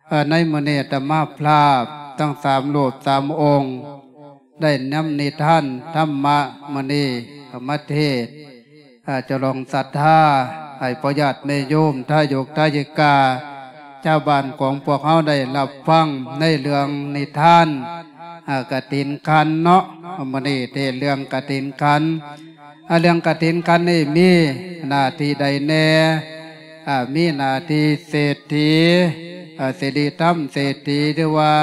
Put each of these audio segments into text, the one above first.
ເອີ ໃນມື້ນີ້ອາດຕະມາພາບທັງສາມຮູບສາມອົງ ໄດ້ນຳນິທານທຳມະມື້ນີ້ເຂົ້າມາເທດ ເອີ ຈະລອງສັດທາໃຫ້ພໍ່ຍາດແມ່ໂຍມ ທາຍົກທາຍິກາ ຊາວບ້ານຂອງພວກເຮົາໄດ້ຮັບຟັງໃນເລື່ອງນິທານ ເອີ ກະຖິນຂັນເນາະ. ມື້ນີ້ເທດເລື່ອງກະຖິນຂັນ ອາ ເລື່ອງກະຖິນຂັນນີ້ມີໜ້າທີ່ໃດແດ່? ອາ ມີໜ້າທີ່ເສດຖີ ອາ ສິລິທຳເສດຖີ ຫຼືວ່າ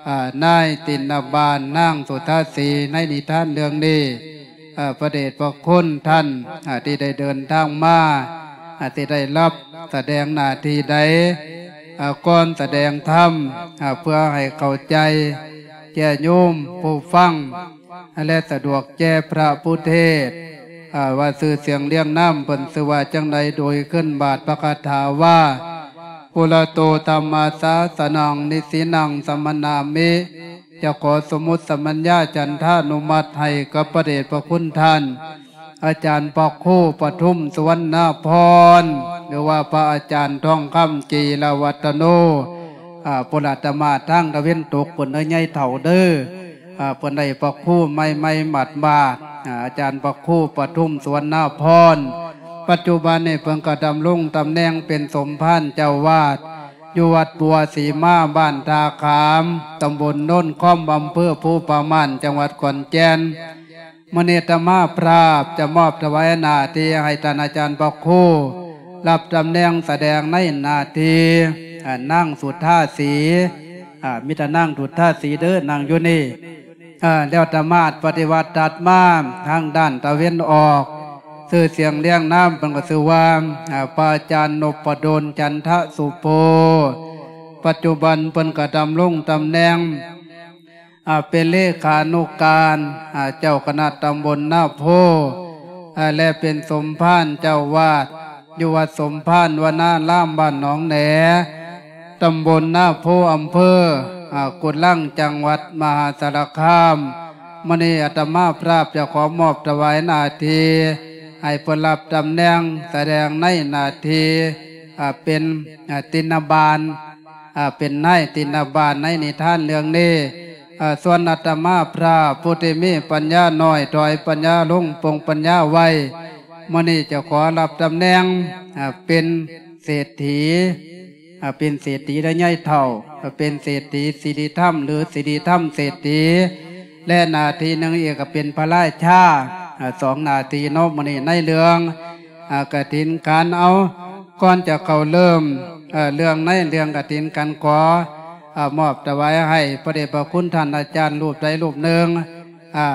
ອາ ນາຍຕິນນະບານ ນາງສຸທາສີ ໃນນິທານເລື່ອງນີ້ ອາ ພະເດດພະຄຸນທ່ານ ອາ ທີ່ໄດ້ເດີນທາງມາ ອາ ທີ່ໄດ້ຮັບສະແດງໜ້າທີ່ໃດ? ອາ ກ່ອນສະແດງທຳ ອາ ເພື່ອໃຫ້ເຂົ້າໃຈແກ່ໂຍມຜູ້ຟັງ ແລະ ສະດວກແກ່ພະຜູ້ເທດ ອາ ວ່າຊື່ສຽງລຽງນາມເພິ່ນຊື່ວ່າຈັ່ງໃດ ໂດຍຂຶ້ນບາດພະຄາຖາວ່າ ປຸລະໂຕທຳມະສາສະນັງ ນິສສີນັງສະມະນາມິ. ຈະຂໍສົມມຸດສະມັນຍາຈັນທານຸມັດໃຫ້ກັບພະເດດພະຄຸນທ່ານ ອາຈານພະຄູປະທຸມ ສຸວັນນາພອນ ຫຼືວ່າພະອາຈານທອງຄຳ ຈີລະວັດທະໂນ ອາ ພຸ້ນລະ ອາດຕະມາທາງຕາເວັນຕົກພຸ້ນເດີ ຍາຍເຖົ້າເດີ ອາ ເພິ່ນໄດ້ພະຄູໃໝ່ໆໝາດໆ ອາ ອາຈານພະຄູປະທຸມ ສຸວັນນາພອນ ປັດຈຸບັນນີ້ເພິ່ນກໍດຳລົງຕຳແໜ່ງເປັນສົມພານເຈົ້າວາດ ຢູ່ວັດບົວສີມາ ບ້ານທ່າຂາມ ຕຳບົນໂນນຄອມ ອຳເພີພູຜາມ່ານ ຈັງຫວັດຂອນແກ່ນ. ມື້ນີ້ອາດຕະມາພາບຈະມອບຖວາຍໜ້າທີ່ໃຫ້ທ່ານອາຈານພະຄູ ຮັບຕຳແໜ່ງສະແດງໃນໜ້າທີ່ ອາ ນາງສຸທາສີ ອາ ມີແຕ່ນາງສຸທາສີເດີ ນັ່ງຢູ່ນີ້ ອາ ແລ້ວອາດຕະມາປະຕິວັດຖັດມາທາງດ້ານຕາເວັນອອກ ຊື່ສຽງລຽງນາມເພິ່ນກໍຊື່ວ່າ ອາ ພະອາຈານນົບປະດົນ ຈັນທະສຸໂພ ປັດຈຸບັນເພິ່ນກໍດຳລົງຕຳແໜ່ງ ອາ ເປັນເລຂານຸການ ອາ ເຈົ້າຄະນະຕຳບົນນາໂພ ອາ ແລະ ເປັນສົມພານເຈົ້າວາດ ຢູ່ວັດສົມພານວະນາລາມ ບ້ານໜອງແໜ ຕຳບົນນາໂພ ອຳເພີ ອາ ກຸດລັງ ຈັງຫວັດມະຫາສາລະຄາມ. ມື້ນີ້ອາດຕະມາພາບຈະຂໍມອບຖວາຍໜ້າທີ່ໃຫ້ເພິ່ນຮັບຕຳແໜ່ງ ສະແດງໃນໜ້າທີ່ ອາ ເປັນ ອາ ຕິນນະບານ ອາ ເປັນນາຍຕິນນະບານໃນນິທານເລື່ອງນີ້. ອາ ສ່ວນອາດຕະມາພາບຜູ້ທີ່ມີປັນຍານ້ອຍ ຖອຍປັນຍາລົງ ປົງປັນຍາໄວ ມື້ນີ້ຈະຂໍຮັບຕຳແໜ່ງ ອາ ເປັນເສດຖີ ອາ ເປັນເສດຖີ ແລະ ຍາຍເຖົ້າ ອາ ເປັນເສດຖີສິລິທຳ ຫຼື ສິລິທຳເສດຖີ ແລະ ໜ້າທີ່ໜຶ່ງອີກກໍເປັນພະລາຊາ ອາ ສອງໜ້າທີ່ເນາະ. ມື້ນີ້ໃນເລື່ອງ ອາ ກະຖິນຂັນ ເອົາ ກ່ອນຈະເຂົ້າເລີ່ມ ເອີ ເລື່ອງໃນເລື່ອງກະຖິນຂັນ ຂໍ ອາ ມອບຖວາຍໃຫ້ພະເດດພະຄຸນທ່ານອາຈານຮູບໃດຮູບໜຶ່ງ ອາ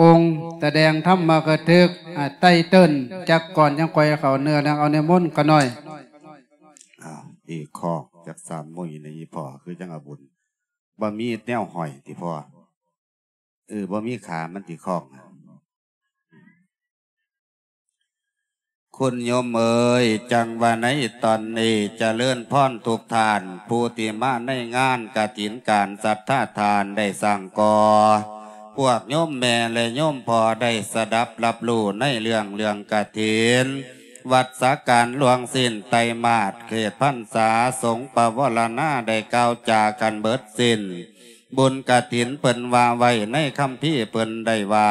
ອົງສະແດງທຳມະກະທຶກ ອາ ໄຕເຕີນຈັກກ່ອນ ຈັ່ງຄ່ອຍເຂົ້າເນື້ອເລື່ອງ. ເອົາ ນິມົນຂະນ້ອຍ. ອ້າວ ອີກຂໍ້ຈັກສາມມື້ນີ້ ອີ່ພໍ່ຄືຈັ່ງເອົາບຸນ ບໍ່ມີແນວຫ້ອຍຕິພໍ່? ເອີ ບໍ່ມີຂາມັນຕິຄ້ອງ. ຄຸນໂຍມເອີຍ, ຈັ່ງວ່າໃນຕອນນີ້ຈະເລີນພອນທຸກທ່ານ ຜູ້ທີ່ມາໃນງານກະຖິນການສັດທາທ່ານໄດ້ສ້າງກໍ່ ພວກໂຍມແມ່ ແລະ ໂຍມພໍ່ໄດ້ສະດັບຮັບຮູ້ໃນເລື່ອງ ເລື່ອງກະຖິນ ວັດສະການລ່ວງສິ້ນໄຕມາດ ເຂດພັນສາ ສົງປະວາລະນາໄດ້ກ່າວຈາກັນເບິດສິ້ນ. ບຸນກະຖິນເພິ່ນວ່າໄວ້ໃນຄຳພີເພິ່ນໄດ້ວ່າ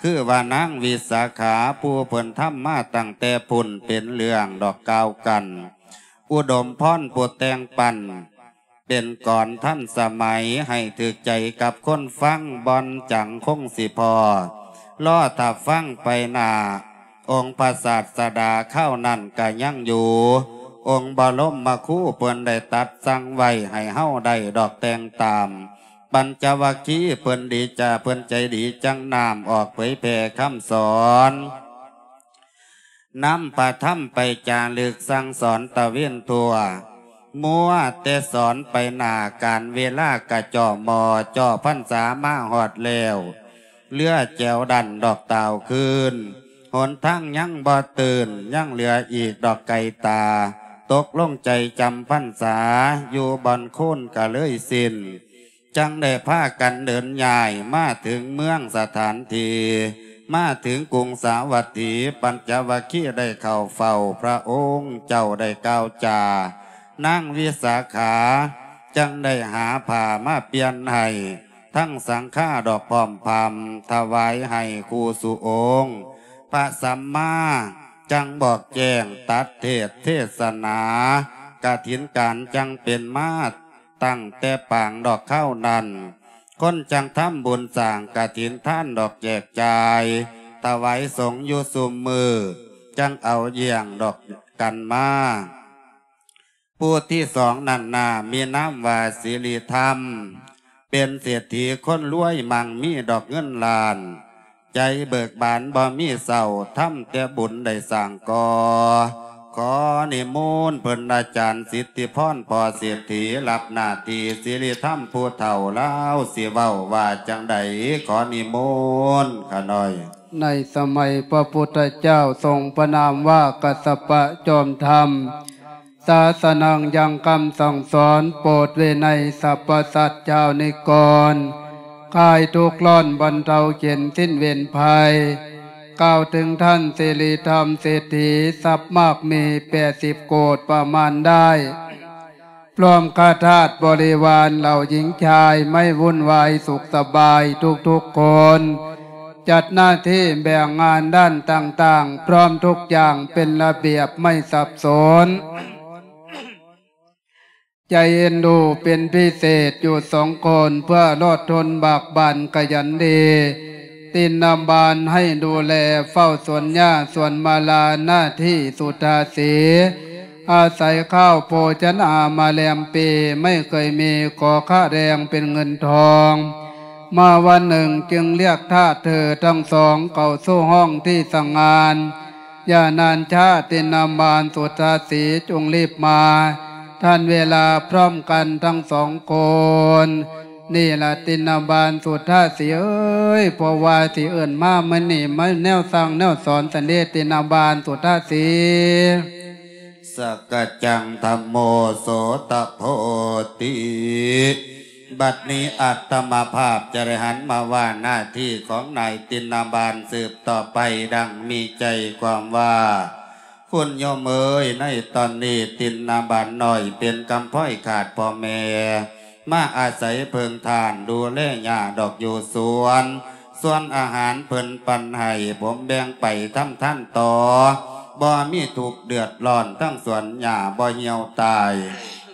ຄືວ່ານາງວິສາຂາ ຜູ້ເພິ່ນທຳມາຕັ້ງແຕ່ພຸ້ນເປັນເລື່ອງດອກກ່າວກັນ ອຸດົມພອນຜູ້ແຕ່ງປັ້ນ ເປັນກອນທັນສະໄໝ ໃຫ້ຖືກໃຈກັບຄົນຟັງ ບ່ອນຈັງຄົງຊິພໍ້ ລໍຖ້າຟັງໄປໜ້າ. ອົງພະສາດສະດາຄາວນັ້ນກະຍັງຢູ່ ອົງບະລົມມະຄູເພິ່ນໄດ້ຕັດສັ່ງໄວ້ໃຫ້ເຮົາໄດ້ດອກແຕ່ງຕາມ ປັນຈະວັກຄີເພິ່ນດີຈາ ເພິ່ນໃຈດີຈັ່ງນຳອອກເຜີຍແຜ່ຄຳສອນ ນຳພະທຳໄປຈາລຶກສັ່ງສອນຕະເວນທົ່ວ ມົວແຕ່ສອນໄປໜ້າ ການເວລາກະເຈາະໝໍ້ເຈາະພັນສາມາຮອດແລ້ວ ເຫຼືອແຈວດັນດອກຕ່າວຄືນ ຫົນທາງຍັງບໍ່ຕື່ນ ຍັງເຫຼືອອີກດອກໄກຕາ ຕົກລົງໃຈຈຳພັນສາ ຢູ່ບ່ອນໂຄນກະເລີຍສິ້ນ ຈັ່ງໄດ້ພາກັນເດີນຍ້າຍມາເຖິງເມືອງສະຖານທີ່ ມາເຖິງກຸງສາວັດຖີ ປັນຈະວັກຄີໄດ້ເຂົ້າເຝົ້າພະອົງເຈົ້າໄດ້ກ່າວຈາ ນາງວິສາຂາ ຈັ່ງໄດ້ຫາຜ້າມາປ່ຽນໃຫ້ ທັງສັງຄາດອກພ້ອມພຳ ຖວາຍໃຫ້ຄູ່ສູ່ອົງ ພະສຳມາ ຈັ່ງບອກແຈ້ງຕັດເທດເທສະໜາ ກະຖິນການຈັ່ງເປັນມາ ຕັ້ງແຕ່ປາງດອກຄາວນັ້ນ ຄົນຈັ່ງທຳບຸນສ້າງກະຖິນທານດອກແຈກຈ່າຍ ຖວາຍສົງຢູ່ຊຸມມື້ ຈັ່ງເອົາຢ້ຽງດອກກັນມາ. ຜູ້ທີສອງນັ້ນນາ ມີນາມວ່າສິລິທຳ ເປັນເສດຖີຄົນລວຍ ມັ່ງມີດອກເງິນລ້ານ ໃຈເບີກບານບໍ່ມີເຊົາ ທຳແຕ່ບຸນໄດ້ສ້າງກໍ່ ຂໍນິມົນເພິ່ນອາຈານສິດທິພອນ ພໍ່ເສດຖີ ຮັບໜ້າທີ່ສິລິທຳຜູ້ເຖົ້າລາວ ຊິເວົ້າວ່າຈັ່ງໃດ ຂໍນິມົນຂ້ານ້ອຍ. ໃນສະໄໝພະພຸດທະເຈົ້າຊົງພະນາມວ່າກັດສະປະຈອມທຳ ສາສະນັງຍັງຄຳສັ່ງສອນ ໂປດວິໄນສັບພະສັດຊາວນິກອນ ຄາຍທຸກຮ້ອນບັນເທົາເຂັນສິ້ນເວນໄພ ກ່າວເຖິງທ່ານສິລິທຳເສດຖີ ຊັບມາກມີແປດສິບໂກດປະມານໄດ້ ພ້ອມຄະທາດບໍລິວານເຫຼົ່າຍິງຊາຍ ໄມ່ວຸ່ນວາຍສຸກສະບາຍທຸກໆຄົນ ຈັດໜ້າທີ່ແບ່ງງານດ້ານຕ່າງໆ ພ້ອມທຸກຢ່າງເປັນລະບຽບໄມ່ສັບສົນ ໃຈເອັນດູເປັນພິເສດຢູ່ສອງຄົນ ເພື່ອລອດທົນບາກບັ່ນຂະຫຍັນດີ ຕິນນະບານໃຫ້ດູແລເຝົ້າສວນຫຍ້າສວນມາລາ ໜ້າທີ່ສຸທາສີ ອາໄສຂ້າວໂພຊະນາມາແລມປີ ໄມ່ເຄີຍມີຂໍຄ່າແຮງເປັນເງິນທອງ ມາວັນໜຶ່ງຈຶ່ງລຽກທາດເທີທັງສອງເຂົ້າສູ່ຫ້ອງທີ່ສັງງານ ຢ່ານານຊ້າ ຕິນນະບານສຸທາສີ ຈົ່ງລີບມາ ທັນເວລາພ້ອມກັນທັງສອງຄົນ ນີ້ລະຕິນນະບານສຸທາສີເອີຍ ເພາະວ່າຊິເອີ້ນມາມື້ນີ້ ມາແນວສັ່ງແນວສອນສັນເດ ຕິນນະບານສຸທາສີ. ສະກະຈັງທຳໂມ ໂສຕະໂພຕິ. ບັດນີ້ອາດຕະມະພາບຈະໄດ້ຫັນມາວ່າໜ້າທີ່ຂອງນາຍຕິນນະບານສືບຕໍ່ໄປ ດັ່ງມີໃຈຄວາມວ່າ ຄຸນໂຍມເອີຍ ໃນຕອນນີ້ຕິນນະບານນ້ອຍເປັນກຳພ້ອຍຂາດພໍ່ແມ່ ມາອາໄສເພິ່ງທ່ານດູແລຫຍ້າດອກຢູ່ສວນ ສ່ວນອາຫານເພິ່ນປັນໃຫ້ ຜົມແບ່ງໄປທຳທານຕໍ່ ບໍ່ມີທຸກເດືອດຮ້ອນ ທັງສວນຫຍ້າບໍ່ຫ່ຽວຕາຍ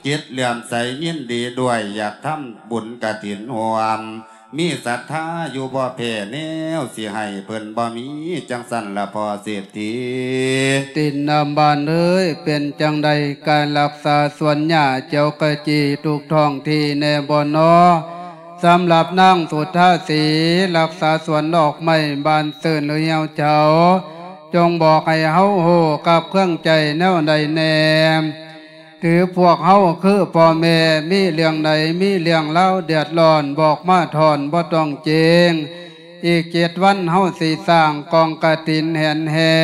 ຈິດເຫຼື້ອມໃສຍິນດີດ້ວຍ ຢາກທຳບຸນກະຖິນຮ່ວມ ມີສັດທາຢູ່ບໍ່ແພ້ແນວ ຊິໃຫ້ເພິ່ນບໍ່ມີ ຈັ່ງຊັ້ນລະພໍ່ເສດຖີ. ຕິນນະບານເອີຍ ເປັນຈັ່ງໃດການລັກສາສວນຫຍ້າຂຽວຂະຈີທຸກທ້ອງທີ່ແນ່ບໍ່ນໍ? ສຳລັບນາງສຸທາສີ ລັກສາສວນດອກໄມ້ບານຊື່ນຫຼືຫ່ຽວເຊົາ ຈົ່ງບອກໃຫ້ເຮົາຮູ້ກັບເຄື່ອງໃຈແນວໃດແນ່? ຖືພວກເຮົາຄືພໍ່ແມ່ ມີເລື່ອງໃດ ມີເລື່ອງລາວເດືອດຮ້ອນ ບອກມາທ່ອນບໍ່ຕ້ອງເກງ. ອີກເຈັດວັນເຮົາຊິສ້າງກອງກະຖິນແຫ່ນແຫ່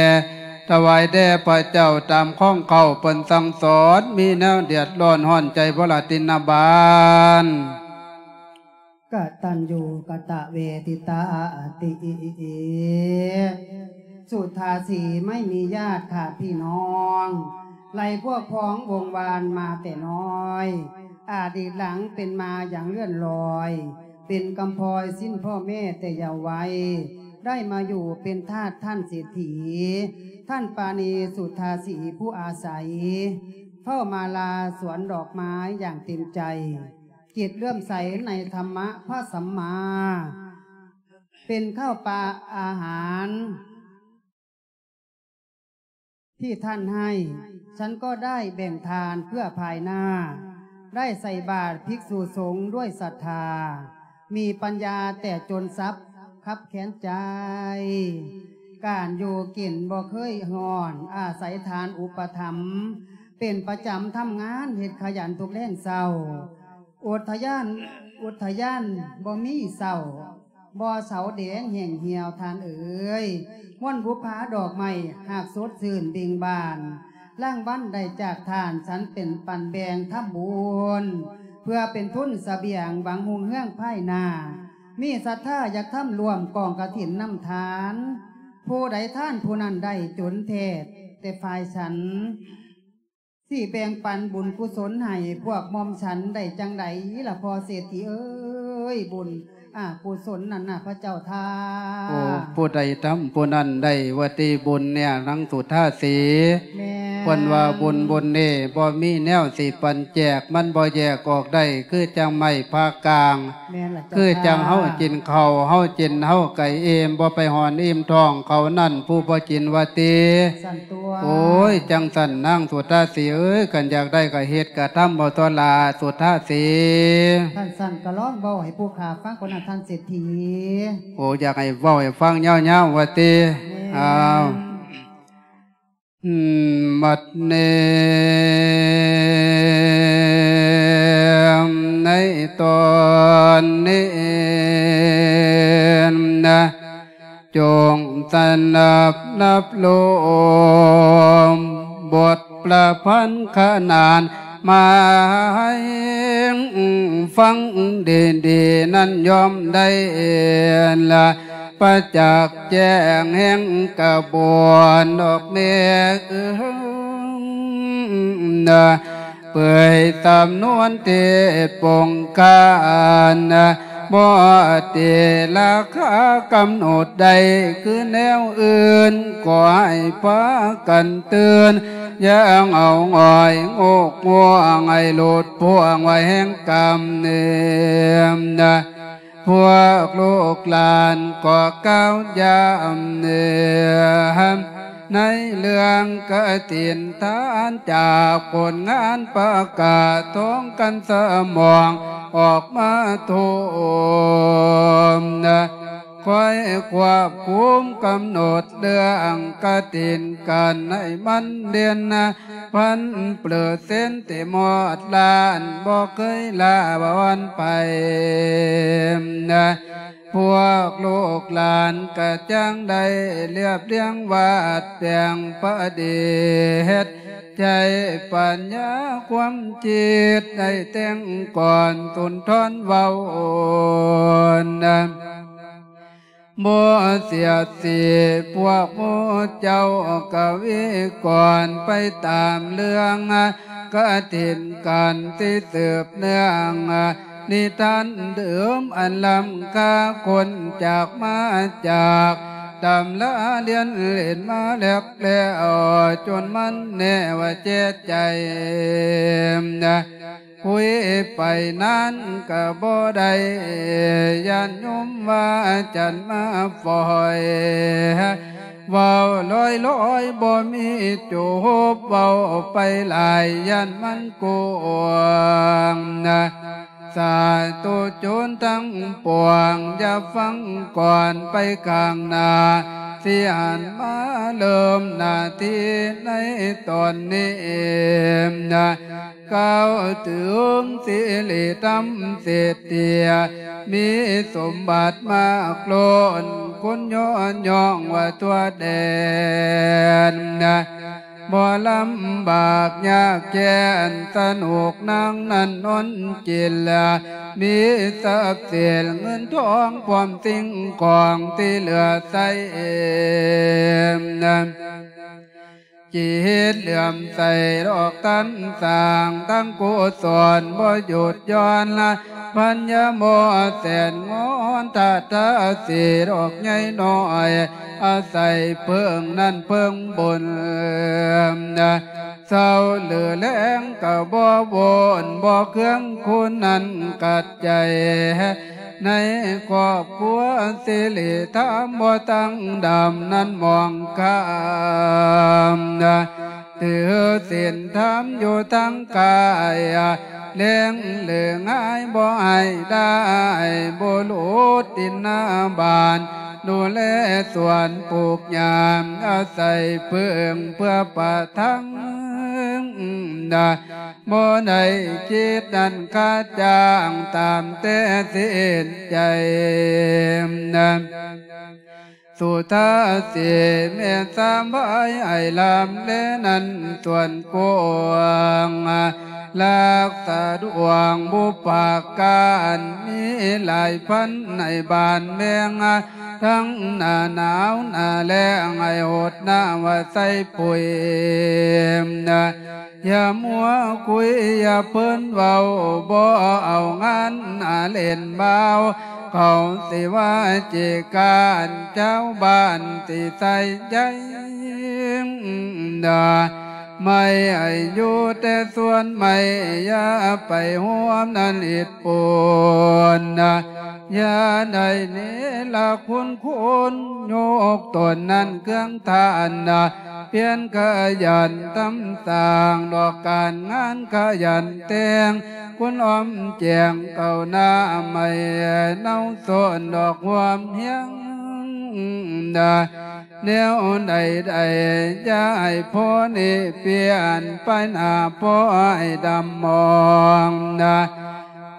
ຖວາຍແດ່ພະເຈົ້າຕາມຂອງເຂົາເພິ່ນສັ່ງສອນ ມີແນວເດືອດຮ້ອນຮ້ອນໃຈບໍ່ລະຕິນນະບານ? ກະຕັນຍູກະຕະເວທິຕາອາຕິ. ສຸທາສີໄມ່ມີຍາດຂາດພີ່ນ້ອງ ໄລ່ພວກພ້ອງວົງວານມາແຕ່ນ້ອຍ ອະດີດຫຼັງເປັນມາຢ່າງເລື່ອນລອຍ ເປັນກຳພ້ອຍສິ້ນພໍ່ແມ່ແຕ່ເຍົາໄວ ໄດ້ມາຢູ່ເປັນທາດທ່ານເສດຖີ ທ່ານປານີສຸທາສີຜູ້ອາໄສ ເຝົ້າມາລາສວນດອກໄມ້ຢ່າງເຕັມໃຈ ຈິດເຫຼື້ອມໃສໃນທຳມະພະສຳມາ ເປັນເຂົ້າປາອາຫານ ທີ່ທ່ານໃຫ້ ສັນກໍໄດ້ແບ່ງທານເພື່ອພາຍໜ້າ ໄດ້ໃສ່ບາດພິກສຸສົງດ້ວຍສັດທາ ມີປັນຍາແຕ່ຈົນຊັບຄັບແຄນໃຈ ການຢູ່ກິນບໍ່ເຄີຍຮ້ອນ ອາໄສທານອຸປະຖຳ ເປັນປະຈຳທຳງານເຮັດຂະຫຍັນທຸກແລງເຊົ້າ ອຸດທະຍານ ອຸດທະຍານບໍ່ມີເສົ້າ ບໍ່ເສົາແດງແຫ້ງຫ່ຽວທ່ານເອີຍ ມ່ວນບຸບພາດອກໄມ້ຫາກສົດຊື່ນເບັ່ງບານ ລາງວັນໄດ້ຈາກທ່ານ ສັນເປັນປັນແບ່ງທຳບຸນ ເພື່ອເປັນທຶນສະບຽງຫວັງຮຸ່ງເຮືອງພາຍໜ້າ ມີສັດທາຢາກທຳຮ່ວມກອງກະຖິນນຳທ່ານ ຜູ້ໃດທານຜູ້ນັ້ນໄດ້ຈົນແທ້ແຕ່ຝ່າຍສັນ ຊິແບ່ງປັນບຸນກຸສົນໃຫ້ພວກໝ່ອມສັນໄດ້ຈັ່ງໃດລະພໍ່ເສດຖີເອີຍ? ບຸນອາກຸສົນນັ້ນນະພະເຈົ້າທ່ານ. ໂອ້ ຜູ້ໃດທຳຜູ້ນັ້ນໄດ້ວ່າຕິບຸນເນຍນາງສຸທາສີ. ແມ່ນ. ເພິ່ນວ່າບຸນບຸນນີ້ບໍ່ມີແນວຊິປັນແຈກ ມັນບໍ່ແຍກອອກໄດ້ ຄືຈັ່ງໄມ້ຜ່າກາງ. ແມ່ນລະເຈົ້າ ຄືຈັ່ງເຮົາ ຂ້າ ກິນເຂົ້າ ເຮົາກິນເຮົາກະອີ່ມ ບໍ່ໄປຫອນອີ່ມທ້ອງເຂົານັ້ນ ຜູ້ບໍ່ກິນວ່າຕິ. ຊັ້ນຕົວະ. ໂອ້ຍ ຈັ່ງຊັ້ນນາງສຸທາສີເອີຍ ຄັນຢາກໄດ້ກະເຮັດກະທຳເອົາຕົວະລະສຸທາສີ. ຄັນຊັ້ນກະລອງເວົ້າໃຫ້ຜູ້ຂ້າຟັງກ່ອນນະທ່ານເສດຖີ. ໂອ້ ຢາກໃຫ້ເວົ້າໃຫ້ຟັງຍາວໆວ່າຕິ. ແມ່ນ. ອ້າວ. ບັດນີ້ ໃນຕອນນີ້ນະ ຈົ່ງສະໜັບຮັບຊົມບົດປະພັນຂະໜານ ມາໃຫ້ຟັງດີໆນັ້ນ ຍ່ອມໄດ້ລະປະຈັກແຈ້ງແຫ່ງກະບວນດອກແມ່ເອີຍນະ ເປີຍສຳນວນເທດປົງຄານະ ບໍ່ເຕລາຄາກຳນົດໄດ້ຄືແນວອື່ນ ກໍໃຫ້ພາກັນຕື່ນ ຢ່າເອົາງ່ອຍງູກງ່ວງ ໃຫ້ຫຼຸດພ່ວງໄວ້ແຫ່ງກຳເນີນນະ. ພວກລູກຫຼານກໍກ່າວຢາມເໜືອ ໃນເລື່ອງກະຖິນທານ ຈາກຜົນງານປະກາດ ທ້ອງກັນສະໝອງອອກມາທົ່ວນະ ຄອຍຄວບຄຸມກຳນົດເລື່ອງກະຖິນກັນ ໃຫ້ມັນເດັ່ນນະ ພັນເປີເຊັນ ເຕັມຮອດລ້ານ ບໍ່ເຄີຍລາວັນໄປນະ. ພວກລູກຫຼານກະຈັ່ງໄດ້ລຽບລຽງວາດແປງປະດິດ ໃຊ້ປັນຍາຄວາມຄິດໄດ້ແຕ່ງກ່ອນສຸນທອນເວົ້ານະ. ບໍ່ເສຍດສີພວກໝູ່ເຈົ້າກະວິກອນ ໄປຕາມເລື່ອງກະຖິນກັນທີ່ສືບເນື່ອງ ນິທານເດີມອັນລ້ຳຄ່າ ຄົ້ນຈາກມາຈາກຕຳລາ ລຽນເຫຼັ້ນມາແລກແລ້ວ ຈົນມັນແນ່ວ່າແຈໃຈນະ. ຄຸຍໄປນານກະບໍ່ໄດ້ ຢ້ານໂຍມວ່າຈັນມາຝອຍ ເວົ້າລອຍໆບໍ່ມີຈົບ ເວົ້າໄປຫຼາຍຢ້ານມັນກວ້າງນະ. ສາທຸຊົນທັງປວງ ຢ່າຟັງກ່ອນ ໄປຂ້າງໜ້າ ຊິຫັນມາເລີ່ມໜ້າທີ່ໃນຕອນນີ້ນະ. ກ່າວເຖິງສິລິທຳເສດຖີ ມີສົມບັດມາກລົ້ນ ຄົນຍໍຍ້ອງວ່າທົ່ວແດນນະ. ບໍ່ລຳບາກຍາກແຄ້ນ ສະໜຸກນາງນັ້ນນອນກິນລະ ມີຊັບສິນເງິນທອງ ພ້ອມສິ່ງຂອງທີ່ເຫຼືອໃຊ້ນະ. ຈິດເຫຼື້ອມໃສດອກທັນສ້າງ ທັງກຸສົນບໍ່ຢຸດຢ່ອນລະ ພັນຍາມອດແສນງອນ ທາດທາສີດອກໃຫຍ່ນ້ອຍ ອາໄສເພິ່ງນັ້ນເພິ່ງບຸນນະ. ເຊົາຫຼືແລງກະບໍ່ວົນ ບໍ່ເຄືອງຄຸນນັ້ນກັດໃຈ ໃນຄອບຄົວສິລິທຳ ບໍ່ຕັ້ງດຳນັ້ນມອງຂ້າມນະ. ຖືສິນທຳຢູ່ທາງກາຍ ແລງເຫຼືອງ່າຍບໍ່ໃຫ້ໄດ້ ບໍ່ຫຼຸດດິນນາບ້ານ ດູແລສວນປູກຫຍ້າ ອາໄສເພິ່ງເພື່ອປະທັງນະ. ບໍ່ໄດ້ຄິດນັ້ນຄ່າຈ້າງ ຕາມແຕ່ສິນໃຈນະ. ສຸທາສີແມ່ນສາມບາຍ ໃຫ້ລຳແລນັ້ນສ່ວນກວ້າງ ລັກສະດວງບຸບປາການ ມີຫຼາຍພັນໃນບ້ານແມງ ທັງໜ້າໜາວໜ້າແລ້ງ ໃຫ້ຫົດນ້ຳວ່າໃສ່ປຸ໋ຍນະ. ຢ່າມົວຄຸຍ ຢ່າເພິ່ນເວົ້າ ບໍ່ເອົາງານອາເຫຼັ້ນບ່າວ ເຂົາຊິວ່າຈີການ ຊາວບ້ານຊິໃສ່ໃຈ ນາ ໄມ້ໃຫ້ຢູ່ແຕ່ສວນໄມ້ ຢ່າໄປຮ່ວມນັ້ນອິດປຸນນະ ຢ່າໄດ້ເນລະຄຸນຄຸນ ຍົກຕົນນັ້ນເຄື່ອງທ່ານນະ ພຽນຂະຫຍັນທຳສ້າງ ດອກການງານຂະຫຍັນແຕ່ງ ຄຸນອ້ອມແຈງເຂົ້າໜ້າ ໄມ້ເນົ່າໂຊນດອກຮ່ວມຮຽງນະ ແນວໃດໆ ຢ່າໃຫ້ພໍນີ້ປ່ຽນ ໄປໜ້າພໍໃຫ້ດຳມອງນະ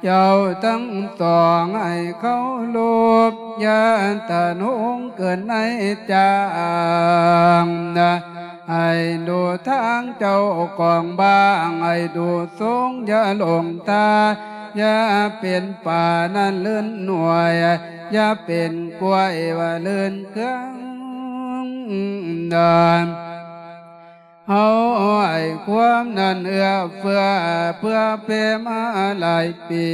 ເຈົ້າທັງສອງໃຫ້ເຄົາລົບ ຢ່າທະນົງເກີນໃນຈາງນະ ໃຫ້ດູທາງເຈົ້າຂອງບ້າງ ໃຫ້ດູສູງ ຢ່າຫຼົງທ່າ ຢ່າເປັນປານັ້ນລື່ນໜ່ວຍ ຢ່າເປັນກ້ວຍວ່າລື່ນເຄື່ອງນະ ເຮົາໃຫ້ຄວາມນັ້ນເອື້ອເຟື້ອ ເພື່ອແຜ່ມາຫຼາຍປີ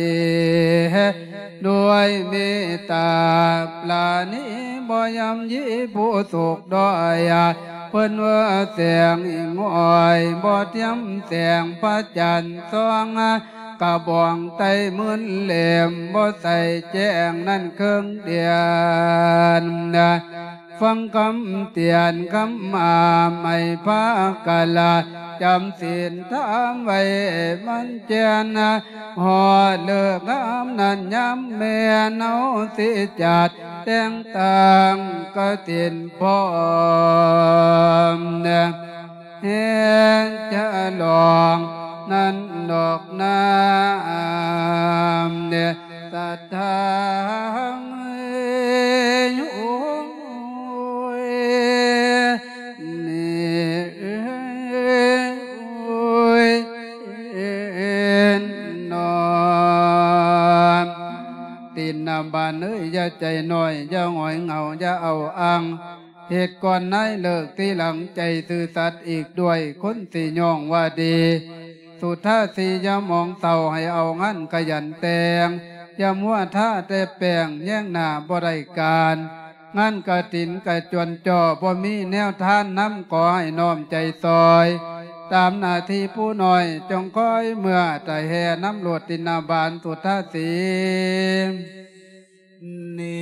ດ້ວຍເມດຕາປານີ ບໍ່ຍ່ຳຢີຜູ້ທຸກດ້ອຍ ເພິ່ນວ່າແສງຫິ້ງຫ້ອຍ ບໍ່ທຽມແສງພະຈັນສ່ອງ ກະບອງໄຕ້ໝື່ນເຫຼັ້ມ ບໍ່ໃສແຈ້ງນັ້ນເຄິ່ງເດືອນ ຟັງຄຳເຕືອນຄຳຫ້າມ ໃຫ້ພາກັນລະຈຳສິນທຳໄວ້ໝັ້ນແກ່ນ ຮອດເລີກງາມນັ້ນຍາມແມ່ນ ເຮົາຊິຈັດແຕ່ງຕັ້ງກະຖິນພ້ອມ ແຫ່ງຈະຫຼອງນັ້ນດອກນາ ສັດທາ ໂອ້ຍ ນີ້ ໂອ້ຍ ເນາະ ຕິນນະບານເອີຍ ຢ່າໃຈນ້ອຍ ຢ່າຫງອຍເຫງົາ ຢ່າເອົາອ້າງ ເຮັດກ່ອນນາຍເລີກ ທີຫຼັງໃຈຊື່ສັດອີກດ້ວຍ ຄົນຊິຍ້ອງວ່າດີ ສຸດທາສີຢ່າມອງເສົ້າ ໃຫ້ເອົາງານຂະຫຍັນແຕ່ງ ຢ່າມົວທາແຕ່ແປ້ງ ແຍງໜ້າບໍ່ໄດ້ການ ງານກະຖິນກະຈວນຈໍ້ ບໍ່ມີແນວທານນຳ ຂໍໃຫ້ນ້ອມໃຈຊ່ອຍ ຕາມໜ້າທີ່ຜູ້ນ້ອຍ ຈົ່ງຄອຍເມືອຕາແຫ່ນຳໂລດ ຕິນນະບານ ສຸດທາສີ ນິ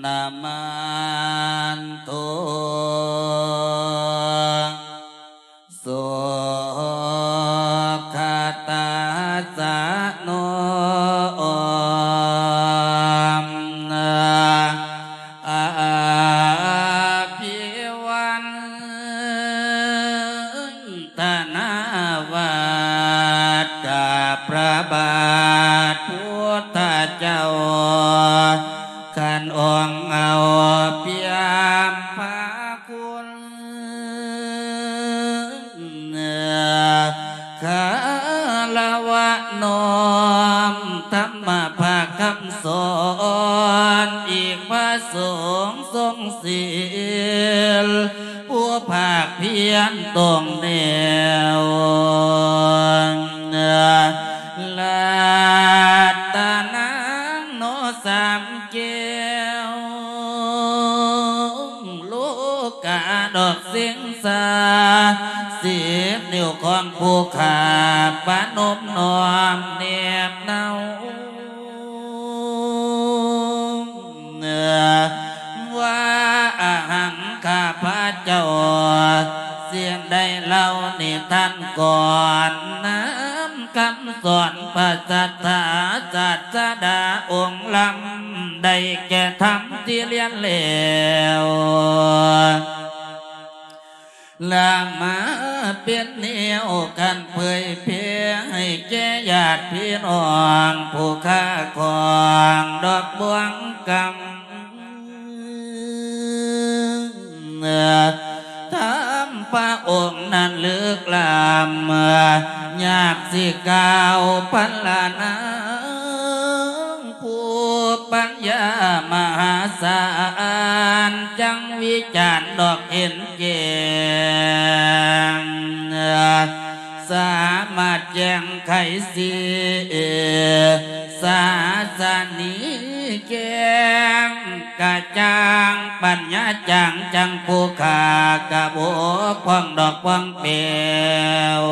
ນະມັນໂທ ສຸຂະຕາສະໂນ ອາພິວັນ ທະນາວັດ ກາບພະບາດພຸດທະເຈົ້າ ຄັນອົງເອົາປ່ຽມພະຄຸນ ຄາລະວະນ້ອມ ທຳມະພາກຄຳສອນ ອີກພະສົງຊົງ ສີລ ຜູ້ພາກພຽນຕົງແນວ ລັດຕະນາໂນສາມແກ້ວ ໂລກາດອກເສັງສາ ສິບນິ້ວຂອງຜູ້ຂ້າ ປະນົມນ້ອມແນບເນົາ ວ່າອະຫັງ ຂ້າພະເຈົ້າ ຊິໄດ້ເລົ່ານິທານກ່ອນ ນຳຄຳສອນພະສັດທາ ສາດສະດາອົງລຳ ໄດ້ແກ່ທຳທີ່ລຽນແລ້ວ ລະມາເປັນແນວການເຜີຍແຜ່ ໃຫ້ແກ່ຍາດພີ່ນ້ອງ ຜູ້ຄ້າຂອງດອກບວງກຳ ທຳພະອົງນັ້ນເລິກລ້ຳ ຍາກຊິກ່າວພັນລະນາງ ຜູ້ ປັນຍາມະຫາສານ ຈັ່ງວິຈານດອກເຫັນແຈ້ງ ສາມາດແຈ້ງໄຂສີ ສາສະໜີແຈ້ງກະຈ່າງ ປັນຍາຈາງຈັ່ງຜູ້ຂ້າກະບົກຜ່ອງດອກປ່ອງແປວ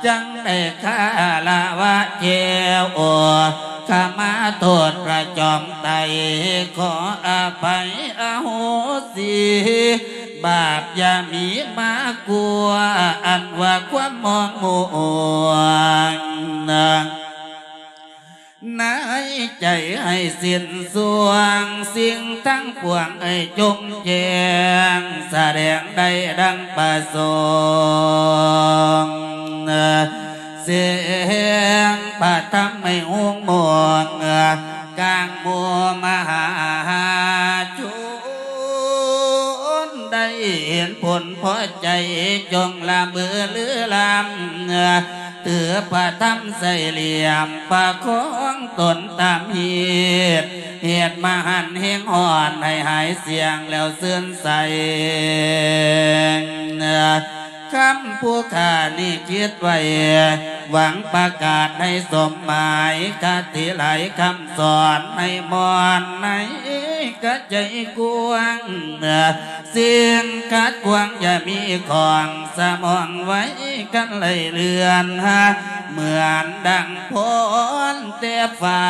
ຈັ່ງໄດ້ຄາລະວະແຈວ ຂະມາໂທດພະຈອມໄຕ ຂໍອະໄພອະໂຫສິ ບາບຢ່າມີມາກົວ ອັນວ່າຄວາມມອງມົວ ໃນໃຈໃຫ້ສິ້ນສວງ ສິ່ງທັງປວງໃຫ້ຈົງແຈ້ງ ສະແດງໄດ້ດັ່ງປະສົງ ສຽງພະທຳໃຫ້ຮຸ່ງໂມງ ກາງໝູ່ມະຫາຊົນ ໄດ້ເຫັນຜົນພໍໃຈ ຈົ່ງລະເມີລືລຳ ຖືພະທຳໃສ່ຫຼ່ຽມ ປະຄອງຕົນຕາມຮີດ ເຫດມະຫັນແຮງຮ້ອນ ໃຫ້ຫາຍສຽງແລ້ວຊື່ນໃສ. ຄຳຜູ້ຂ້ານີ້ຄິດໄວ້ ຫວັງປະກາດໃຫ້ສົມໝາຍ ຄະຕິຫຼາຍຄຳສອນໃຫ້ມ່ອນໃນກະໃຈກວ້າງ ສິ່ງຂັດຂວາງຢ່າມີຂອງ ສະໝອງໄວ້ກັນໄລ່ເລື່ອນ ເໝືອນດັ່ງພອນແຕ່ຟ້າ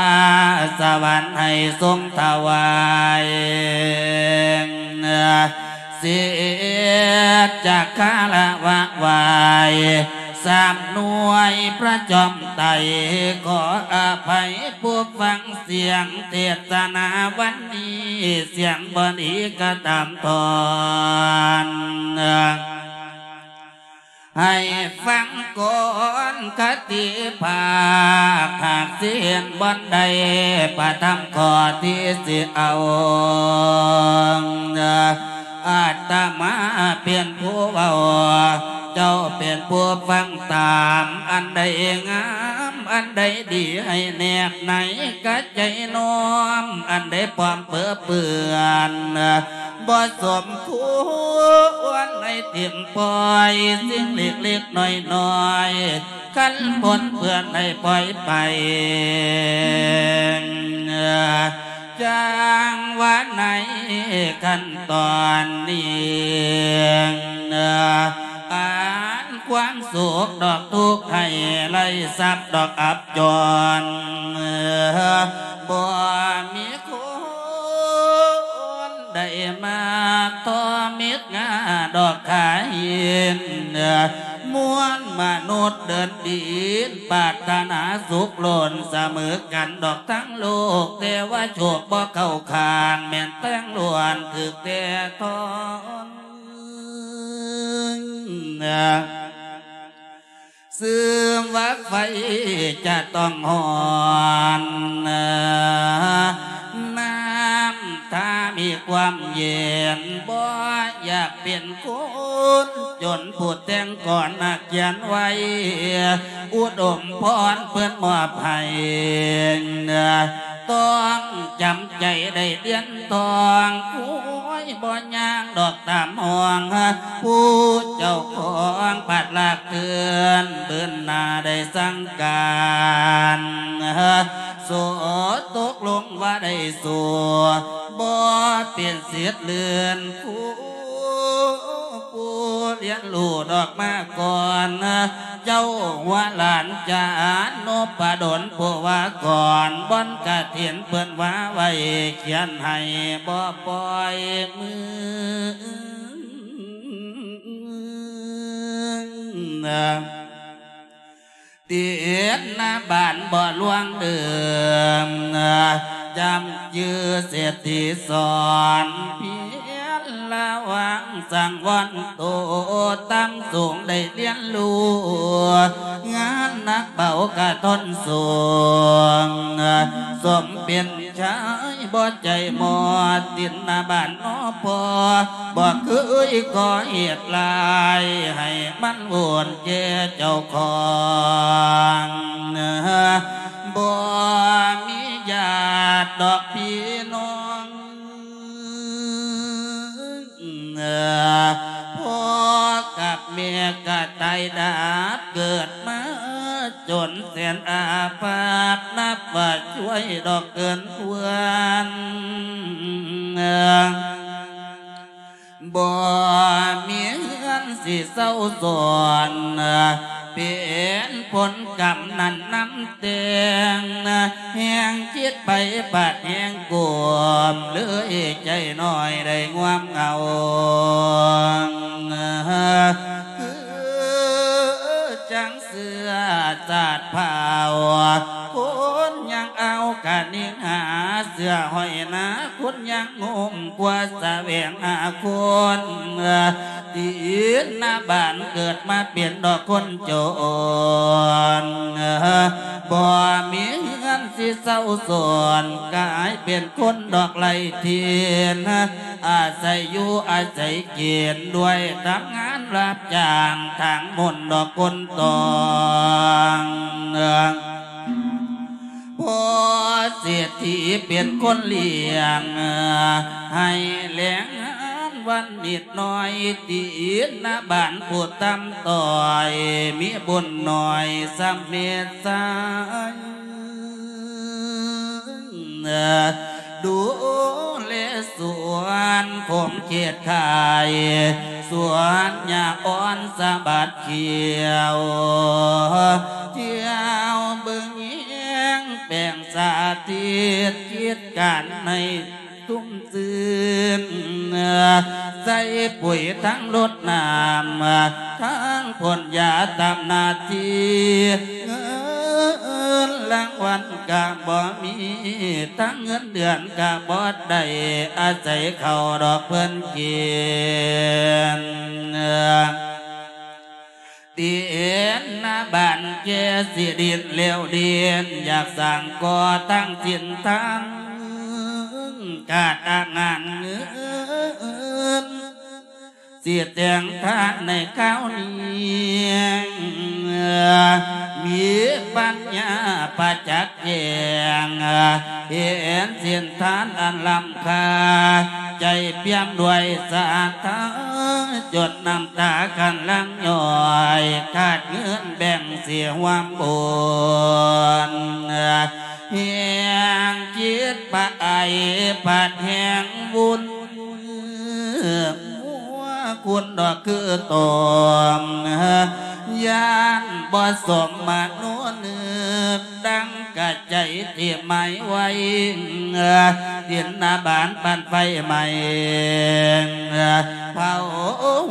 ສະຫວັນໃຫ້ຊົງຖວາຍ ສິດຈະຄາລະວະໄຫວ້ ສາມໜ່ວຍພະຈອມໄຕ ຂໍອະໄພຜູ້ຟັງສຽງເທດສະນາວັນນີ້ ສຽງບໍ່ດີກະຕາມທອນ ໃຫ້ຟັງກ່ອນຄະຕິພາກ ຫາກຊິເຫັນບ່ອນໃດ ພະທຳຂໍ້ທີ່ຊິເອົາ ອາດຕະມາເປັນຜູ້ເວົ້າ ເຈົ້າເປັນຜູ້ຟັງຕາມ ອັນໃດງາມ ອັນໃດດີ ໃຫ້ແນບໃນກະໃຈນ້ອມ ອັນໃດປອມເປິເປື້ອນ ບໍ່ສົມຄວນໃຫ້ຖິ້ມປ່ອຍ ສິ່ງເລັກໆນ້ອຍໆ ຄັນປົນເປື້ອນໃຫ້ປ່ອຍໄປ ຈັ່ງວ່າໃນຂັ້ນຕອນນີ້ ອັນຄວາມສຸກດອກທຸກໄຫ້ໄລ່ຊັບດອກອັບຈອນ ບໍ່ມີຄົນ ໄດ້ມາຕໍ່ມິດງາດອກຂາຫີນ ມວນມະນຸດເດີນດິນ ປາດຖະໜາສຸກລົ້ນສະເໝີກັນດອກທັງໂລກ ແຕ່ວ່າໂຊກບໍ່ເຂົ້າຂ້າງ ແມ່ນແຕ່ງລ້ວນຖືກແຕ່ທອນ. ຊຶມວ່າໄຟຈະຕ້ອງຮ້ອນ ນ້ຳຖ້າມີຄວາມເຢັນ ບໍ່ຢາກເປັນຄົນຈົນ ຜູ້ແຕ່ງກອນນັກຂຽນໄວ້ ອຸດົມພອນເພິ່ນມອບໃຫ້ ຕ້ອງຈຳໃຈໄດ້ລຽນ ຕ້ອງໂອຍບໍ່ຍ່າງດອກຕາມຫ້ອງ ຜູ້ເຈົ້າຂອງພັດລາກເຄື່ອນ ບືນໜ້າໄດ້ສັ່ງການ ໂສຕົກລົງວ່າໄດ້ໂສ ບໍ່ເປັນສິດເລື່ອນຄູ ຜູ້ລຽນຮູ້ດອກມາກ່ອນ ເຈົ້າຫົວຫຼານຈານຸປະດົນຜູ້ວ່າກ່ອນ ບ່ອນກະຖິນເພິ່ນວ່າໄວ້ ຂຽນໃຫ້ບໍ່ປ່ອຍມື ຕິດໜ້າບ້ານບໍ່ລ່ວງເດີມ ຈຳຈື່ເສດທີ່ສອນ ພຽນລະວັງສັງວອນໂຕ ຕາມສູງໄດ້ລຽນຮູ້ ງານໜັກເບົາກະທົນສູງ ສົມເປັນ ຊາຍບໍ່ໃຈໝອດ ຕິດໜ້າບ້ານນອພໍ່ ບໍ່ເຄີຍກໍ່ເຫດລາຍ ໃຫ້ມັນວຸ່ນແກ່ເຈົ້າຂອງ ບໍ່ມີ ພໍ່ກັບແມ່ກະຕາຍດັບ ເກີດມາຈົນແສນອາພາດ ນັບວ່າຊ່ວຍດອກເກີນເຮືອນ ບໍ່ມີເຮືອນຊິເຊົາຊ້ອນ ເປັນຜົນກຳນັ້ນນຳແຕ່ງ ແຮງຄິດໄປບາດແຮງກວມ ເລີຍໃຈນ້ອຍໄດ້ງວມເຫງົາ ຄືຈັ່ງເຊື້ອຊາດພາວ ຄົນຍັງເອົາກະນິງຫາ ເສື້ອຫ້ອຍໜາ ຄົນຍັງງຸ້ມ ກວ່າສະແຫວງຫາຄົນ ຕິນນະບານເກີດມາເປັນດອກຄົນຈົນ ບໍ່ມີເຮືອນຊິເຊົາຊ້ອນ ກາຍເປັນຄົນດອກໄຮ້ຖິ່ນ ອາໄສຢູ່ອາໄສກິນ ດ້ວຍທຳງານຮັບຈ້າງ ທາງໝົນດອກຄົນຕ້ອງ ພໍເສດຖີເປັນຄົນລ້ຽງ ໃຫ້ແລງງານວັນນິດໜ້ອຍ ຕິນນະບານຜູ້ຕ່ຳຕ້ອຍ ມີບຸນໜ້ອຍສ່ຳເມດຊາຍ ດູແລສວນຂົງເຂດຂາຍ ສວນຫຍ້າອ່ອນສະບັດຂຽວ ທ່ຽວເບິ່ງແຍງແປງສາທິດ ກິດການໃຫ້ຊຸ່ມຊື່ນ ໃສ່ປຸ໋ຍທັງລົດນ້ຳ ທັງພົ່ນຢາຕາມໜ້າທີ່ ເງິນລາງວັນກະບໍ່ມີ ທັງເງິນເດືອນກະບໍ່ໄດ້ ອາໄສເຂົ້າດອກເພິ່ນກິນ ຕິນນະບານແກ່ຊິດິ້ນແລ້ວດິ້ນ ຢາກສ້າງກໍ່ຕັ້ງສິນທານ ກາດອາງານເງິນ ຊິແຕ່ງທານໃນຄາວນີ້ ມີປັນຍາປະຈັກແຈ້ງ ເຫັນສິນທານອັນລ້ຳຄ່າ ໃຈປ່ຽມດ້ວຍສາທາ ຈົນນ້ຳຕາຄັນຫຼັ່ງຍ້ອຍ ຂາດເງິນແບ່ງຊິຮ່ວມບຸນ ແຮງຄິດປະໄອພັດແຮງວຸ່ນ ຫົວຄຸນດອກຄືຕົມ ຢ້ານບໍ່ສົມມະໂນນຶກ ດັ່ງກະໃຈທີ່ໝາຍໄວ້ ດິນນະບານປານໄຟໄໝ້ ເຜົາ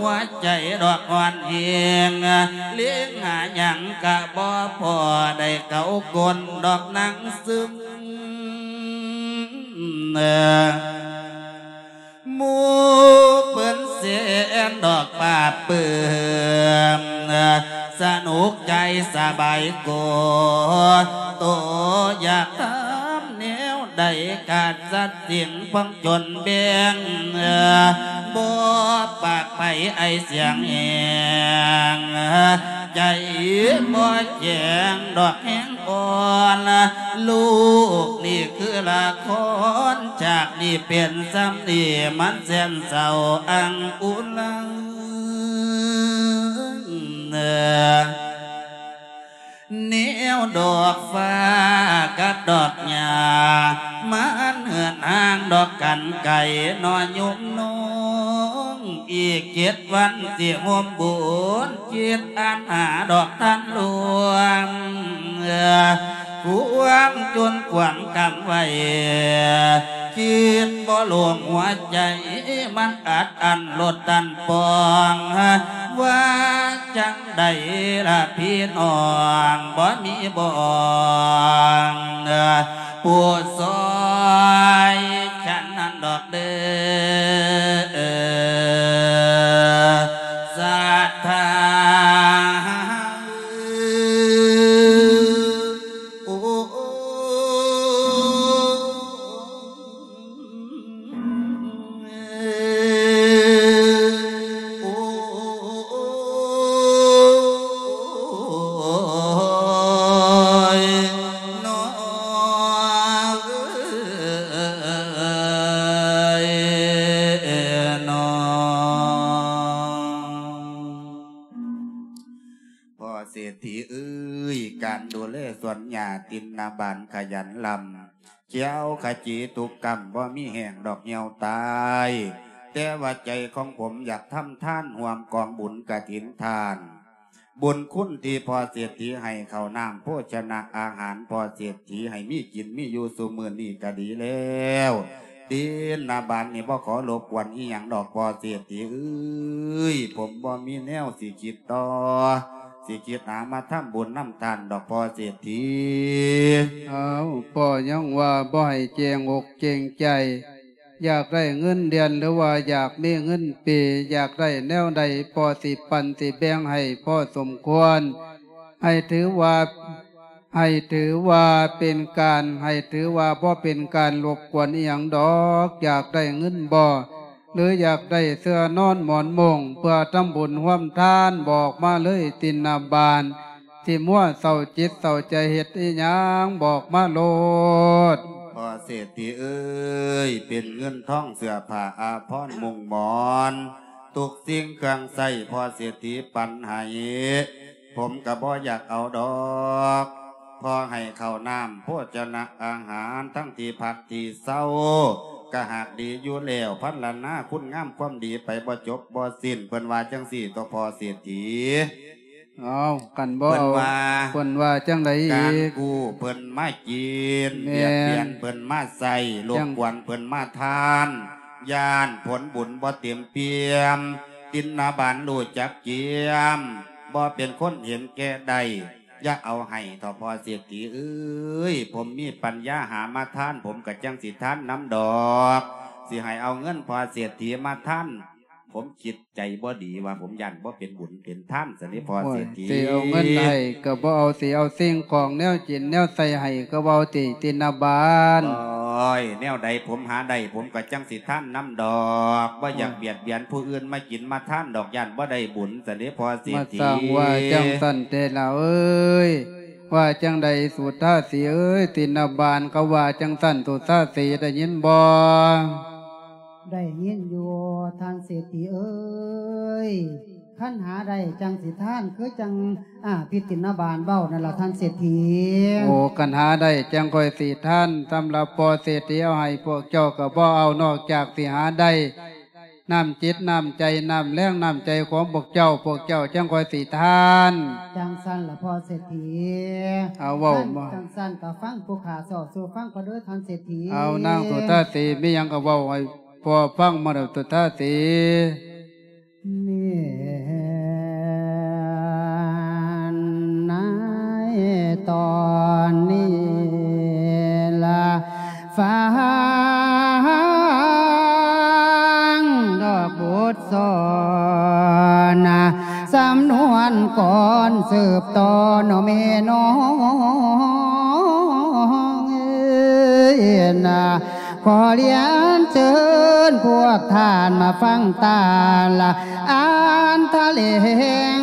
ຫົວໃຈດອກອ່ອນແຮງ ເລງຫາຫຍັງກະບໍ່ພໍ ໄດ້ເກົາກົ້ນດອກນັ່ງຊຶມ ໝູ່ເພິ່ນແສນດອກປາບປຶ້ມ ສະໜຸກໃຈສະບາຍໂກ ໂຕຢາກທຳແນວໃດ ຂາດສັດສິ່ງພອງຈົນແບ່ງ ບໍ່ປາກໄປໄອສຽງແຮງ ໃຈບໍ່ແຂງດອກແຮງອ່ອນ ລູກນີ້ຄືລະຄອນ ຈາກນີ້ເປັນຊ່ຳນີ້ ມັນແສນເສົ້າອັງອຸນ ແນວດອກຟ້າກັບດອກຫຍ້າ ມັນເຫີນຫ່າງດອກກັນໄກ ໜໍ່ຍົມນ້ອງ ອີກເຈັດວັນຊິໂຮມບຸນ ຈິດອັນຫາດອກທັນລວມ ຄວາມຈົນຄວາມກຳໄວ້ ຄິດບໍ່ລວມຫົວໃຈ ມັນອັດອັ້ນລົດຕັນປ່ອງ ວ່າຈັ່ງໃດລະພີ່ນ້ອງ ບໍ່ມີບ່ອນ ຜູ້ຊ່ອຍ ສະນັ້ນດອກເດີ ສາທາ. ດຖີເອີຍ ການດູແລສວນຫຍ້າຕິນນະບານຂະຫຍັນລຳ ຂຽວຂະຈີທຸກກຳ ບໍ່ມີແຫ້ງດອກຫ່ຽວຕາຍ ແຕ່ວ່າໃຈຂອງຜົມຢາກທຳທານຮ່ວມກອງບຸນກະຖິນທານ ບຸນຄຸນທີ່ພໍ່ເສດຖີໃຫ້ເຂົ້ານ້ຳໂພຊະນະອາຫານ ພໍ່ເສດຖີໃຫ້ມີກິນມີຢູ່ຊຸມື້ນີ້ກະດີແລ້ວ ຕິນນະບານນີ້ບໍ່ຂໍລົບກວນອີ່ຫຍັງດອກພໍ່ເສດຖີເອີຍ ຜົມບໍ່ມີແນວຊິຄິດຕໍ່ ຊິຄິດຫາມາທຳບຸນນຳທ່ານດອກພໍ່ເສດຖີ. ອ້າວ ພໍ່ຍັງວ່າບໍ່ໃຫ້ເກງອົກເກງໃຈ ຢາກໄດ້ເງິນເດືອນ ຫຼືວ່າຢາກມີເງິນປີ ຢາກໄດ້ແນວໃດ ພໍ່ຊິປັນຊິແບ່ງໃຫ້ພໍສົມຄວນ ໃຫ້ຖືວ່າ ໃຫ້ຖືວ່າເປັນການ ໃຫ້ຖືວ່າບໍ່ເປັນການລົບກວນອີ່ຫຍັງດອກ ຢາກໄດ້ເງິນບໍ່ ຫຼືຢາກໄດ້ເສື່ອນອນໝອນມຸ້ງ ເພື່ອທຳບຸນຮ່ວມທານ ບອກມາເລີຍຕິນນະບານ ຊິມົວເສົ້າຈິດເສົ້າໃຈເຮັດອີ່ຫຍັງ ບອກມາໂລດ. ພໍ່ເສດຖີເອີຍ ເປັນເງິນທອງເສື້ອຜ້າອາພອນມຸ້ງໝອນ ທຸກສິ່ງເຄື່ອງໃຊ້ ພໍ່ເສດຖີປັນໃຫ້ ຜົມກະບໍ່ຢາກເອົາດອກ ພໍໃຫ້ເຂົ້ານ້ຳໂພຊະນະອາຫານ ທັງທີ່ພັກທີ່ເຊົາ ກະຫາກດີຢູ່ແລ້ວ ພັນລະນາຄຸນງາມຄວາມດີໄປບໍ່ຈົບບໍ່ສິ້ນ ເພິ່ນວ່າຈັ່ງຊີ້ຕົວະພໍ່ເສດຖີ. ເອົາ ຄັນບໍ່ເອົາ ເພິ່ນວ່າ ເພິ່ນວ່າຈັ່ງໃດອີກ? ການກູ້ເພິ່ນມາກິນ ແມ່ນ ບຽດບຽນເພິ່ນມາໃຊ້ ລົບກວນເພິ່ນມາທານ ຢ້ານຜົນບຸນບໍ່ເຕັມປ່ຽມ ຕິນນະບານຮູ້ຈັກກຽມ ບໍ່ເປັນຄົນເຫັນແກ່ໄດ້ ຢ່າເອົາໃຫ້ເຖາະພໍ່ເສດຖີເອີຍ ຜົມມີປັນຍາຫາມາທານ ຜົມກະຈັ່ງຊິທານນຳດອກ ຊິໃຫ້ເອົາເງິນພໍ່ເສດຖີມາທານ ຜົມຄິດໃຈບໍ່ດີວ່າ ຜົມຢ້ານບໍ່ເປັນບຸນເປັນທານຊັ້ນເດພໍ່ເສດຖີ. ໂອ້ຍ ຊິເອົາເງິນໃຫ້ກະບໍ່ເອົາ ຊິເອົາສິ່ງຂອງແນວກິນແນວໃຊ້ໃຫ້ກະບໍ່ເອົາຕິ ຕິນນະບານ. ໂອ້ຍ ແນວໃດຜົມຫາໄດ້ ຜົມກະຈັ່ງຊິທານນຳດອກ ບໍ່ຢາກບຽດບຽນຜູ້ອື່ນມາກິນມາທານດອກ ຢ້ານບໍ່ໄດ້ບຸນຊັ້ນເດພໍ່ເສດຖີ. ມາສ້າງວ່າຈັ່ງຊັ້ນແທ້ລະເອີຍ ວ່າຈັ່ງໃດສຸທາສີເອີຍ ຕິນນະບານເຂົາວ່າຈັ່ງຊັ້ນ ສຸທາສີໄດ້ຍິນບໍ່? ໄດ້ຍິນຢູ່ທ່ານເສດຖີເອີຍ ຄັນຫາໄດ້ຈັ່ງຊິທານ ຄືຈັ່ງ ອາ ພິດຕິນນະບານເວົ້ານັ້ນລະທ່ານເສດຖີ. ໂອ້ ຄັນຫາໄດ້ຈັ່ງຂ້ອຍຊິທານ ສຳລັບພໍ່ເສດຖີເອົາໃຫ້ພວກເຈົ້າກະບໍ່ເອົາ ນອກຈາກຊິຫາໄດ້ ນ້ຳຈິດນ້ຳໃຈ ນ້ຳແຮງນ້ຳໃຈຂອງພວກເຈົ້າ ພວກເຈົ້າຈັ່ງຄ່ອຍຊິທານ. ຈັ່ງຊັ້ນລະພໍ່ເສດຖີ. ເອົາເວົ້າມາ ຄັນຈັ່ງຊັ້ນກະຟັງຜູ້ຂ້າເວົ້າສູ່ຟັງກ່ອນເດີທ່ານເສດຖີ. ເອົານາງສຸທາສີ ມີຫຍັງກະເວົ້າໃຫ້ພໍ່ຟັງມາເດີສຸທາສີ. ແມ່ນໃນຕອນນີ້ລະ ຟັງດອກບົດສອນ ສຳນວນກ່ອນສືບຕໍ່ເນາະແມ່ນ້ອງເອີຍນະ ຂໍລຽນເຊີນພວກທ່ານມາຟັງຕາລະ ອ່ານຖະແຫຼງ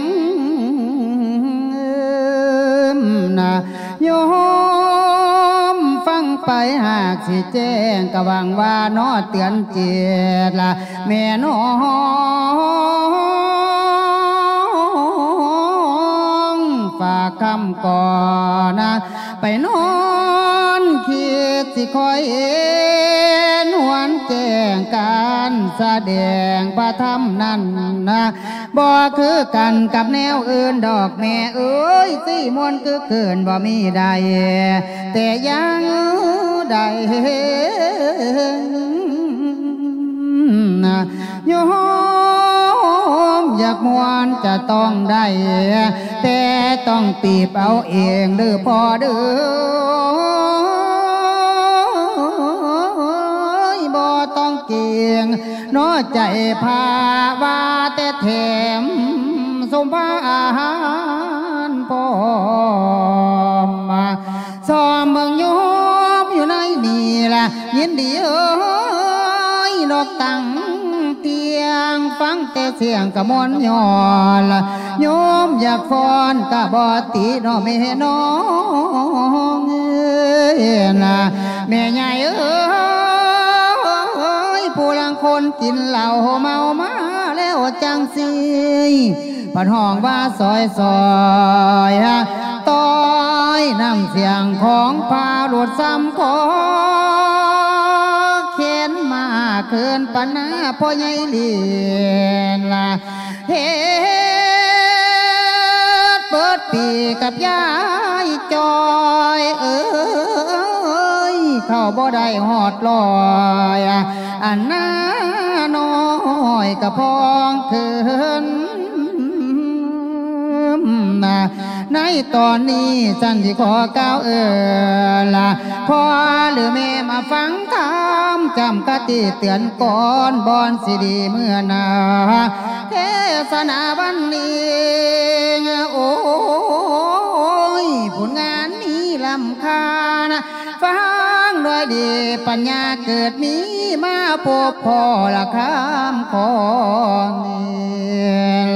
ນະ ໂຍມຟັງໄປຫາກຊິແຈ້ງ ກະຫວັງວ່າເນາະເຕືອນຈິດລະແມ່ນ້ອງ ຝາກຄຳກ່ອນນະ ໄປນອນຄິດຊິຄ່ອຍເຫັນຫວນແຈ້ງ ການສະແດງພະທຳນັ້ນນະ ບໍ່ຄືກັນກັບແນວອື່ນດອກແມ່ເອີຍ ຊິມ່ວນຄືຄືນບໍ່ມີໃດ ແຕ່ຢ່າງໃດ ໂຍມຢາກມ່ວນຈະຕ້ອງໄດ້ ແຕ່ຕ້ອງປີບເອົາເອງເດີພໍ່ເດີ ບໍ່ຕ້ອງເກງ ເນາະໃຈພາວາແຕ່ແຖມສົມພາອາຫານພ້ອມ ຊອມເບິ່ງໂຍມຢູ່ໃນນີ້ລະ ຍິນດີເອີຍ ນອກຕັ້ງຕຽງ ຟັງແຕ່ສຽງກະມ່ວນຍ້ອນລະ ໂຍມຢາກຟ້ອນກະບໍ່ຕິເນາະແມ່ນ້ອງເອີຍນະ ແມ່ໃຫຍ່ເອີຍ ຜູ້ລາງຄົນກິນເຫຼົ້າເມົາມາແລ້ວຈັ່ງຊີ້ ເພິ່ນຮ້ອງວ່າ ຊອຍ ຊອຍ ຕ້ອຍ ນ້ຳສຽງຂອງພາລຸດຊ້ຳຂໍ ເຂັນມາຄືນປານນາພໍ່ໃຫຍ່ລີນລະ ເຮັດເບິດປີກັບຍາຍຈ້ອຍເອີຍ ເຂົ້າບໍ່ໄດ້ຮອດຮ້ອຍ ອັນໜ້ານ້ອຍກະພອງຄືນ ໃນຕອນນີ້ສັນຊິຂໍກ່າວເອີນລະ ພໍ່ຫຼືແມ່ມາຟັງທຳ ຈຳຄະຕິເຕືອນກ່ອນ ບ່ອນຊິດີເມື່ອໜ້າ ເທສະໜາວັນນີ້ ໂອ້ຍ ຜົນງານມີລ້ຳຄ່ານະ ຟັງດ້ວຍດີປັນຍາເກີດມີ ມາພົບພໍ້ລະຄຳຂອງນີ້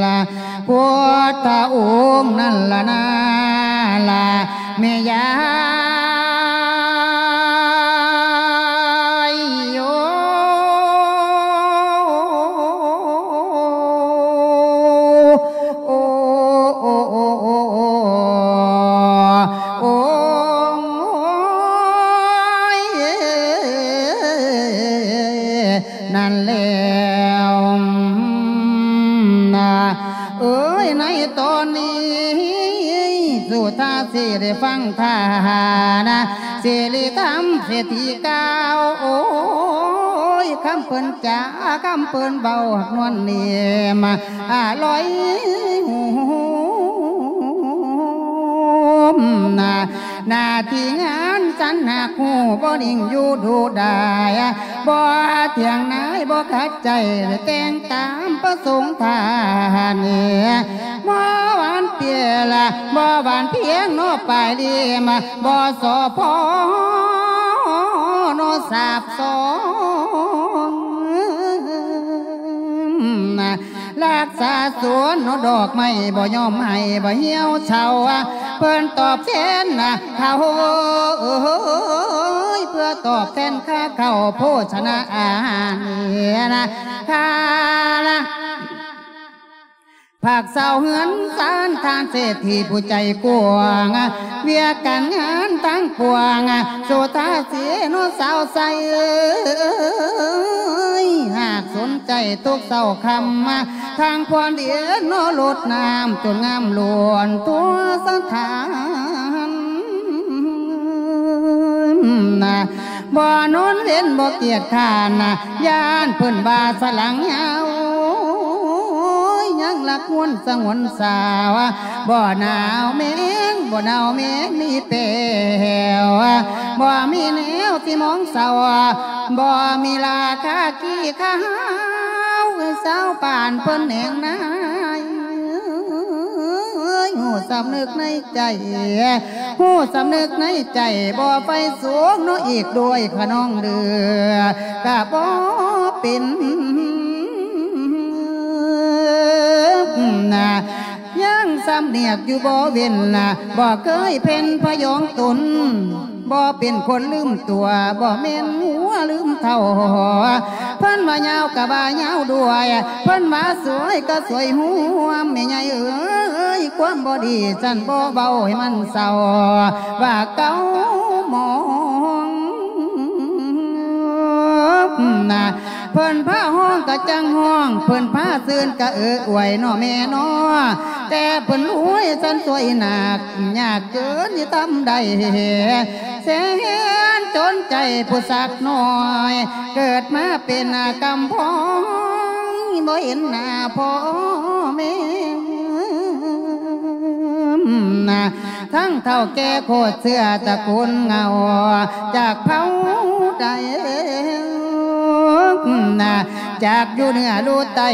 ລະ ພຸດທະອົງນັ້ນລະນາລະ ແມ່ຍາຍໂອ ໂອ ໂອ ໂອ ໂອ ໂອ ໂອ ຍ ນັ້ນແລ້ວນະ ເອີຍ ໃນຕອນນີ້ ສຸທາສີໄດ້ຟັງທ່ານະ ສິລິທຳເສດຖີກ່າວ ໂອ້ຍ ຄຳເພິ່ນຈາ ຄຳເພິ່ນເວົ້າ ນວນເນມ ອາ ລອຍຫູມນະ ໜ້າທີ່ງານສັນຫາກຮູ້ ບໍ່ນິ່ງຢູ່ດູດາຍ ບໍ່ຖຽງນາຍ ບໍ່ຂັດໃຈ ແຕ່ງຕາມປະສົງທ່ານ ບໍ່ຫວານເປຍລະ ບໍ່ຫວານພຽງເນາະປາຍລິມ ບໍ່ສໍ້ພໍເນາະສາບສອງ ນະ ລັກສາສວນເນາະດອກໄມ້ ບໍ່ຍອມໃຫ້ ບໍ່ຫ່ຽວເຊົາ ເພິ່ນຕອບແທນນະເຂົ້າ ເອີຍ ເພື່ອຕອບແທນຄ່າເຂົ້າໂພຊະນາອາຫານນະ ຄ່ານະ ພາກຊາວເຮືອນຊານທ່ານເສດຖີຜູ້ໃຈກວ້າງ ວຽກການງານທັງປວງ ສຸທາສີໂນສາວໃສ ຫາກສົນໃຈທຸກເຊົ້າຄ່ຳ ທາງພອນດຽນໂນລົດນ້ຳຈົນງາມລ້ວນທົ່ວສະຖານ ບໍ່ນອນເວັນບໍ່ກຽດຄ້ານ ຢ້ານເພິ່ນວ່າສະຫຼັງຍາວ ຍັງລັກງວນສະຫງວນສາວ ບໍ່ໜາວແມງ ບໍ່ໜາວແມງມີແປວ ບໍ່ມີແນວທີ່ມອງເສົ້າ ບໍ່ມີລາຄາຂີ້ຂາວ ຊາວບ້ານເພິ່ນແໜງນາຍ ຮູ້ສຳນຶກໃນໃຈ ຮູ້ສຳນຶກໃນໃຈ ບໍ່ໄຟສູງເນາະ ອີກດ້ວຍຂະນ້ອງເຫຼືອ ກະບໍ່ເປັນນະ ຍັງສຳນຽກຢູ່ບໍ່ເວັ້ນນະ ບໍ່ເຄີຍເພັນພະຍອງຕົນ ບໍ່ເປັນຄົນລືມຕົວ ບໍ່ແມ່ນຫົວລືມເຖົ້າ ເພິ່ນວ່າຍາວກະວ່າຍາວດ້ວຍ ເພິ່ນວ່າສວຍກະສວຍຮ່ວມ ແມ່ໃຫຍ່ເອີຍ ຄວາມບໍ່ດີຊັ້ນບໍ່ເວົ້າໃຫ້ມັນເສົ້າ ວ່າເກົ່າໝອງນະ ເພິ່ນພາຮ້ອງກະຈັ່ງຮ້ອງ ເພິ່ນພາຊື່ນກະເອີອວຍເນາະແມ່ເນາະ ແຕ່ເພິ່ນລວຍຊັ້ນສວຍໜັກ ຍາກເກີນຊິທຳໄດ້ ແສນຈົນໃຈຜູ້ສັກນ້ອຍ ເກີດມາເປັນກຳພ້ອງ ບໍ່ເຫັນໜ້າພໍ່ແມ່ ທັງເຖົ້າແກ່ໂຄດເຊື້ອຕະກູນເງົາ ຈາກເຜົ່າໃດ ຈາກຢູ່ເໜືອລູໃຕ້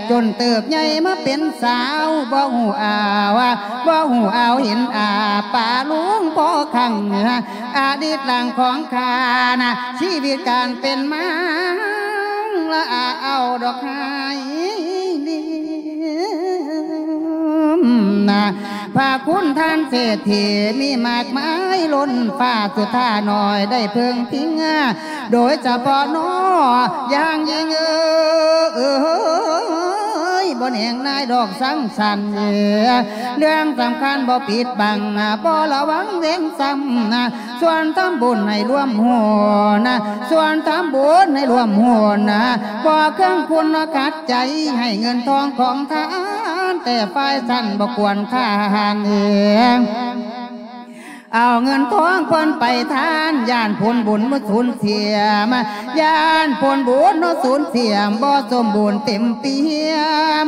ຈົນເຕີບໃຫຍ່ມາເປັນສາວ ບໍ່ຮູ້ອາວ ບໍ່ຮູ້ອາວເຫັນອາ ປາລຸງພໍ່ຄັງ ອະດີດຫຼັງຂອງຂ້ານະ ຊີວິດການເປັນມາ ລະອາເອົາດອກໄຮ ນະ ພະຄຸນທ່ານເສດຖີມີມາກມາຍລົ້ນຟ້າ ສຸທານ້ອຍໄດ້ເພິ່ງພິງ ໂດຍສະເພາະນ້ອງຢ່າງຍິ່ງເອີຍ ບໍ່ແນງນາຍດອກສັງສັນ ເລື່ອງສຳຄັນບໍ່ປິດບັງ ບໍ່ລະວັງເວັ້ນຊ້ຳ ຊວນທຳບຸນໃຫ້ລວມຫົນ ຊວນທຳບຸນໃຫ້ລວມຫົນ ບໍ່ເຄື່ອງຄຸນຂັດໃຈ ໃຫ້ເງິນທອງຂອງທານ ແຕ່ຝ່າຍສັນບໍ່ຄວນທານເອງ. ເອົາເງິນທອງເພິ່ນໄປທານ ຢ້ານຜົນບຸນບໍ່ສູນເສຍມາ ຢ້ານຜົນບຸນບໍ່ສູນເສຍມາ ບໍ່ສົມບູນເຕັມປ່ຽ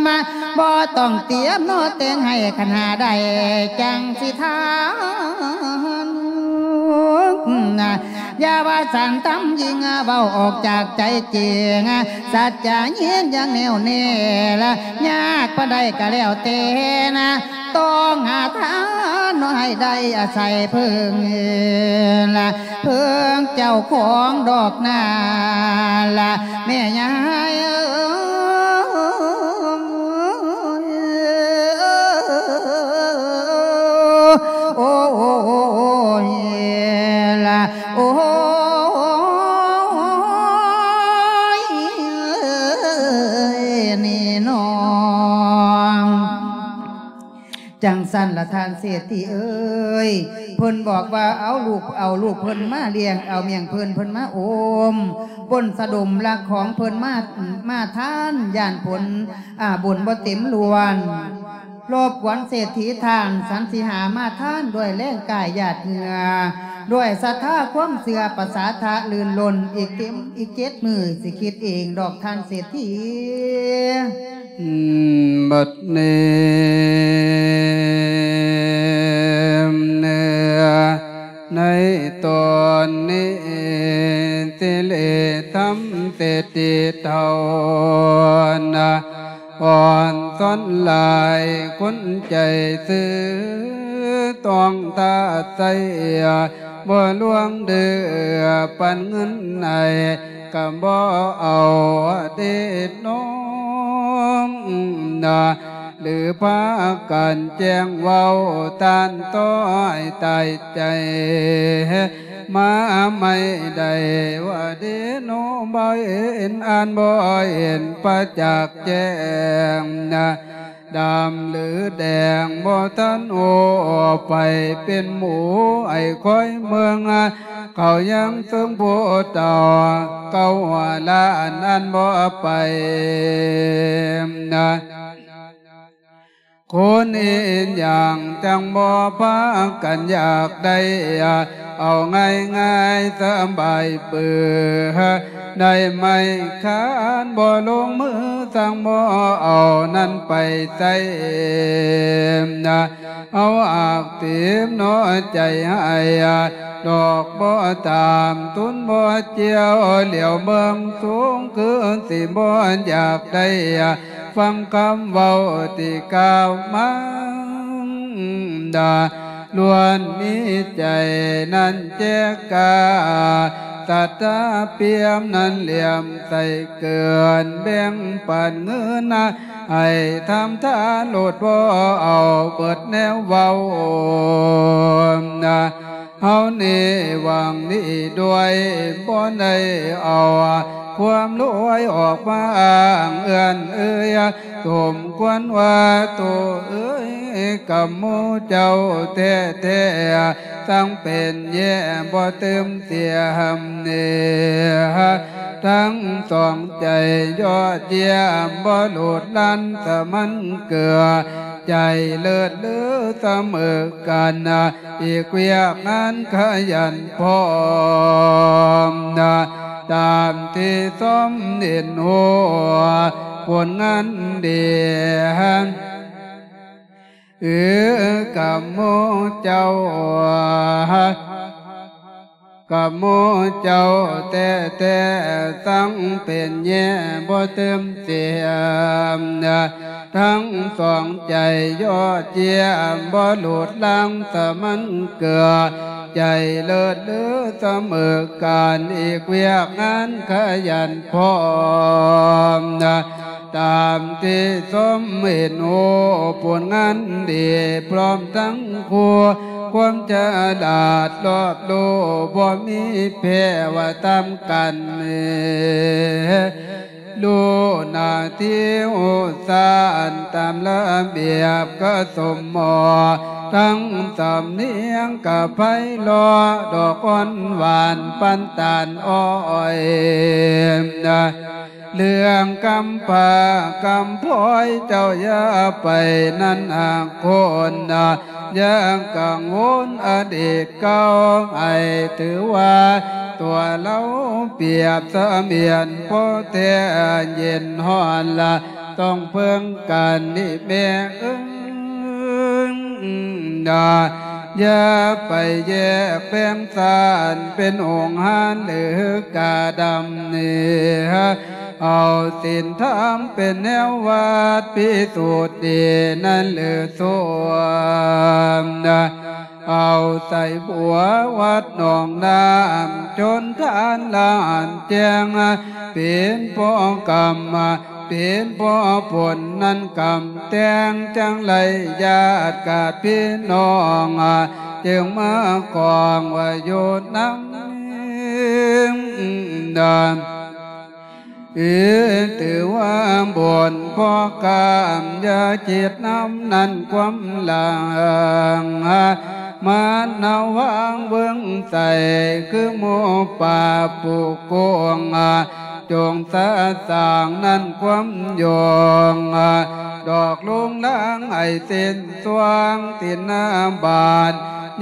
ມາ ບໍ່ຕ້ອງຕຽມເນາະແຕ່ງໃຫ້ ຄັນຫາໄດ້ຈັ່ງຊິທານ. ຢ່າວ່າສັນທຳຍິ່ງ ເວົ້າອອກຈາກໃຈຈິງ ສັດຈະຍິນຢ່າງແນ່ວແນ່ລະ ຍາກປານໃດກະແລ້ວແຕ່ນະ ຕ້ອງຫາທານເນາະໃຫ້ໄດ້ອາໄສເພິ່ງລະ ເພິ່ງເຈົ້າຂອງດອກນາລະ ແມ່ຍາຍເອີຍ. ໂອ້ຍລະ ໂອ້ຍ ນີ້ນ້ອງ. ຈັ່ງຊັ້ນລະທ່ານເສດຖີເອີຍ ເພິ່ນບອກວ່າເອົາລູກ ເອົາລູກເພິ່ນມາລ້ຽງ ເອົາມ້ຽງເພິ່ນ ເພິ່ນມາອົມ ບົນສະດົມລັກຂອງເພິ່ນມາ ມາທານ ຢ້ານຜົນ ອາ ບຸນບໍ່ເຕັມລ້ວນ ລົບກວນເສດຖີທ່ານ ສັນສິຫາມາທານດ້ວຍແຮງກາຍຫຍາດເຫື່ອ ດ້ວຍສັດທາຄວາມເຊື່ອປະສາທະລື່ນລົ້ນ ອີກເຕັມ ອີກເຈັດມື້ຊິຄິດເອງດອກທ່ານເສດຖີ. ບັດນີ້ ໃນຕອນນີ້ ສິລິທຳເສດຖີເຖົ້ານະ ອ່ອນສອນຫຼາຍຄົນໃຈຊື່ ຕ້ອງຖ້າໃຊ້ ບໍ່ລວງເດີ ປັນເງິນໃຫ້ ກະບໍ່ເອົາເດນ້ອງນະ ຫຼືພາກັນແຈ້ງເວົ້າ ຕ້ານຕ້ອຍຕາຍໃຈ ມາໃໝ່ໄດ້ວ່າເດໂນ ບໍ່ເຫັນ ອ່ານບໍ່ເຫັນປະຈັກແຈ້ງນະ ດຳຫຼືແດງບໍ່ທັນໂອ ໄປເປັນໝູໄອ້ຄອຍເມືອງ ເຂົາຍັງເຊິ່ງຜູ້ເຖົ້າເກົ່າຫຼ້າ ອັນອັນບໍ່ໄປນະ ຄົນອີຫຍັງຈັ່ງບໍ່ພາກັນຢາກໄດ້ ເອົາງ່າຍໆສະບາຍເປີ ໄດ້ໄມ້ຄານບໍ່ລົງມື ສັ່ງບໍ່ເອົານັ້ນໄປໃຊ້ນະ ເອົາອາກຕີມເນາະໃຈໃຫ້ ດອກບໍ່ຕາມ ທຶນບໍ່ຈຽວ ຫຼຽວເບິ່ງສູງຄືຊິບໍ່ຢາກໄດ້ ຟັງຄຳເວົ້າທີ່ກ່າວມາ ດາ ລ້ວນມີໃຈນັ້ນແຈກກາ ສັດທາປ່ຽມນັ້ນຫຼຽມໃສ່ເກີນ ແບ່ງປັນເງິນນະ ໃຫ້ທຳທານໂລດ ບໍ່ເອົາເບິດແນວເວົ້ານະ ເຮົານີ້ຫວັງດີດ້ວຍ ບໍ່ໄດ້ເອົາຄວາມລວຍອອກມາອ້າງເອື້ອນເອີຍ ສົມຄວນວ່າໂຕເອີຍ ກຳໝູ່ເຈົ້າແທ້ໆ ທັງເປັນແຍ່ບໍ່ຕື່ມເສຍມເນ ທັງສອງໃຈຍອດຢ້ຽມ ບໍ່ໂລດລັນສະໝັນເກືອ ໃຈເລີດເລີສະເໝີກັນ ອີກວຽກງານຂະຫຍັນພ້ອມນະ ຕາມທີ່ຊົມເຫັນຮູ້ ຜົນງານດີ ເອີ ກຳໝູ່ເຈົ້າ ກຳໝູ່ເຈົ້າແທ້ໆ ທັງເປັນແຍ່ບໍ່ຕື່ມເສຍມ ທັງສອງໃຈຍອດຢ້ຽມ ບໍ່ໂລດລັງສະໝັນເກືອ ໃຈເລີດເລີສະເໝີກັນ ອີກວຽກງານຂະຫຍັນພ້ອມນະ ຕາມທີ່ຊົມເຫັນຮູ້ ຜົນງານດີພ້ອມທັງຄູ່ ຄວາມສະຫຼາດລອບຮູ້ ບໍ່ມີແພ້ວ່າຕາມກັນ ຮູ້ໜ້າທີ່ຮູ້ສານຕາມລະບຽບກະສົມໝໍ ທັງສຳນຽງກະໄພເລາະ ດອກອ່ອນຫວານປານຕານອ້ອຍ. ເລື່ອງກຳພ້າກຳພ້ອຍເຈົ້າຢ່າໄປນັ້ນອາຄົນນະ ຢ່າກັງວົນອະດີດເກົ່າ ໃຫ້ຖືວ່າຕົວເຮົາປຽບສະໝຽນພໍ່ແທ້ເຢັນຮ້ອນລະ ຕ້ອງເພິ່ງກັນນີ້ແມ່ເອີຍນະ ຢ່າໄປແຍກແບ່ງຊານເປັນອົງຫານຫຼືກາດຳນີ້ ເອົາສິນທຳເປັນແນວວັດພິສູດດີນັ້ນຫຼືສົມນະ ເອົາໃສ່ບົວວັດໜອງນ້ຳ ຊົນທານລານແຈ້ງ ເປັນພໍ່ກຳ ເປັນພໍ່ຜົນນັ້ນກຳແຕ່ງ ຈັ່ງໄລຍາດກາດພີ່ນ້ອງ ຈຶ່ງມາຄອງວ່າຢູ່ນຳ ເອີ ຖືວ່າບຸນພໍກາມ ຢ່າຄິດນຳນັ້ນຄວາມຫຼັງ ມານະວັງເບິ່ງໃສ ຄືໝູ່ປາປູກົງ ຈົ່ງສະສາງນັ້ນຄວາມຢອງ ດອກລຸງລາງໃຫ້ເສັ້ນ ຊ່ວງຕິນນາບາດ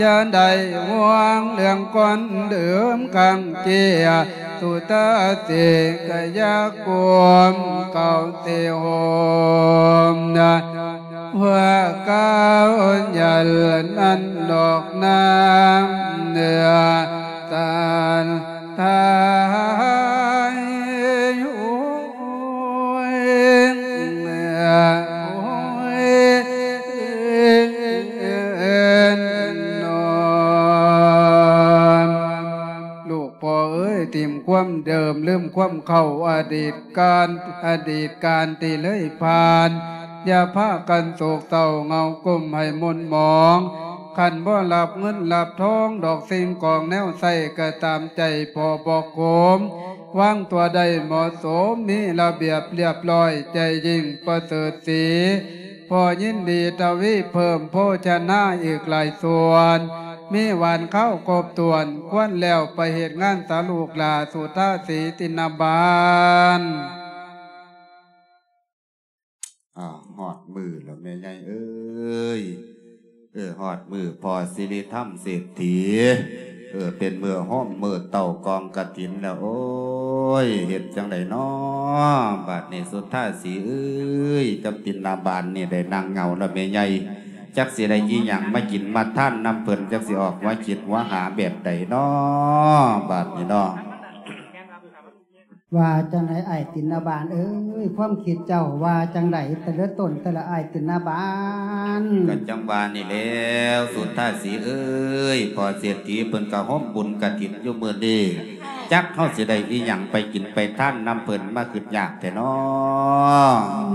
ຢ່າໄດ້ຫ່ວງເລື່ອງກ່ອນເດີມຄັ້ງເກຍ ສຸດຕາເສກະຢາກວມເກົ່າເຕໂຮມນະ ເພື່ອກ້າວໃຫຍ່ນັ້ນດອກນາງເໜືອສານ ທາຍ ໂອ້ຍ ໂອ້ຍ ນອນ ລູກພໍ່ເອີຍ ຖິ້ມຄວາມເດີມ ລືມຄວາມເກົ່າ ອະດີດການ ອະດີດການທີ່ເລີຍຜ່ານ ຢ່າພາກັນໂສກເສົ້າ ເຫງົາກົມໃຫ້ໝົນໝອງ ຄັນບໍ່ລັບເງິນລັບທອງ ດອກສິ່ງຂອງແນວໃຊ້ ກະຕາມໃຈພໍ່ບອກໂຄມ ວາງຕົວໄດ້ເໝາະສົມ ມີລະບຽບລຽບລ້ອຍ ໃຈຍິ່ງປະເສີດສີ ພໍຍິນດີທະວີເພີ່ມໂພຊະນາອີກຫຼາຍສ່ວນ ມີຫວານຄາວຄົບຖ້ວນ ຄວນແລ້ວໄປເຮັດງານສາລູກຫຼ້າ ສຸທາສີຕິນນະບານ. ອ້າວ ຮອດມື້ແລ້ວແມ່ໃຫຍ່ເອີຍ ເອີ ຮອດມື້ພໍ່ສິລິທຳເສດຖີ ເອີ ເປັນມື້ໂຮມມື້ເຕົ້າກອງກະຖິນແລ້ວ ໂອ້ຍ ເຮັດຈັ່ງໃດນໍ ບາດນີ້ສຸທາສີເອີຍ ກັບຕິນນະບານນີ້ໄດ້ນັ່ງເຫງົາແລ້ວແມ່ໃຫຍ່ ຈັກຊິໄດ້ອີ່ຫຍັງມາກິນມາທານນຳເພິ່ນ ຈັກຊິອອກມາຄິດມາຫາແບບໃດນໍ ບາດນີ້ນໍ. ວ່າຈັ່ງໃດອ້າຍຕິນນະບານເອີຍ ຄວາມຄິດເຈົ້າວ່າຈັ່ງໃດ ແຕ່ລະຕົນແຕ່ລະອ້າຍຕິນນະບານ? ກະຈັ່ງວ່ານີ້ແຫຼ້ວ ສຸທາສີເອີຍ ພໍ່ເສດຖີເພິ່ນກະໂຮມບຸນກະຖິນຢູ່ມື້ນີ້ ຈັກເຮົາຊິໄດ້ອີ່ຫຍັງໄປກິນໄປທານນຳເພິ່ນ ມາຄຶດຍາກແທ້ນໍ.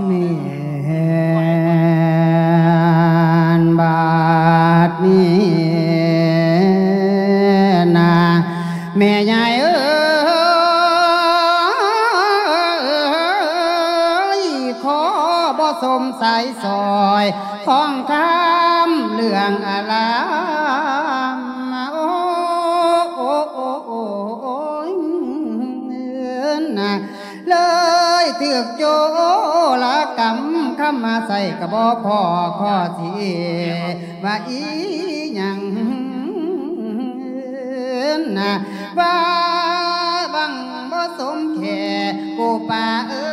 ແມ່ນ ບາດນີ້ນະ ແມ່ໃຫຍ່ເອີຍ ຂໍບໍ່ສົມສາຍສອຍ ຂອງຄຳເລື່ອງອາລາມ ໂອ້ ໂອ້ ໂອ້ ໂອ້ຍ ນະ ເລີຍຖືກໂຈລະກຳ ຄຳມາໃສ່ກະບໍ່ພໍ ຂໍຊິວ່າອີ່ຫຍັງ ນະ ວ່າຫວັງບໍ່ສົມແຄ່ ໂກປາເອີ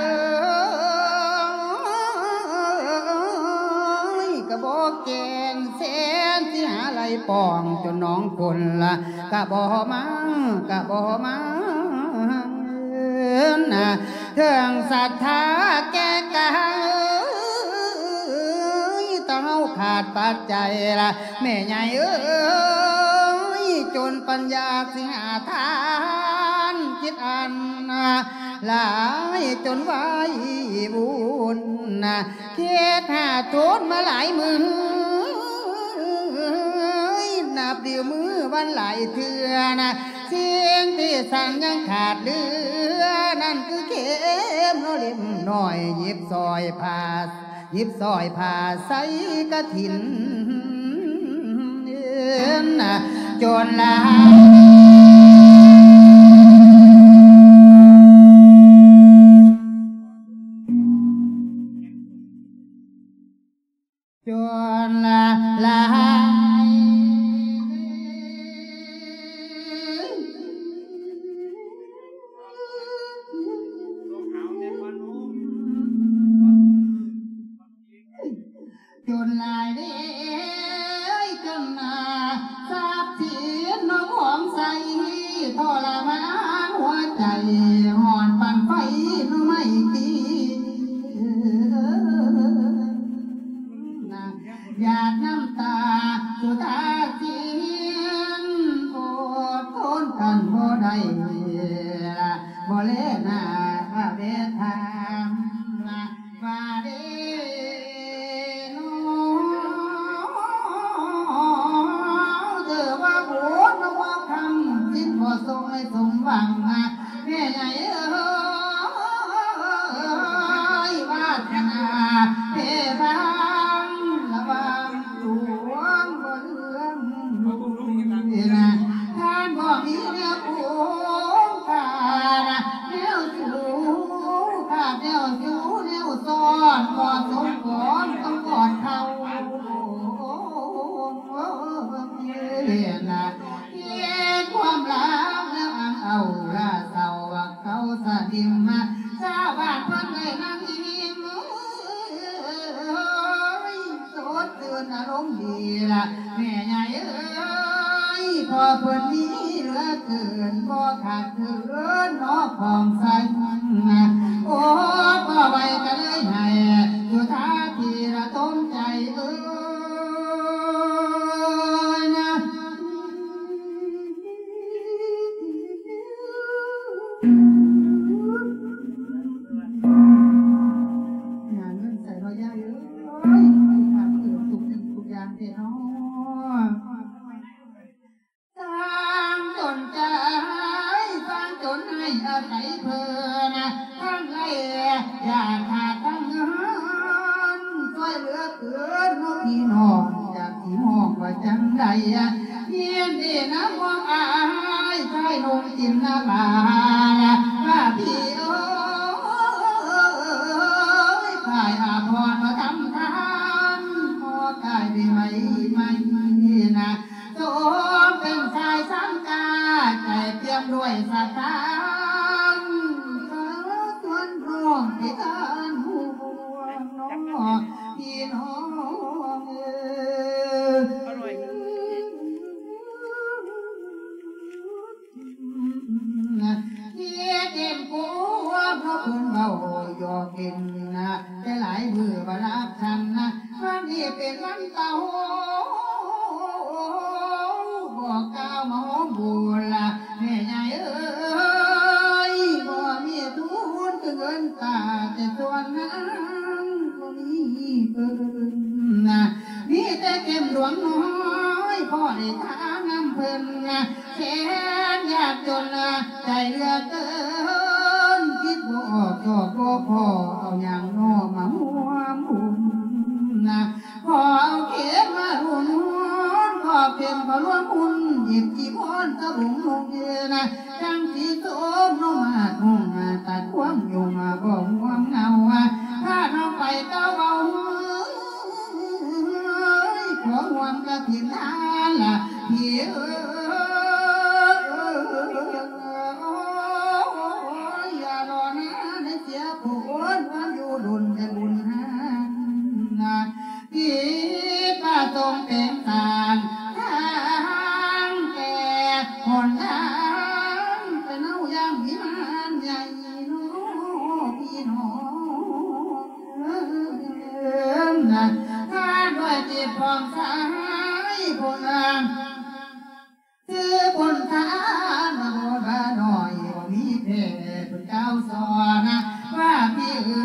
ຍ ກະບໍ່ແກ່ນແສນ ຊິຫາໄລ່ປ້ອງ ຈົນໜອງຄົນລະກະບໍ່ມາ ກະບໍ່ມາ ນະ ເຖິງສັດທາແກ່ກາຍ ແຕ່ເຮົາຂາດປັດໄຈລະ ແມ່ໃຫຍ່ເອີຍ ຈົນປັນຍາຊິຫາທານ ຄິດອັນຫຼາຍຈົນໄວວຸ່ນ ເຮັດຫາໂທນມາຫຼາຍມື້ ນັບມື້ມື້ວັນຫຼາຍເທື່ອນະ ສິ່ງທີ່ຊ່າງຍັງຂາດເຫຼືອນັ້ນຄືເຂັມນ້ອຍເຫຼັ້ມນ້ອຍ ຫຍິບສອຍຜ້າ ຫຍິບສອຍຜ້າໃສ່ກະຖິນ ຈົນລາ ຈົນລາ ລາ ຈົນຫຼາຍເດ້ ຈົນນາ ຊັບສິນນ້ອງຂອງໃສ ທໍລະມານຫົວໃຈ ຮ້ອນປານໄຟໜໍ່ໄມ້ຕີ ນາ ຫຍາດນ້ຳຕາສຸທາສິນ ອົດທົນກັນບໍ່ໄດ້ ບໍ່ແລໜ້າເວທາ ວ່າເດໂນ ເດີວ່າບຸນບໍ່ຄຳ ສິນບໍ່ສົ່ງໃຫ້ສົມຫວັງ ແມ່ໃຫຍ່ເອີຍ ວາສະໜາເພບາງ ລະຫວ່າງດວງບໍ່ເຫຼືອມ ທ່ານບໍ່ມີແນວໂກງການ ແນວສູ້ຂາດ ແນວຢູ່ແນວຊ້ອນ ບໍ່ສົມຄວນຕ້ອງກອດເຂົ່າ ເຮັດຄວາມລັບແລ້ວອັງເອົາລາເຊົາ ເຂົາສະດິມມາ ຊາວບ້ານເພິ່ນໄດ້ນັ່ງອີ່ມ ສົດຊື່ນອາລົມດີລະ ແມ່ໃຫຍ່ເອີຍ ພໍ່ເພິ່ນມີເຫຼືອເກີນ ບໍ່ຂາດເຂີນເນາະຂອງໃຊ້ ໂອ ບໍ່ໄຫວກໍເລີຍໃຫ້ ສຸທາທີລະຕົມໃຈເອີຍນະ. ຫາເງິນໃສເນາະຍາຍເອີຍ ທຸກສິ່ງທຸກຢ່າງແທ້ເນາະ ຊ່າງຈົນໃຈ ຊ່າງຈົນໃຫ້ອາໄສເພິ່ນ ທັງໄລ່ຢາກຂາດທັງເງິນ ຊ່ວຍເຫຼືອເກີນເນາະພີ່ນ້ອງ ຈາກຊິຮ້ອງວ່າຈັ່ງໃດ ຍິນດີນຳພວກອ້າຍຊາຍໜຸ່ມຈິນນະບາ ວ່າພີ່ເອີຍ ຝ່າຍອາພອນມາທຳທານ ພໍກາຍໄດ້ໄໝໄໝນະ ສົມເປັນຊາຍສັງກາ ໃຈປ່ຽມດ້ວຍສະຕາງ ເຊີນຊວນນ້ອງໄປທານຮ່ວມເນາະ ພີ່ນ້ອງເອີຍ ທີ່ເຕັມກວມເພິ່ນເວົ້າຢອກຫຼິ້ນ ແຕ່ຫຼາຍມື້ບໍ່ຫຼັບສັນ ວັນນີ້ເປັນວັນເຕົາ ບໍ່ກ່າວມາໂຮມບຸນລະ ແມ່ໃຫຍ່ເອີຍ ບໍ່ມີທຶນຄືເງິນຕາ ແຕ່ສ່ວນນາງບໍ່ມີເພິ່ນນະ ມີແຕ່ເຂັມຫຼວງນ້ອຍ ພໍໄດ້ທານຳເພິ່ນນະ ແສນຍາກຈົນນະ ໃຈເຫຼືອເກີນ ຄິດບໍ່ອອກຊອກບໍ່ພໍ ເອົາຫຍັງເນາະມາຮ່ວມບຸນນະ ຂໍເອົາເຂັມມາຮ່ວມຮຸນ ຂໍເຂັມເຂົ້າຮ່ວມຮຸນ ຫຍິບຈີວອນສະບົງນຸ່ງເອີນະ ຈັ່ງຊິສົມນົມຫາດຮຸ່ງ ຕັດຄວາມຫຍຸ້ງບໍ່ຫ່ວງເຫງົາ ພານ້ອງໄປເຕົ້າເບົາ ຂໍຮ່ວມກະຖິນທານລະພີ່ເອີຍ ໂອ້ຍ ຢ່າລໍນານະເສຍຜູ້ຄົນ ຄວາມຢູ່ດົນແຕ່ບຸນຫານນະ ທີ່ປະສົງແປງສ້າງທາງແກ່ຫົນທາງ ເປັນເຮົາຢ່າງວິມານໃຫຍ່ເນາະ ພີ່ນ້ອງເອີຍ ນະ ຖ້າດ້ວຍຈິດຜ່ອງໃສ ຜູ້ງາມ ຄືບຸນທານມະໂນບານ້ອຍ ບໍ່ມີແພ້ເພິ່ນກ່າວສອນນະ ວ່າພີ່ເອີ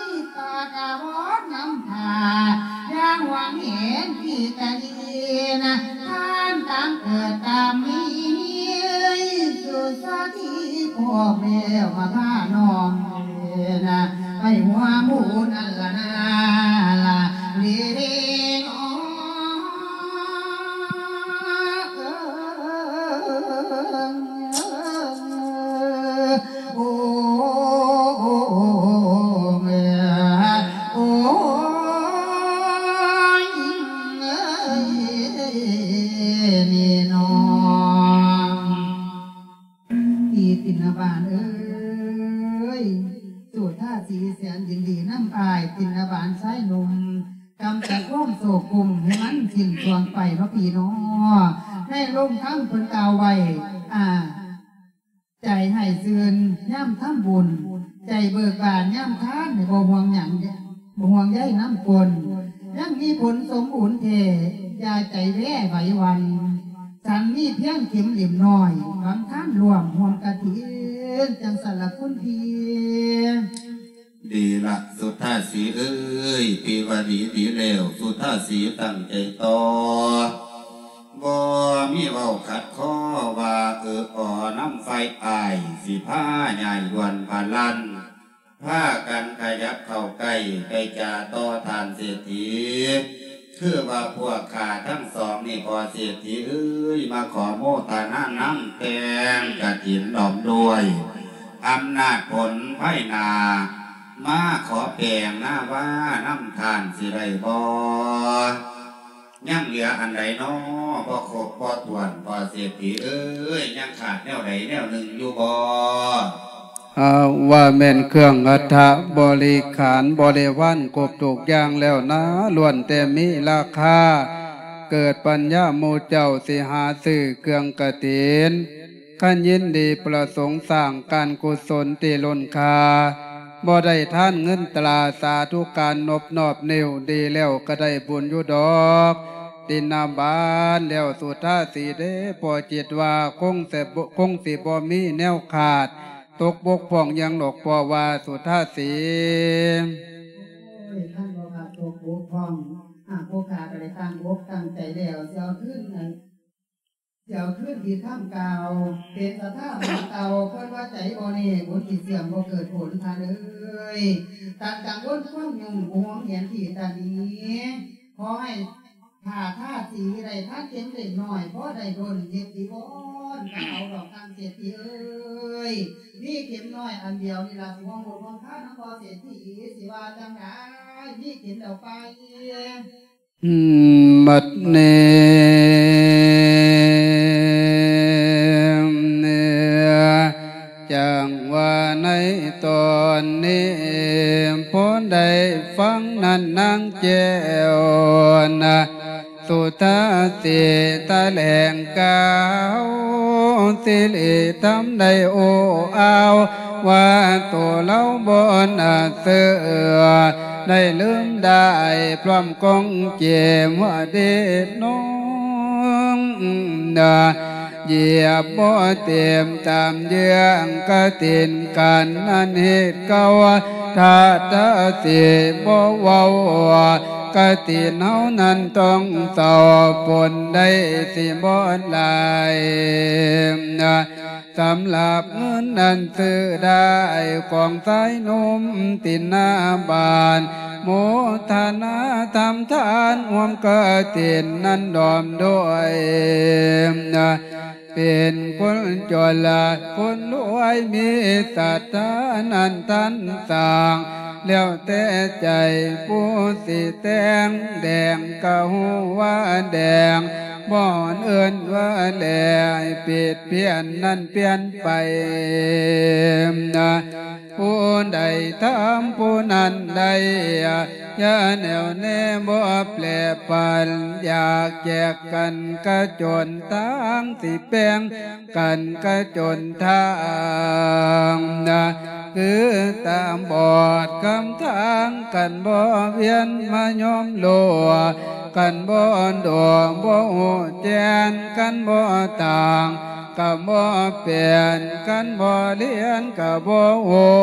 ຍ ປາກອາວອນນຳພາ ຢ່າຫວງເຫັນທີ່ກະດີນະ ຫົວໝູນັ້ນລະນາລະເດເນາະ ໂອ້ ໂອ້ ໂອ້ ໂອ້ຍ ນີ້ນ້ອງ ອີຕິນນະບານເອີຍ ສຸທາສີແສນຍິນດີນຳອ້າຍຕິນນະບານຊາຍໜຸ່ມ ກຳຈັດຄວາມໂສກກຸມໃຫ້ມັນສິ້ນຊ່ວງໄປເນາະພີ່ເນາະ. ໃນໂລງທຳເພິ່ນກ່າວໄວ້ ອ່າ ໃຈໃຫ້ຊື່ນຍາມທຳບຸນ ໃຈເບີກບານຍາມທານ ໃຫ້ບໍ່ຫ່ວງຫຍັງ ບໍ່ຫ່ວງໃຍນຳຄົນ ຍັງມີຜົນສົມບູນແທ້ ຢ່າໃຈແວໄຫວຫວັ່ນ ສັນມີພຽງເຂັມເຫຼັ້ມນ້ອຍ ຫວັງທານຮ່ວມຮ່ວມກະຖິນ ຈັ່ງຊັ້ນລະຄຸນພີ່. ດີລະ ສຸທາສີເອີຍ ປີວ່າດີດີແລ້ວ ສຸທາສີຕັ້ງໃຈຕໍ່ ບໍ່ມີເວົ້າຂັດຄໍວ່າ ເອີອໍນຳຝ່າຍອ້າຍ ຊິພາຍ້າຍດ່ວນພາລັນ ພາກັນຂະຫຍັບເຂົ້າໃກ້ ໄປຈາຕໍ່ທ່ານເສດຖີ ຄືວ່າພວກຂ້າທັງສອງນີ້ ພໍ່ເສດຖີເອີຍ ມາຂໍໂມທະນານຳແຕ່ງກະຖິນ ພ້ອມດ້ວຍອຳນາດຜົນພາຍໜ້າ ມາຂໍແປງນາວານຳທ່ານຊິໄດ້ບໍ່? ຍັງເຫຼືອອັນໃດນໍ ບໍ່ຄົບບໍ່ຖ້ວນ ພໍ່ເສດຖີເອີຍ ຍັງຂາດແນວໃດແນວໜຶ່ງຢູ່ບໍ່? ເອົາ ວ່າແມ່ນເຄື່ອງອັດຖະບໍລິຂານບໍລິວານຄົບທຸກຢ່າງແລ້ວນາ ລ້ວນແຕ່ມີລາຄາ ເກີດປັນຍາໝູ່ເຈົ້າ ຊິຫາຊື້ເຄື່ອງກະຖິນ ຄັນຍິນດີປະສົງສ້າງການກຸສົນທີ່ລົ້ນຄ່າ ບໍ່ໄດ້ທານເງິນຕາ ສາທຸການນົບນອບນິ້ວ ດີແລ້ວກະໄດ້ບຸນຢູ່ດອກ ຕິນນະບານແລ້ວ ສຸທາສີເດ້ ພໍ່ຄິດວ່າຄົງແຕ່ບໍ່ ຄົງຊິບໍ່ມີແນວຂາດຕົກບົກຜ່ອງຫຍັງດອກ ພໍ່ວ່າ ສຸທາສີ. ໂອ້ຍ ຄັນບໍ່ຂາດຕົກບົກຜ່ອງ ຫາກຜູ້ຂ້າກະໄດ້ຕັ້ງອົກຕັ້ງໃຈແລ້ວ ຊິເອົາຄືນ ຊິເອົາຄືນທີ່ຄຳກ່າວ ເປັນສັດທາໝູ່ເກົ່າ ຄົນວ່າໃຈບໍ່ແນ່ ບຸນຊິເສື່ອມບໍ່ເກີດຜົນ ທ່ານເອີຍ ຕັດກັງວົນຄວາມຫຍຸ້ງ ຫວງຫຽນທີ່ຕາໜີ ຂໍໃຫ້ຂ້າທາສີໄດ້ທານເຂັມເລັກນ້ອຍ ພໍໄດ້ດົນ ເຮັດຈີວອນກໍເອົາດອກ ທ່ານເສດຖີເອີຍ ມີເຂັມນ້ອຍອັນດຽວນີ້ລະ ຊິຫວງບົດຫວງພານຳພໍ່ເສດຖີ ຊິວ່າຈັ່ງໃດ ມີເຂັມແລ້ວໄປ. ບັດນີ້ ຈັ່ງວ່າໃນຕອນນີ້ ພໍໄດ້ຟັງນັ້ນນາງແກ້ວນະ ສຸທາສີຖະແຫຼງກ່າວ ສິລິທຳໄດ້ໂອ້ອາວ ວ່າໂຕລາວບໍ່ໜ້າເຊື່ອ ໄດ້ລືມໄດ້ພຮ້ອມກົງເກມເດດນ້ອງນະ ຢຽບບໍ່ເຕັມຕາມເຍືອງກະຕິນກັນ ອັນເຮັດເກົ່າທາດທະສິບໍ່ເວົ້າ ກະຕິນເຮົານັ້ນຕ້ອງເຊົາ ຜົນໄດ້ຊິບໍ່ຫຼາຍ ສຳລັບເງິນນັ້ນຊື້ໄດ້ຂອງຊາຍໜຸ່ມຕິນນະບານ ໂມທະນາທຳທານຮ່ວມກະຕິນນັ້ນດອມດ້ວຍ ເປັນຄົນຈົນລະຄົນລວຍ ມີສັດທານັ້ນທັນສ້າງ ແລ້ວແຕ່ໃຈຜູ້ຊິແຕ່ງ ແດງກະຮູ້ວ່າແດງ ບໍ່ເອີ້ນວ່າແລ ຜິດພຽນນັ້ນປ່ຽນໄປ ຜູ້ໃດທຳຜູ້ນັ້ນໄດ້ ຢ່າແໜ້ວແນ່ບໍ່ແປຜັນ ຢາກແຈກກັນກະຈົນທາງ ຊິແບ່ງກັນກະຈົນທາງ ຄືຕາບອດຄຳທາງ ຄັນບໍ່ວຽນມາຍອມໂລ ຄັນບໍ່ໂດ ບໍ່ຮູ້ແຈ້ງ ຄັນບໍ່ຕ່າງ ກະບໍ່ເປັນ ຄັນບໍ່ລຽນກະບໍ່ຮູ້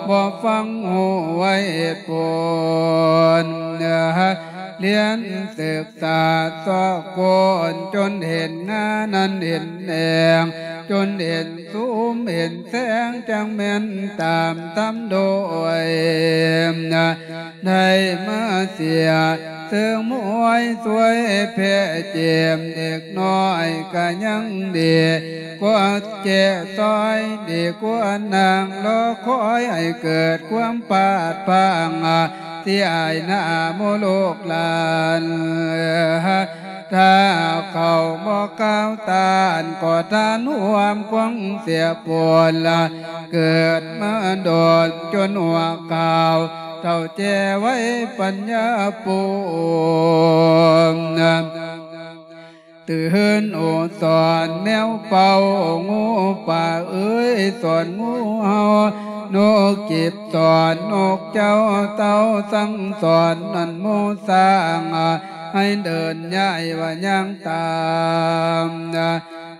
ບໍ່ຟັງຮູ້ວ່າເຫດຜົນ ລຽນສຶກສາຊອກຄົ້ນ ຈົນເຫັນງານັ້ນເຫັນແອງ ຈົນເຫັນສຸມເຫັນແສງ ຈັ່ງແມ່ນຕາມທຳໂດຍ ໄດ້ມາເສຍເຊິ່ງມວຍຊ່ວຍແຜ່ເຈັບ ເດັກນ້ອຍກະຍັງດີກວ່າແຈະຊອຍ ດີກວ່ານັ່ງລໍຄອຍໃຫ້ເກີດຄວາມພາດພາງ ທີ່ອາຍໜ້າໝູ່ລູກຫຼານ ຖ້າເຂົາບໍ່ກ່າວຕ້ານ ກໍທ່ານຮ່ວມຄົງເສຍໂປນລະ ເກີດມາໂດນຈົນຫົວຂາວ ເຖົ້າແກ່ໄວປັນຍາປູນ ຕື່ນໂອສອນແມວເປົ່າ ງູປ່າເອີຍສອນງູເຫົ່າ ນົກຈິບສອນນົກເຈົ້າ ເຕົ່າສັ່ງສອນນັ້ນໝູ່ຊ້າງ ໃຫ້ເດີນຍ້າຍວ່າຍ່າງຕາມ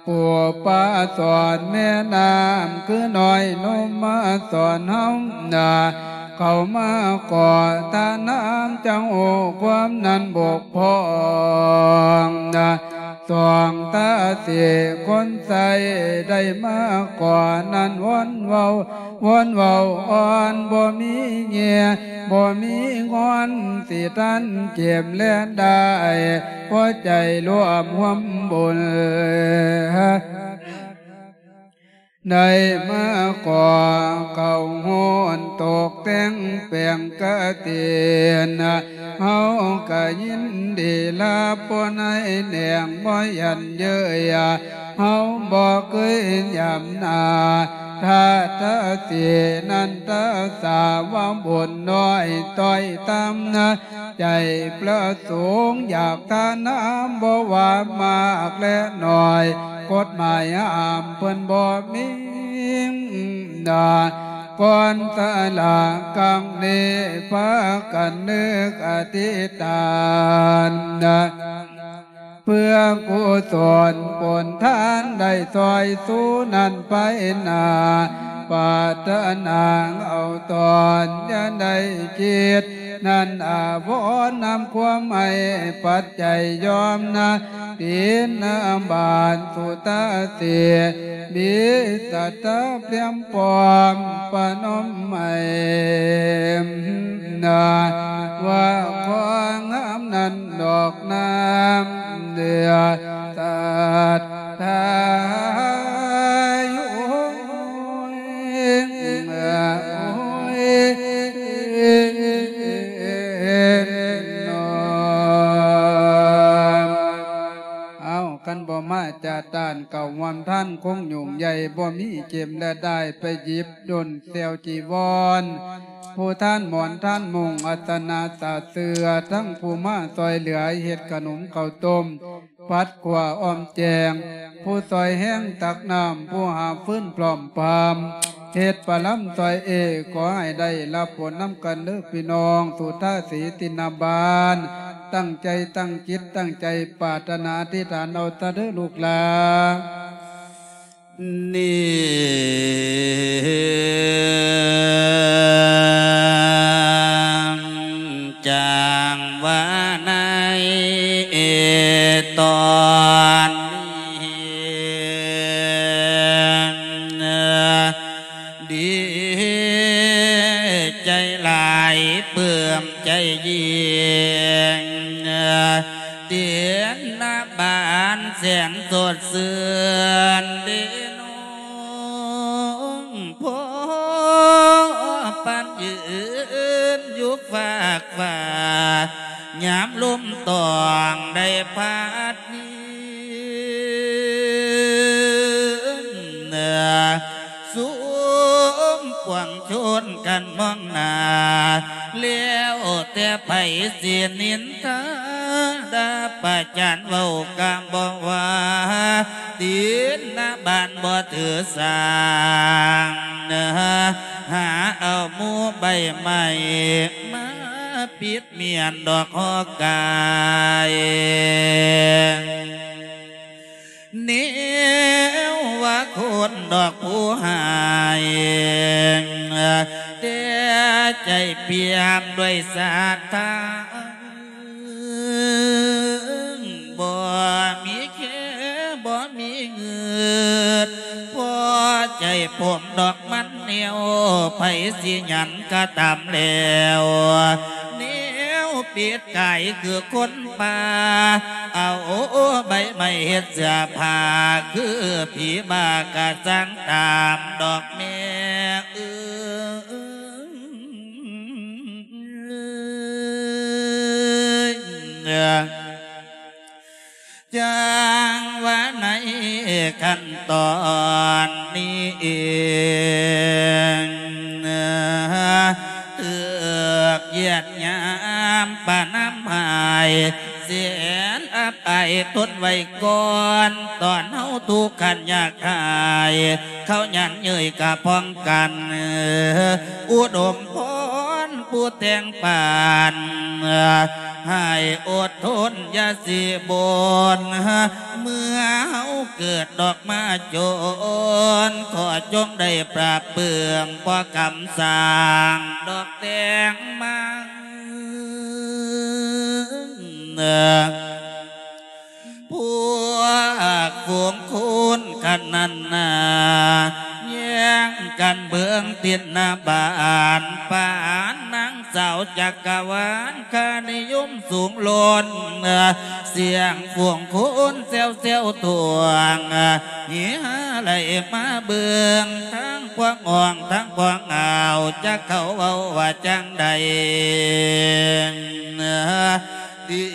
ປູປ່າສອນແມ່ນ້ຳ ຄືນ້ອຍນົມມາສອນເຮົານາ ເຂົ້າມາຂໍທານນຳ ຈັ່ງຮູ້ຄວາມນັ້ນບົກຜ່ອງນາ ສອງຕາເສຄົນໃສ ໄດ້ມາຂໍນັ້ນວອນເວົ້າ ວອນເວົ້າອ່ອນ ບໍ່ມີແງ່ ບໍ່ມີງອນ ຊິທັນເຈັບແລະໄດ້ ພໍໃຈລວມຮ່ວມບຸນ ໄດ້ມາຂໍເຂົ້າໂຮນ ຕົກແຕ່ງແປງກະຕິນ ເຮົາກະຍິນດີຮັບ ບໍ່ໃນແໜງບໍ່ຢັນເຍີ້ຍ ເຮົາບໍ່ເຄີຍຫຍາມໜ້າ ຖ້າຕາເສນັ້ນຕາສາວາບຸນນ້ອຍ ຕ້ອຍຕ່ຳນະ ໃຈປະສົງຢາກທານນຳ ບໍ່ວ່າມາກແລະໜ້ອຍ ກົດໝາຍຫ້າມເພິ່ນບໍ່ມີນາ ກ່ອນສະຫຼາກຄັ້ງນີ້ ພາກັນນຶກອະທິຖານນະ ເພື່ອກຸສົນຜົນທານໄດ້ຊ່ອຍຊູນັ້ນໄປໜ້າ ປາດຖະໜາເອົາຕອນຢ່າໄດ້ຄິດ ນັ້ນອາວອນນຳຄວາມໃຫ້ປັດໄຈຍອມນະ ຕິນນະບານສຸຕາເສ ມີສັດທາພຽມພ້ອມປະນົມໃຫ້ນະ ວ່າຂໍງາມນັ້ນ ດອກນ້ຳເດືອດ ສາດທາຍໂອ້ຍ ໂອ້ຍ ເອົາ ຄັນບໍ່ມາຈາຕານເຂົ້າຮ່ວມທານ ຄົງຫຍຸ້ງໃຫຍ່ ບໍ່ມີເຈັມແລະໄດ້ໄປຫຍິບ ດົນແຊວຈີວອນ ຜູ້ທານໝອນທານມຸງ ອັດຕະນາສາເສືອ ທັງຜູ້ມາຊ່ອຍເຫຼືອເຮັດຂະໜົມເຂົ້າຕົ້ມ ປັດຂົ້ວອ້ອມແຈງ ຜູ້ຊ່ອຍແຮງຕັກນ້ຳ ຜູ້ຫາຟືນພ້ອມພາມ ເຮັດປະລຳຊ່ອຍເອ ຂໍໃຫ້ໄດ້ຮັບຜົນນຳກັນເດີ້ພີ່ນ້ອງ ສຸທາສີຕິນນະບານ ຕັ້ງໃຈຕັ້ງຈິດຕັ້ງໃຈປາດຖະໜາ ອະທິຖານເອົາຊະເດີ້ລູກຫຼານ. ນີ້ຈັ່ງວ່າໃນຕອນນີ້ ດີໃຈຫຼາຍ ປຶ້ມໃຈຍິ່ງ ເດນນະບານແສນສົດຊື່ນ ເດນ ພອບປານຢືນຢູ່ຟາກຟ້າ ຍາມລົມຕອງໄດ້ພັດ ເໜືອ ຊຸມປວງຊົນກັນມອງໜ້າ ແລ້ວແຕ່ໃຜຊິນິນທາ ດາປະຈານເວົ້າກະບໍ່ວ່າ ຕິນນະບານບໍ່ຖືສາ ຫາເອົາໝູ່ໃບໄມ້ມາປິດ ມ້ຽນດອກຫໍ່ກາຍ ແນວວ່າຄົນດອກຜູ້ຫາຍ ແຕ່ໃຈປ່ຽມດ້ວຍສາດທາ ບໍ່ມີແຄ ບໍ່ມີເງືດ ຜົມດອກມັນແນວ ໃຜຊິຫຍັງກະຕາມແລ້ວ ແນວປິດກາຍຄືຄົນປ່າ ເອົາໃບໄມ້ເຮັດເສື້ອຜ້າ ຄືຜີບ້າກະຊ່າງຕາມດອກແມ່ເອີຍ. ຈັ່ງວ່າໃນຂັ້ນຕອນນີ້ເອງ ຖືກຢຽດຫຍາມປະນາມຮ້າຍ ແສນອັບອາຍທົນໄວ້ກ່ອນ ຕອນເຮົາທຸກຄັນຍາກໄຮ້ ເຂົາຫຍັນເຍີ້ຍກະພ້ອງກັນ ອຸດົມພອນຜູ້ແຕ່ງປານ ໃຫ້ອົດທົນຢ່າຊິບົ່ນ ເມື່ອເຮົາເກີດດອກມາຈົນ ຂໍຈົ່ງໄດ້ປາບປຶ້ມ ພໍກຳສ້າງດອກແຕ່ງມາ ພວກຝູງຄົນຄັນນັ້ນນາ ແຍ່ງກັນເບິ່ງຕິດໜ້າບ້ານ ປານນາງສາວຈັກກະວານ ຄ່ານິຍົມສູງລົ້ນ ສຽງຝູງຄົນແຊວໆທ້ວງ ເຮຮາໄຫຼມາເບິ່ງ ທັງພວກຫ້ອງ ທັງພວກອ້າວ ຈັກເຂົາເວົ້າວ່າຈັ່ງໃດ ຕິ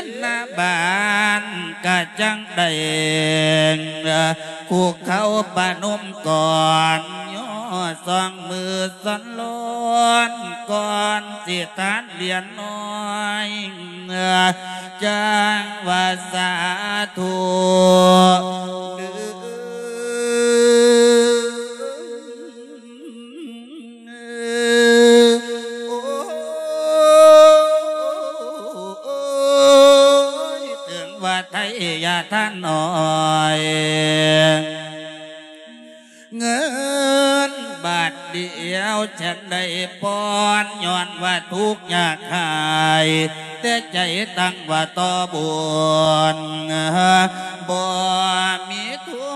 ດໜ້າບ້ານກະຈັ່ງໄດ້ ຄຸກເຂົ່າປະນົມກ່ອນ ຍໍສອງມືສັນຫຼອນ ກ່ອນຊິທານຫຼຽນນ້ອຍ ຈັ່ງວ່າສາທຸ ໂອ້ຍ ເຖິງວ່າໄທຢ່າທ່ານນ້ອຍ ເງິນບາດດຽວຈັ່ງໄດ້ປ່ອນ ຍ້ອນວ່າທຸກຍາກໄຮ້ ແຕ່ໃຈຕັ້ງວ່າຕໍ່ບຸນ ບໍ່ມີທຶ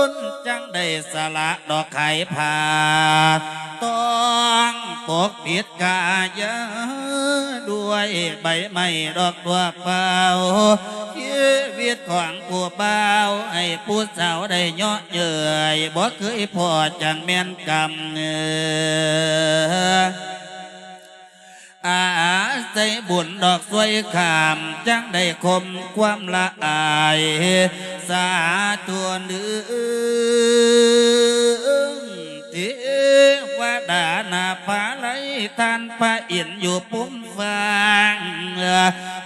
ນ ຈັ່ງໄດ້ສະຫຼະດອກຂາຍຜ້າ ຕ້ອງປົກປິດກາຍາ ດ້ວຍໃບໄມ້ດອກທົ່ວເປົ່າ ຊີວິດຂອງຜູ້ບ່າວ ໃຫ້ຜູ້ສາວໄດ້ເຍາະເຍີ້ຍ ບໍ່ເຄີຍພໍ້ຈັ່ງແມ່ນກຳ ອາໄສບຸນດອກຊ່ວຍຂ້າມ ຈັ່ງໄດ້ຄົມຄວາມລະອາຍ ສາທຸເດີ ເທວະດານາພາໄລ ທ່ານພະອິນຢູ່ພູມຟ້າ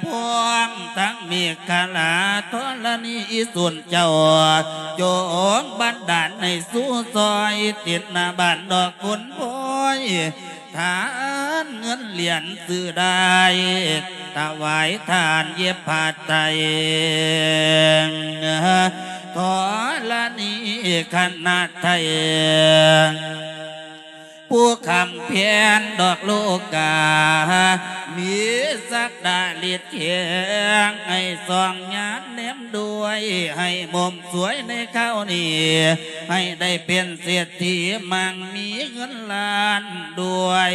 ພ້ອມທັງເມກຂະລາທໍລະນີອີສູນເຈົ້າ ຈົ່ງບັນດານໃຫ້ສູ່ຊ່ອຍ ຕິດໜ້າບ້ານດອກຄຸນພອຍ ທານເງິນຫຼຽນຊື້ໄດ້ ຖວາຍທານເຢັບຜ້າໄຕ ທໍລະນີຄະນະໄທ ຜູ້ຄ້ຳແພນດອກໂລກາ ມີສັກດາລິດແຂງ ໃຫ້ສ່ອງຍານແນມດ້ວຍ ໃຫ້ໝົມສວຍໃນຄາວນີ້ ໃຫ້ໄດ້ເປັນເສດຖີ ມັ່ງມີເງິນລ້ານດ້ວຍ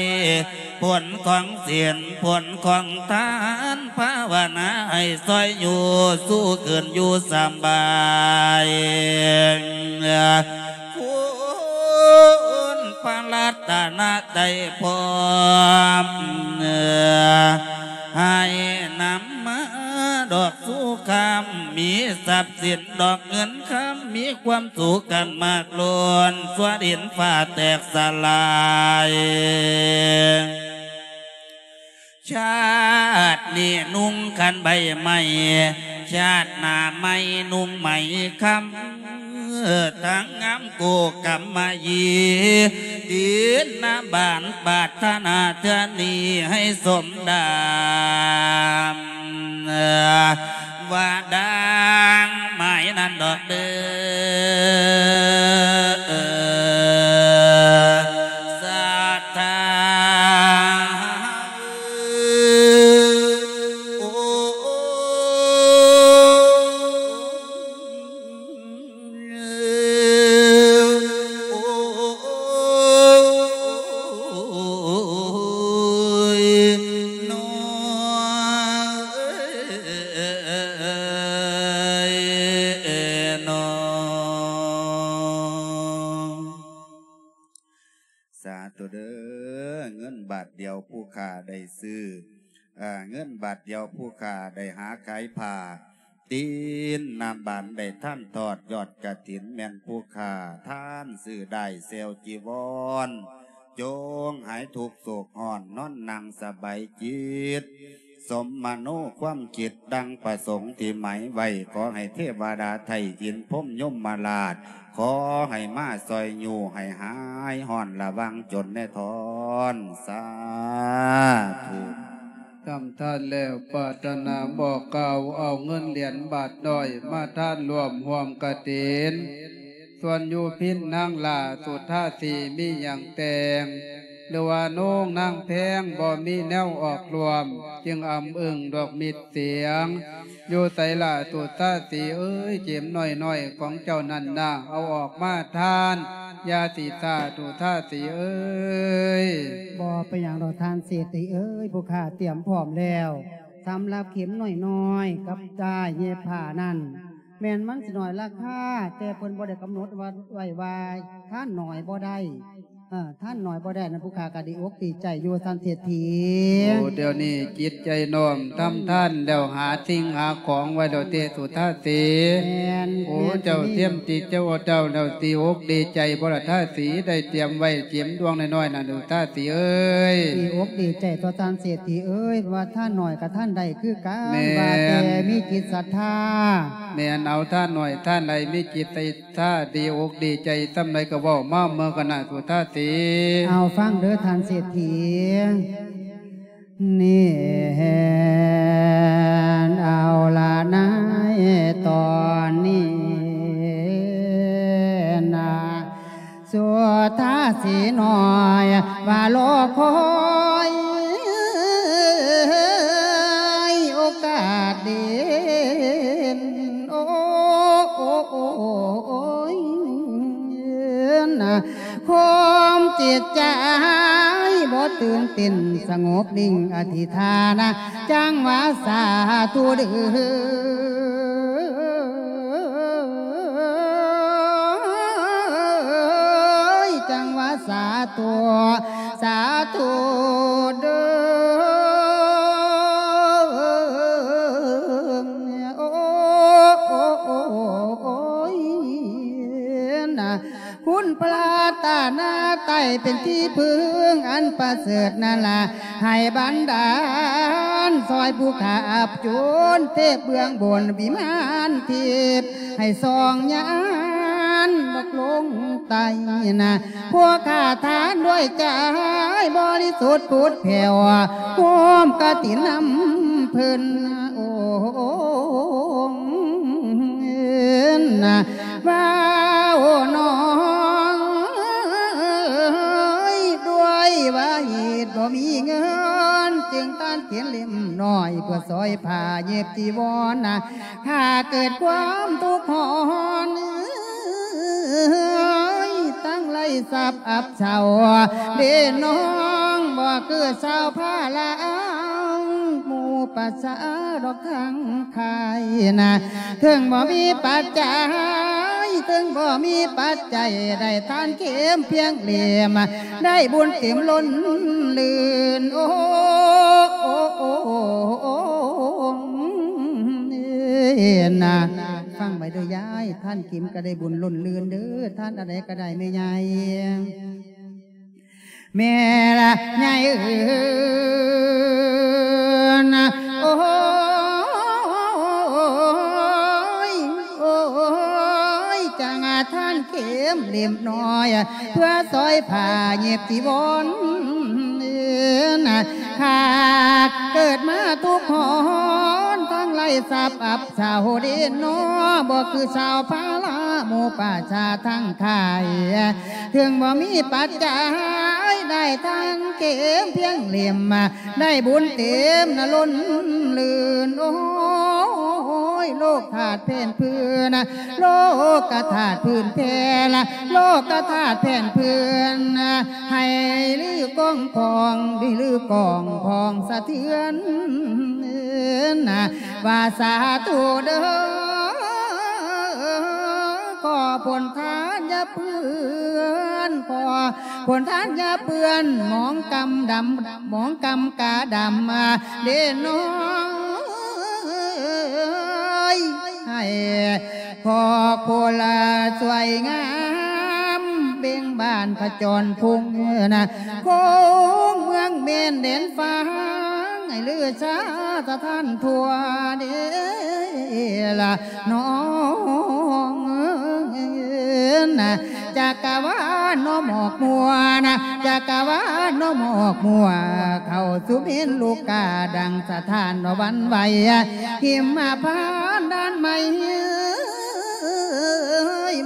ຜົນຂອງສິນ ຜົນຂອງທານ ພາວະນາໃຫ້ຊ່ອຍຢູ່ ສູ່ຂຶ້ນຢູ່ສຳບາຍ ຄຸນພະລັດຕະນະໄຕພ້ອມ ໃຫ້ນຳມາດອກສູ່ຄຳ ມີຊັບສິນ ດອກເງິນຄຳ ມີຄວາມສຸກກັນມາກລົ້ນ ຊົ່ວດິນຟ້າແຕກສະຫຼາຍ ຊາດນີ້ນຸ່ງຄັນໃບໄມ້ ຊາດໜ້າໃໝ່ນຸ່ງໄໝຄຳ ທັງງາມກູກຳມະຢີ ຕິນນະບານປາດຖະໜາເທື່ອນີ້ໃຫ້ສົມດາມ ວ່າດັ່ງໝາຍນັ້ນດອກເດີ ສັດທາ. ສາທຸເດີ ເງິນບາດດຽວຜູ້ຂ້າໄດ້ຊື້ ເອີ ເງິນບາດດຽວຜູ້ຂ້າໄດ້ຫາຂາຍຜ້າ ຕີນນາບານໄດ້ທານທອດຍອດກະຖິນ ແມ່ນຜູ້ຂ້າທານຊື້ໄດ້ແຊວຈີວອນ ຈົ່ງຫາຍທຸກໂສກຮ້ອນ ນອນນັ່ງສະບາຍຈິດ ສົມມະໂນຄວາມຄິດດັ່ງປະສົງທີ່ໝາຍໄວ້ ຂໍໃຫ້ເທວະດາໄທອິນພົມຍົມມະລາດ ຂໍໃຫ້ມາຊ່ອຍຍູ້ໃຫ້ຫາຍຮ້ອນລະວັງຈົນແນ່ທອນ ສາທຸ. ທຳທານແລ້ວ ປາດຖະໜາບອກກ່າວ ເອົາເງິນຫຼຽນບາດນ້ອຍ ມາທານຮ່ວມຮ່ວມກະຖິນ. ສ່ວນຢູ່ພິນນາງຫຼ້າສຸທາສີ ມີຫຍັງແຕ່ງ ຫຼືວ່າໂນ້ງນາງແພງ ບໍ່ມີແນວອອກຮ່ວມ ຈຶ່ງອຳອຶ້ງດອກມິດສຽງ. ຢູ່ໃສລະສຸທາສີເອີຍ ເຂັມນ້ອຍໆຂອງເຈົ້ານັ້ນນາ ເອົາອອກມາທານ ຢ່າຊິຊ້າສຸທາສີເອີຍ. ບໍ່ເປັນຫຍັງດອກທ່ານເສດຖີເອີຍ ຜູ້ຂ້າຕຽມພ້ອມແລ້ວ. ສຳລັບເຂັມນ້ອຍໆກັບດ້າຍເຢັບຜ້ານັ້ນ ແມ່ນມັນຊິໜ້ອຍລາຄາ ແຕ່ເພິ່ນບໍ່ໄດ້ກຳນົດວ່າ ໄວ້ວ່າທານໜ້ອຍບໍ່ໄດ້ ເອີ ທານໜ້ອຍບໍ່ໄດ້ນັ້ນ ຜູ້ຂ້າກໍດີອົກດີໃຈຢູ່ ທ່ານເສດຖີ. ໂອ້ ດຽວນີ້ຈິດໃຈນ້ອມທຳທານແລ້ວ ຫາສິ່ງຫາຂອງໄວ້ແລ້ວເຕ ສຸທາສີ. ແມ່ນ. ໂອ້ ແມ່ນ ເຈົ້າຕຽມຈິດເຈົ້າເຈົ້າແລ້ວ ດີອົກດີໃຈບໍ່ລະ ທາສີ ໄດ້ຕຽມໄວ້ເຂັມດວງນ້ອຍໆນັ້ນ ສຸທາສີເອີຍ. ດີອົກດີໃຈຕົວະທ່ານເສດຖີເອີຍ ວ່າທານໜ້ອຍກໍທານໄດ້ຄືກັນ ແມ່ນ ວ່າແຕ່ມີຈິດສັດທາ. ແມ່ນ ເອົາທານໜ້ອຍທານໃດມີຈິດໃສ່ ຖ້າດີອົກດີໃຈສ່ຳໃດກໍເວົ້າມາເມືອກັນນະ ສຸທາສີ. ເອົາ ຟັງເດີທ່ານເສດຖີ. ນີ້ເອົາລະ ໃນຕອນນີ້ນະ ສຸທາສີນ້ອຍວ່າລໍຄອຍໂອກາດເດັ່ນ ໂອ້ ໂອ້ ໂອ້ ໂອ້ຍ ນະ ຄວາມຈິດໃຈບໍ່ຕື່ນເຕັ້ນ ສະຫງົບນິ່ງອະທິຖານ ຈັ່ງວ່າສາທຸເດີ ຈັ່ງວ່າສາທຸ ສາທຸເດີ ໂອ້ ໂອ້ ໂອ້ ໂອ້ຍ ນະ ຄຸນພະລັດຕະນະໄຕເປັນທີ່ເພິ່ງອັນປະເສີດນັ້ນລະ ໃຫ້ບັນດານຊ່ອຍຜູ້ຂ້າອັບຈຸນ ເທບເບື້ອງບົນວິມານທິບ ໃຫ້ສ່ອງຍານດອກລົງໃຕ້ນະ ພວກຂ້າທານດ້ວຍໃຈບໍລິສຸດຜຸດແຜ່ວ ຮ່ວມກະຖິນນຳເພິ່ນ ໂອ້ ນະ ວ່າ ໂອ້ ນ້ອງເອີຍ ດ້ວຍວ່າເຫດບໍ່ມີເງິນ ຈຶ່ງຕ້ານເຂັນເຫຼັ້ມນ້ອຍ ເພື່ອຊ່ອຍຜ້າເຢັບຈີວອນນະ ຂ້າເກີດຄວາມທຸກຮ້ອນ ເອີຍ ທັງໄຮ້ຊັບອັບເຊົາ ເດນ້ອງ ບໍ່ຄືຊາວພາລາ ໝູ່ປະຊາດອກທາງ ຂາຍນະ ເຖິງບໍ່ມີປັດໄຈ ເຖິງບໍ່ມີປັດໄຈ ໄດ້ທານເຂັມພຽງເຫຼັ້ມ ໄດ້ບຸນເຕັມລົ້ນລື່ນ ໂອ້ ໂອ້ ໂອ້ ໂອ້ ນະ ຟັງໄວ້ເດີຍາຍ ທານເຂັມກໍໄດ້ບຸນລົ້ນລື່ນເດີ ທານອັນໃດກໍໄດ້ແມ່ໃຫຍ່. ແມ່ລະໃຫຍ່ເອີຍ ໂອ້ຍ ໂອ້ຍ ຈັ່ງອາທານເຂັມເຫຼັ້ມນ້ອຍ ເພື່ອຊ່ອຍຜ້າເຢັບຈີວອນ ຂ້າເກີດມາທຸກຮ້ອນ ທັງໄຮ້ຊັບອັບເຊົາເດນອ ບໍ່ຄືຊາວພາລາໝູ່ປະຊາທັງຂາຍ ເຖິງບໍ່ມີປັດໄຈ ໄດ້ທັງເຂັມພຽງເຫຼັ້ມ ໄດ້ບຸນເຕັມນະລົ້ນລື່ນ ໂອ້ຍ ໂລກທາດແຜ່ນພື້ນ ໂລກະທາດພື້ນແຜ່ນ ໂລກະທາດແຜ່ນພື້ນ ໃຫ້ລືກ້ອງພອງ ລືກ້ອງພອງສະເທືອນ ວ່າສາທຸເດີ ຂໍຜົນທານຢ່າເປື້ອນ ຂໍ ຝົນທານຢ່າເປື້ອນ ໝອງກຳດຳ ໝອງກຳກາດຳເດ້ນ້ອງເອີຍ ໃຫ້ພໍ່ໂຄລາຊ່ວຍງາມ ເບັງບານຂະຈອນພົງນະ ຄົງເມືອງແມ່ນແດນຟ້າ ໃຫ້ລືຊາສະຖານທົ່ວເດ້ລະ ນ້ອງເອີຍນະ ຈັກກະວານນ້ອມອອກມົວນະ ຈັກກະວານນ້ອມອອກມົວ ເຂົ້າສູ່ເມນລູກກາ ດັ່ງສະຖານວ່າຫວັ່ນໄຫວ ຫິມມະພານດ້ານໃໝ່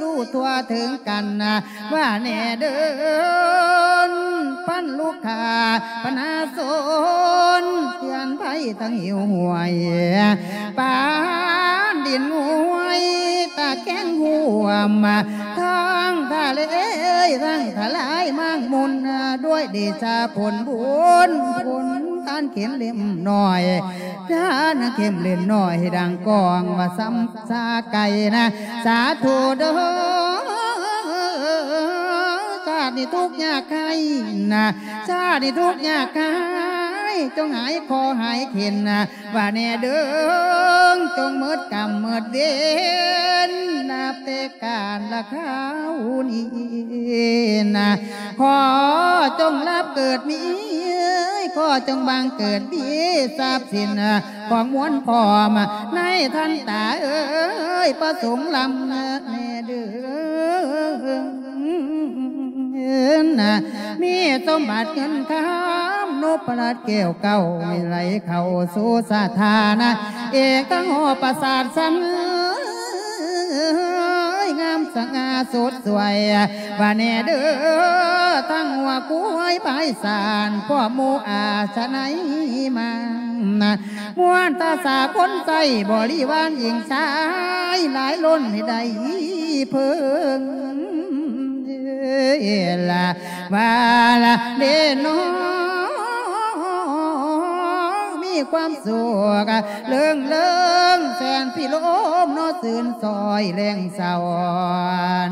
ຮູ້ທົ່ວເຖິງກັນນະ ວ່າແນ່ເດີ ພັນລູກຄ້າ ບັນຫາຊົນ ເຕືອນໄພທັງຫິວຫ້ວຍ ປານດິນຫວຍ ຕາແກງຮ່ວມ ທັງທະເລ ທັງທະລາຍມາກມຸນ ດ້ວຍເດຊະຜົນບຸນ ຜົນທານເຂັມເຫຼັ້ມນ້ອຍ ທານເຂັມເຫຼັ້ມນ້ອຍ ດັ່ງກອງວ່າຊ້ຳຊາໄກນະ ສາທຸເດີ ຊາດນີ້ທຸກຍາກໄຮ້ນະ ຊາດນີ້ທຸກຍາກໄຮ້ ຈົ່ງຫາຍຄໍ້ຫາຍເຂັນນະ ວ່າແນ່ເດີ ຈົ່ງໝົດກຳໝົດເວນ ນັບແຕ່ການລະຄາວນີ້ນະ ຂໍຈົ່ງຮັບເກີດມີ ຂໍຈົ່ງບັງເກີດມີ ຊັບສິນຂອງມວນພ້ອມ ໃນທັນຕາເອີຍ ປະສົງລຳແນ່ເດີ ນະ ມີສົມບັດເງິນຄຳ ນົບພະລັດແກ້ວເກົ້າ ໃຫ້ໄຫຼເຂົ້າສູ່ສະຖານະ ເອກທັງຫໍປາສາດສັນ ເອີຍ ງາມສະຫງ່າສົດສວຍ ວ່າແນ່ເດີ ທັງຫົວຄວາຍພາຍສານ ພວກໝູ່ອາສະໄນມາ ນະ ມ່ວນຕາສາຄົນໃຊ້ ບໍລິວານຍິງຊາຍ ຫຼາຍລົ້ນໃຫ້ໄດ້ເພິ່ງ ລະວ່າລະເດນ້ອງ ມີຄວາມສຸກເລີງເລີງ ແສນພິລົມເນາະ ຊື່ນຊ່ອຍແລງເຊົ້າ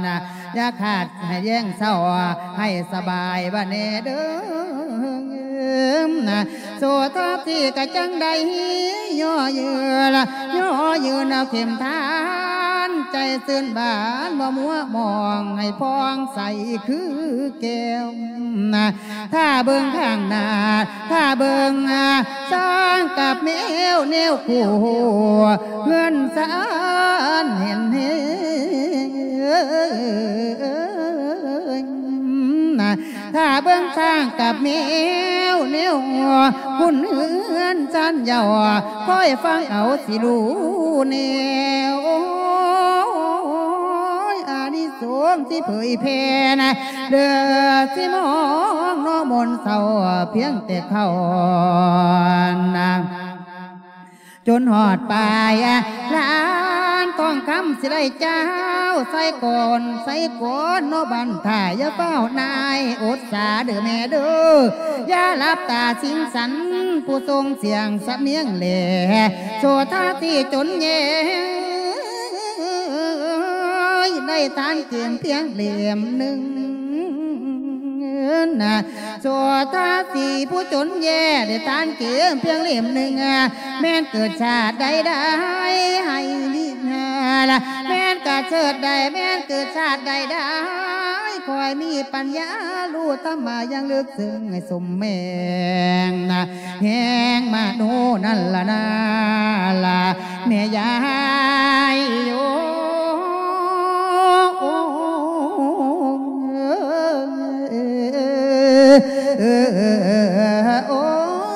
ນະ ຢ່າຂາດໃຫ້ແລງເຊົ້າ ໃຫ້ສະບາຍວ່າແນ່ເດີ ນະ ໂສທາທີ່ກະຈັ່ງໄດ້ຍໍຍືນ ຍໍຍືນເອົາເຂັມທານ ໃຈຊື່ນບານບໍ່ມົວໝອງ ໃຫ້ຜ່ອງໃສຄືແກ້ວນະ ຖ້າເບິ່ງຂ້າງໜ້າ ຖ້າເບິ່ງ ອາ ຊ້າງກັບແມວແນວຄູ່ ເຮືອນຊານເຫັນເຫັນ ຖ້າເບິ່ງຊ້າງກັບແມວແນວ ບຸນເຮືອນຊານເຍົາ ຄອຍຟັງເອົາຊິຮູ້ແນວ ໂອ້ຍ ອານິສົງຊິເຜີຍແຜ່ນະ ເດີຊິມອງເນາະ ມ່ວນເສົ້າພຽງແຕ່ເຂົ້ານະ ຈົນຮອດປາຍລານທອງຄຳ ຊິໄດ້ເຈົ້າໃສ່ກ່ອນ ໃສ່ກ່ອນເນາະ ບັນທາ ຢ່າຟ້າວນາຍ ອົດສາເດີແມ່ເດີ ຢ່າຫຼັບຕາສິງສັນ ຜູ້ຊົງສຽງສຳນຽງແລ ໂສທາທີ່ຈົນແຍ່ ໄດ້ທານເກມພຽງເຫຼັ້ມໜຶ່ງ ນະ ໂສທາທີ່ຜູ້ຈົນແຍ່ ໄດ້ທານເກມພຽງເຫຼັ້ມໜຶ່ງ ແມ່ນເກີດຊາດໃດໄດ້ໃຫ້ມີນາລະ ແມ່ນກະເສີດໄດ້ ແມ່ນເກີດຊາດໃດໄດ້ ຂ້ອຍມີປັນຍາຮູ້ທຳມາຢ່າງເລິກເຊິ່ງ ໃຫ້ສົມແໝ່ງນະ ແຮງມະໂນນັ້ນລະນາລະ ແມ່ຍາຍໂຍ ໂອ້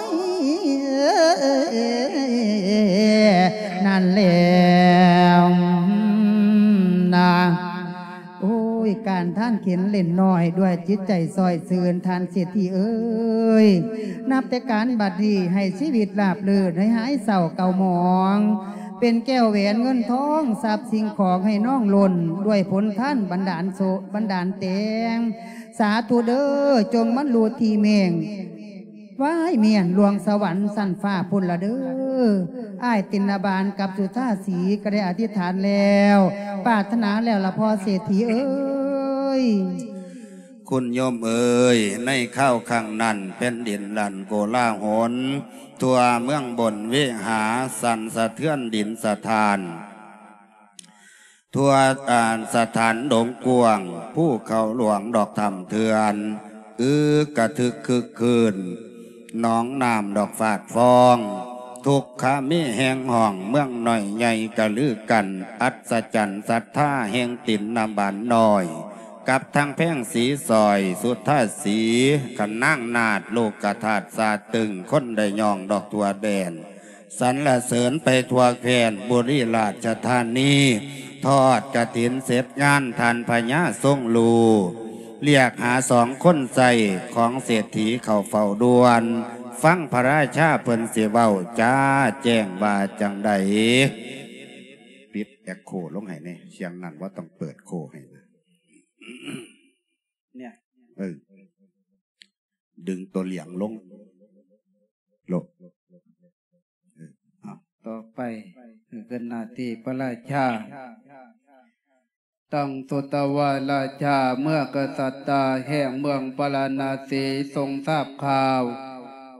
ຍ ນັ້ນແຫຼະນະ ໂອ້ຍ ການທານເຂັນເຫຼັ້ນນ້ອຍ ດ້ວຍຈິດໃຈຊ່ອຍຊື່ນ ທ່ານເສດຖີເອີຍ ນັບແຕ່ການບັດນີ້ ໃຫ້ຊີວິດລາບລື່ນ ໃຫ້ຫາຍເສົ້າເກົ່າໝອງ ເປັນແກ້ວແຫວນເງິນທອງ ຊັບສິ່ງຂອງໃຫ້ນ້ອງລົ້ນ ດ້ວຍຜົນທານບັນດານໂສ ບັນດານແຕງ ສາທຸເດີ ຈົ່ງບັນລຸທີ່ແມ່ງ ວາຍ ມ້ຽນລວງສະຫວັນຊັ້ນຟ້າພຸ້ນລະເດີ. ອ້າຍຕິນນະບານກັບສຸທາສີກໍໄດ້ອະທິຖານແລ້ວ ປາດຖະໜາແລ້ວລະພໍ່ເສດຖີເອີຍ. ຄຸນໂຍມເອີຍ, ໃນຄາວຄັ້ງນັ້ນ ແຜ່ນດິນລັນໂກລາຫົນ, ທົ່ວເມືອງບົນເວຫາ ສັ່ນສະເທືອນດິນສະຖານ, ທົ່ວ ອາ ສະຖານດົງກວ້າງ, ພູເຂົາຫຼວງດອກຖ້ຳເຖື່ອນ, ອຶກກະທຶກຄຶກຄື້ນ, ໜອງນ້ຳດອກຟາດຟອງ, ທຸກຂະມີແຮງຮ້ອງ, ເມືອງນ້ອຍໃຫຍ່ກະລືກັນ, ອັດສະຈັນສັດທາແຫ່ງຕິນນະບານນ້ອຍ ກັບທັງແພງສີສອຍ ສຸທາສີ ຂະນາງນາດ ໂລກະທາດຊາດຕຶງ, ຄົນໄດ້ຍ້ອງດອກທົ່ວແດນ, ສັນລະເສີນໄປທົ່ວແຄວ້ນ ບຸລີລາຊະທານີ, ທອດກະຖິນເສັດງານ ທ່ານພະຍາຊົງຮູ້, ລຽກຫາສອງຄົນໃຊ້ ຂອງເສດຖີເຂົ້າເຝົ້າດ່ວນ, ຟັງພະລາຊາເພິ່ນຊິເວົ້າຈາແຈ້ງວ່າຈັ່ງໃດ. ປິດແອັກໂຄລົງໃຫ້ແດ່, ສຽງນັ້ນບໍ່ຕ້ອງເປີດໂຄໃຫ້ນະ. ເອີ ດຶງຕົວຫຼຽງລົງ ລົງ ເອີ ເອົາ ຕໍ່ໄປ ເອີ ຂຶ້ນໜ້າທີ່ພະລາຊາ. ຕັງ ສຸຕະວາລາຊາ ເມື່ອກະສັດຕາແຫ່ງເມືອງປາລານະສີ ຊົງຊາບຂ່າວ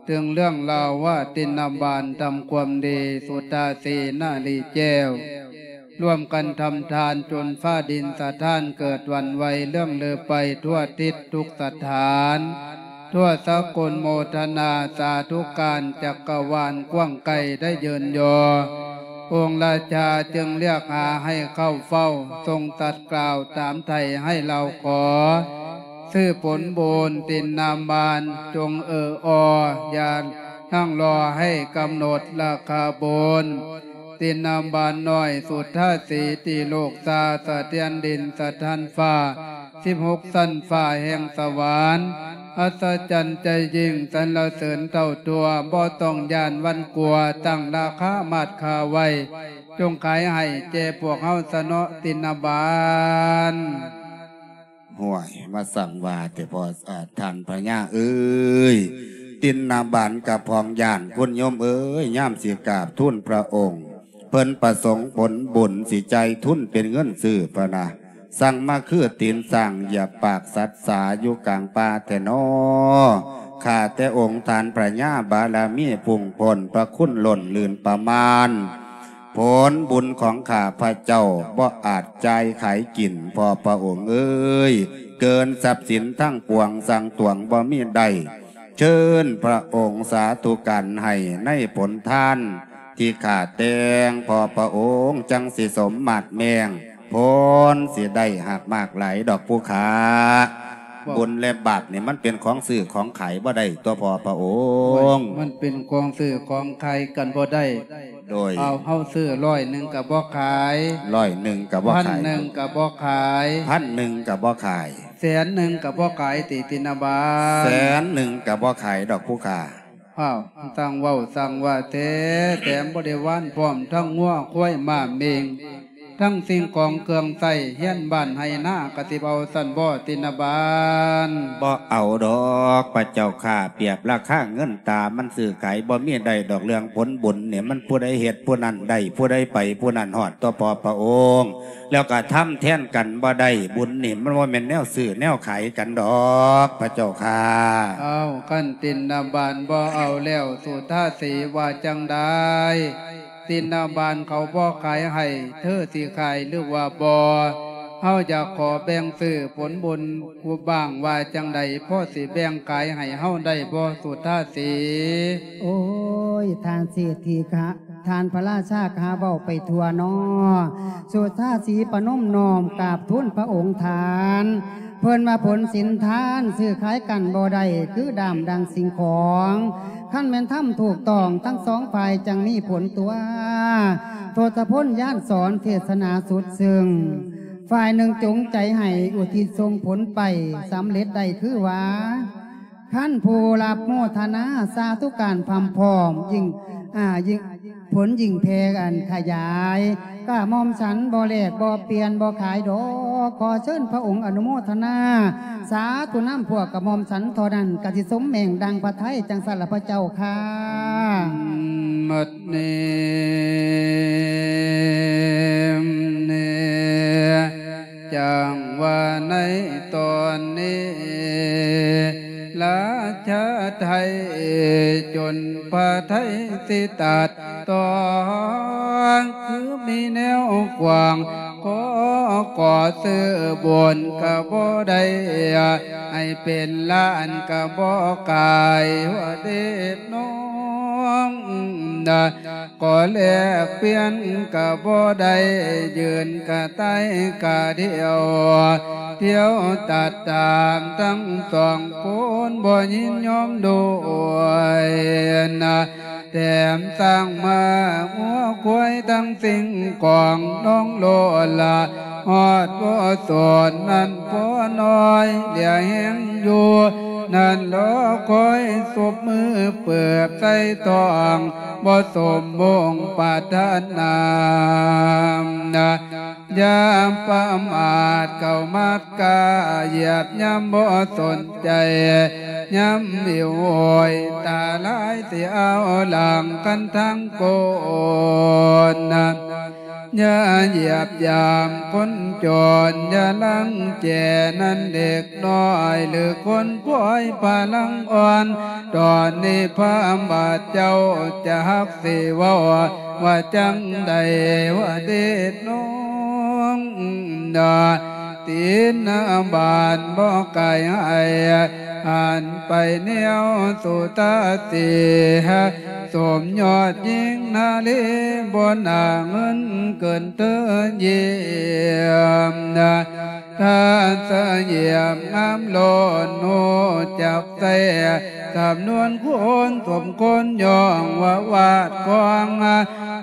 ເຖິງເລື່ອງລາວວ່າ ຕິນນະບານທຳຄວາມດີ ສຸທາສີນາລີແກ້ວ ຮ່ວມກັນທຳທານ ຈົນຟ້າດິນສະທ້ານເກີດຫວັ່ນໄຫວ ເລື່ອງລືໄປທົ່ວທິດທຸກສະຖານ ທົ່ວສາກົນໂມທະນາ ສາທຸການຈັກກະວານກວ້າງໄກໄດ້ເຢິນຍໍ. ອົງລາຊາຈຶ່ງລຽກຫາໃຫ້ເຂົ້າເຝົ້າ ຊົງຕັດກ່າວຕາມໄຖ່ໃຫ້ລາວຂໍ ຊື້ຜົນບຸນຕິນນະບານ ຈົ່ງເອີອໍ ຢ່ານັ່ງລໍໃຫ້ກຳນົດລາຄາບຸນ ຕິນນະບານນ້ອຍ ສຸທາສີ ຕີໂລກຊາ ສະເທືອນດິນສະທ້ານຟ້າ ສິບຫົກຊັ້ນຟ້າແຫ່ງສະຫວັນ ອັດສະຈັນໃຈຍິ່ງ ສັນລະເສີນເທົ່າທົ່ວ ບໍ່ຕ້ອງຢ້ານຫວັ່ນກົວ ຕັ້ງລາຄາມາດຄ່າໄວ້ ຈົ່ງຂາຍໃຫ້ແກ່ພວກເຮົາຊະເນາະ ຕິນນະບານ. ຫ້ວຍ ມາສັ່ງວ່າແຕ່ພໍ ອາ ທ່ານພະຍາເອີຍ, ຕິນນະບານກະພ້ອງຢ້ານ ຄຸນໂຍມເອີຍ, ຍາມຊິກາບທູນພະອົງ ເພິ່ນປະສົງຜົນບຸນ ຊິຈ່າຍທຶນເປັນເງິນຊື້ພະນະ, ສັ່ງມາຄືຕີນຊ້າງຢຽບປາກສັດສາ ຢູ່ກາງປ່າແທ້ນໍ. ຂ້າແຕ່ອົງທ່ານພະຍາ ບາລະມີພຸ່ງພົ້ນ ພະຄຸນລົ້ນລື່ນປະມານ ຜົນບຸນຂອງຂ້າພະເຈົ້າ ບໍ່ອາດຈ່າຍຂາຍກິນ ພໍ່ພະອົງເອີຍ, ເກີນຊັບສິນທັງປວງ ສັ່ງຕວງບໍ່ມີໄດ້. ເຊີນພະອົງສາທຸການໃຫ້ໃນຜົນທານ ທີ່ຂ້າແຕ່ງພໍ່ພະອົງ ຈັ່ງຊິສົມມາດແມງ ຜົນຊິໄດ້ຫາກມາກຫຼາຍດອກຜູ້ຂ້າ. ເວົ້າ ບຸນແລະບາບນີ້ ມັນເປັນຂອງຊື້ຂອງຂາຍບໍ່ໄດ້ຕົວະພໍ່ພະອົງ. ໂອ້ຍ ມັນເປັນຂອງຊື້ຂອງຂາຍກັນບໍ່ໄດ້. ໂດຍ ເອົາ ເຮົາຊື້ຮ້ອຍໜຶ່ງກະບໍ່ຂາຍ, ຮ້ອຍໜຶ່ງກະບໍ່ຂາຍ, ພັນໜຶ່ງກະບໍ່ຂາຍ, ພັນໜຶ່ງກະບໍ່ຂາຍ, ແສນໜຶ່ງກະບໍ່ຂາຍຕິ ຕິນນະບານ. ແສນໜຶ່ງກະບໍ່ຂາຍດອກຜູ້ຂ້າ. ອ້າວ ຊ່າງເວົ້າຊ່າງວ່າແທ້, ແຖມບໍລິວານພ້ອມທັງງົວຄວາຍມ້າເມັ່ງ ທັງສິ່ງຂອງເຄື່ອງໃຊ້ເຮືອນບ້ານໄຮ່ນາ ກະຊິເອົາຊັ້ນບໍ່ ຕິນນະບານ? ບໍ່ເອົາດອກພະເຈົ້າຂ້າ, ປຽບລາຄາເງິນຕາ ມັນຊື້ຂາຍບໍ່ມີໄດ້ດອກ. ເລື່ອງຜົນບຸນນີ້ ມັນຜູ້ໃດເຮັດຜູ້ນັ້ນໄດ້, ຜູ້ໃດໄປຜູ້ນັ້ນຮອດຕົວະພໍ່ພະອົງ. ແລ້ວກະທຳແທນກັນບໍ່ໄດ້, ບຸນນີ້ມັນບໍ່ແມ່ນແນວຊື້ແນວຂາຍກັນດອກພະເຈົ້າຂ້າ. ເອົ້າ ຄັນຕິນນະບານບໍ່ເອົາແລ້ວ ສຸທາສີວ່າຈັ່ງໃດ? ຕິນນະບານເຂົາບໍ່ຂາຍໃຫ້ ເທີຊິຂາຍຫຼືວ່າບໍ່? ເຮົາຢາກຂໍແບ່ງຊື້ຜົນບຸນບ້າງວ່າຈັ່ງໃດ? ພໍຊິແບ່ງຂາຍໃຫ້ເຮົາໄດ້ບໍ່ ສຸທາສີ? ໂອ້ຍ ທ່ານເສດຖີຂ້າ ທ່ານພະລາຊາຂ້າເວົ້າໄປທົ່ວນໍ. ສຸທາສີປະນົມນ້ອມກາບທູນພະອົງທ່ານ, ເພິ່ນວ່າຜົນສິນທານຊື້ຂາຍກັນບໍ່ໄດ້ ຄືດ້າມດັ່ງສິ່ງຂອງ. ຄັນແມ່ນທຳຖືກຕ້ອງທັງສອງຝ່າຍ ຈັ່ງມີຜົນຕົວະ. ທົດສະພົນຍານສອນເທດສະໜາສຸດຊຶງ, ຝ່າຍໜຶ່ງຈົງໃຈໃຫ້ ອຸທິດສົ່ງຜົນໄປ ສຳເລັດໄດ້ຄືວ່າ ຄັນຜູ້ຮັບໂມທະນາສາທຸການພ້ອມພ້ອມ ຍິ່ງ ອ່າ ຍິ່ງ ຜົນຍິ່ງແຜ່ອັນຂະຫຍາຍ. ກະໝ່ອມສັນບໍ່ແລກບໍ່ປ່ຽນບໍ່ຂາຍດອກ. ຂໍເຊີນພະອົງອະນຸໂມທະນາສາທຸນຳພວກກະໝ່ອມສັນເທົ່ານັ້ນ ກະຊິສົມແມ່ງດັ່ງພະໄທ ຈັ່ງຊັ້ນລະພະເຈົ້າຂ້າ. ບັດນີ້ ນີ້ ຈັ່ງວ່າໃນຕອນນີ້ ລາຊາໄທຈົນພະໄທສິຕັດຕ້ອງ ຄືມີແນວກວ້າງ ຂໍກໍຊື້ບຸນກໍບໍ່ໄດ້ ໃຫ້ເປັນລ້ານກໍບໍ່ກາຍ ວ່າເດດນ້ອງ ກໍແລກປ່ຽນກໍບໍ່ໄດ້ ຢືນກະໄຕກະດຽວ ທ່ຽວຕັດຕາມທັງສອງຄົນ ບໍ່ຍິນຍອມດ້ວຍນະ ແຖມສ້າງມ້າງົວຄວາຍ ທັງສິ່ງຂອງນ້ອງໂລດລະ ຮອດບໍ່ສອນນັ້ນພໍນ້ອຍ ເຫຼືອແຮງຢູ່ນັ້ນ ລໍຄອຍສົບມືເປີບໃສ່ທ້ອງ ບໍ່ສົມມຸ່ງປາດຖະໜານະ ຢ່າປະໝາດເຂົ້າມາດກ້າ ຢຽບຍ່ຳບໍ່ສົນໃຈ ຍ່ຳຫິວໂຫຍຕາລາຍ ຊິເອົາຫຼັງກັນທັງຄົນນະ ຢ່າຢຽບຢາມຄົນຈົນ ຢ່າລັງແກນັ້ນເດັກນ້ອຍ ຫຼືຄົນປ່ອຍພະລັງອ່ອນ ຕອນນີ້ພະບາດເຈົ້າຈະຮັກຊິເວົ້າວ່າຈັ່ງໃດ ວ່າເດດນ້ອງນະ ຕີນນະບານບໍ່ໄກໃຫ້ ຫັນໄປແນວສຸທາສີ ສົມຍອດຍິງນາລີ ບໍ່ໜ້າເງິນເກີນເທີຢ້ຽມນະ ຖ້າສະຫຍຽມງາມໂລດ ຮູ້ຈັກໃຊ້ສຳນວນຄົນ ສົມຄົນຍ້ອງວ່າວາດຂອງ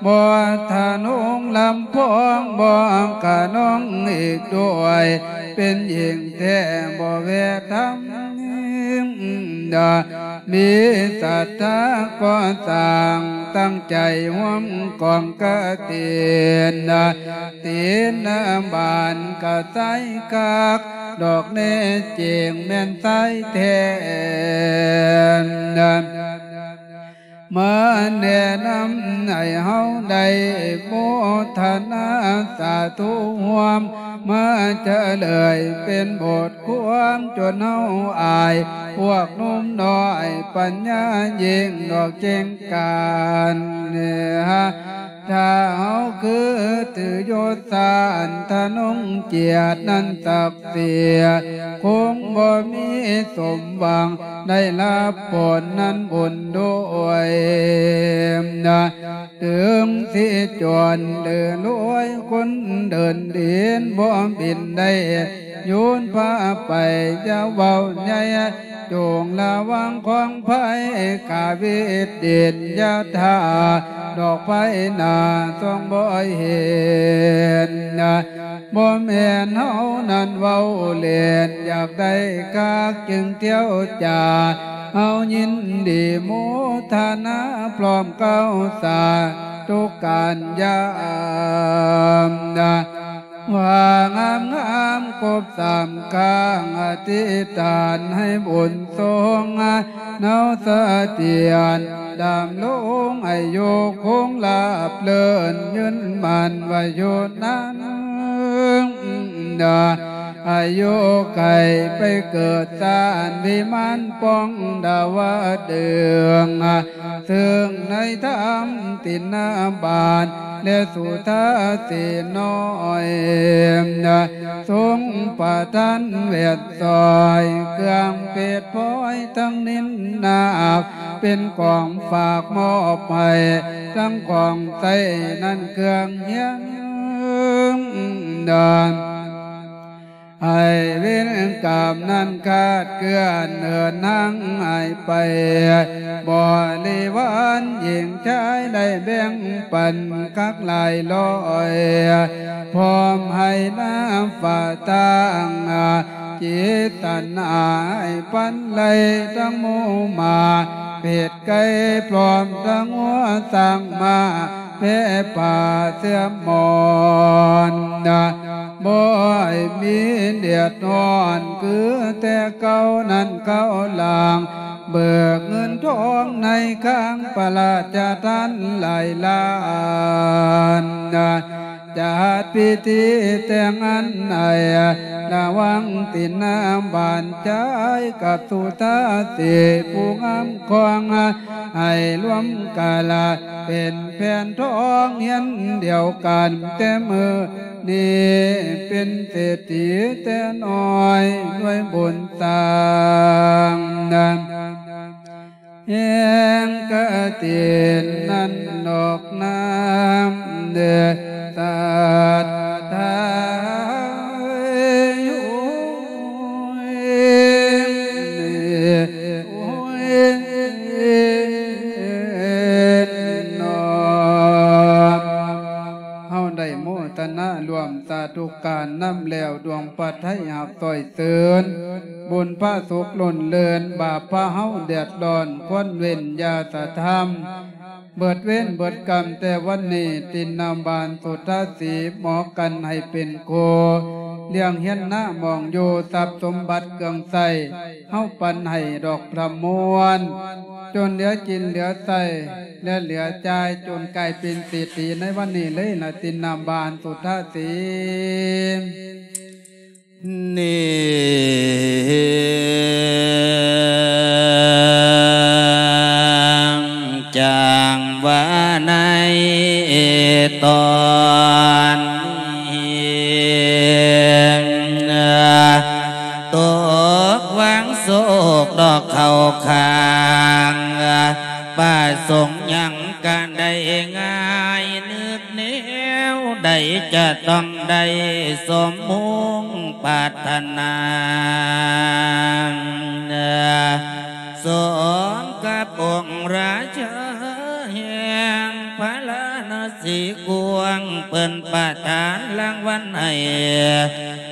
ບໍ່ທະນົງລຳພອງ ບໍ່ຂະໜອງອີກດ້ວຍ ເປັນຍິງແທ້ບໍ່ແວະທຳ ມີສັດທາກໍ່ສ້າງ ຕັ້ງໃຈຮ່ວມກອງກະຕິນ ຕີນນະບານກະຊາຍຄັກ ດອກແນ່ຈິງແມ່ນຊາຍແທ້ ມາແນະນຳໃຫ້ເຮົາໄດ້ໂມທະນາສາທຸຮ່ວມ ມາຈະເລີຍເປັນບົດຄວາມ ຈົນເຮົາອາຍພວກໜຸ່ມນ້ອຍ ປັນຍາຍິ່ງດອກເກັ່ງການ ຖ້າເຮົາຄືຖືຍົດຊານທະນົງຈຽດນັ້ນສັກສີ ຄົງບໍ່ມີສົມຫວັງ ໄດ້ຮັບຜົນນັ້ນບຸນດ້ວຍນະ ເຖິງຊິຈົນຫຼືລວຍ ຄົນເດີນດິນບໍ່ບິນໄດ້ ໂຍນພາໄປຢ່າເວົ້າໃຫຍ່ ຈົ່ງລະວັງຂອງໄພ ກາວິດດິນຢ່າຖ້າ ດອກໄຟໜ້າຊ່ອງບໍ່ເຫັນ ບໍ່ແມ່ນເຮົານັ້ນເວົ້າເລ່ນ ຢາກໄດ້ຄັກຈຶ່ງທ່ຽວຈາ ເຮົາຍິນດີໂມທະນາ ພ້ອມເກົ້າສາທຸການຍາມ ວ່າງາມໆຄົບສາມຄັ້ງ ອະທິຖານໃຫ້ບຸນສົ່ງ ເນົາສະຖຽນດຳລົງ ອາຍຸຄົງລາບເລີນ ຍືນໝັ້ນວ່າຢູ່ນັ້ນ ອາຍຸໄຂໄປເກີດຊານວິມານປ່ອງດາວະດຶງ ເຊິ່ງໃນທຳຕິນນະບານ ແລະສຸທາສີນ້ອຍ ຊົງປະທານແວດຊ່ອຍ ເຄື່ອງເພດພອຍທັງນິນນາກ ເປັນຂອງຝາກມອບໃຫ້ ທັງຂອງໃຊ້ນັ້ນເຄື່ອງຮຽນ ໃຫ້ເວນກຳນັ້ນຄາດເຄື່ອນເຫີນນາງຫາຍໄປ ບໍລິວານຍິງຊາຍໄດ້ແບ່ງປັນຄັກຫຼາຍຮ້ອຍ ພ້ອມໃຫ້ນາຟ້າຕັ້ງ ຈິດຕັນຫາຍພັນໄລ່ທັງໝູ່ໝາ ເພດໄກ່ພ້ອມທັງງົວຊ້າງມ້າ ແພຜ້າເສື່ອມໝອນ ບໍ່ໃຫ້ມີເດືອດຮ້ອນ ຄືແຕ່ເກົ່ານັ້ນເຂົາຫຼາງ ເບີກເງິນທອງໃນຄາງພະລາຊະທານຫຼາຍລ້ານ ຈັດພິທີແຕ່ງງານໃຫ້ ລະວັງຕິນນາບານຈາຍກັບສຸທາສີຜູ້ງາມຂອງ ໃຫ້ລວມກາລະເປັນແຜ່ນທອງຮຽນດຽວກັນແຕ່ມື້ນີ້ ເປັນເສດຖີແຕ່ນ້ອຍດ້ວຍບຸນສ້າງ ແຫ່ງກະຕິນນັ້ນດອກນາມເດີ ສັດທາເອີຍ ໂອ້ຍ ໂອ້ຍ ເນາະ ເຮົາໄດ້ໂມທະນາຮ່ວມສາທຸການນຳແລ້ວ ດວງພະໄທຮັບຊ່ອຍເສີນ ບຸນພະສຸກລົ້ນເລີນ ບາບພະເຮົາເດືອດຮ້ອນ ຄວນເວັ້ນຢ່າສະທຳ ເບິດເວນເບິດກຳແຕ່ວັນນີ້ ຕິນນາບານສຸທາສີ ໝໍກັນໃຫ້ເປັນຄູ່ ລ້ຽງຮຽນນາໝອງຢູ່ ຊັບສົມບັດເຄື່ອງໃຊ້ ເຮົາປັນໃຫ້ດອກພະມວນ ຈົນເຫຼືອກິນເຫຼືອໃຊ້ ແລະ ເຫຼືອຈ່າຍ ຈົນກາຍເປັນເສດຖີໃນວັນນີ້ເລີຍນະ ຕິນນາບານສຸທາສີ. ນີ້ຈັ່ງວ່າໃນຕອນນີ້ ຕົກວາງໂສກດອກເຂົ້າຂ້າງ ປະສົງຫຍັງກະໄດ້ງ່າຍ ນຶກແນວໃດຈະຕ້ອງໄດ້ສົມມຸ່ງປາດຖະໜາ ສົມກັບອົງລາຊາແຫ່ງພາລານະສີກວ້າງ ເພິ່ນປະທານລາງວັນໃຫ້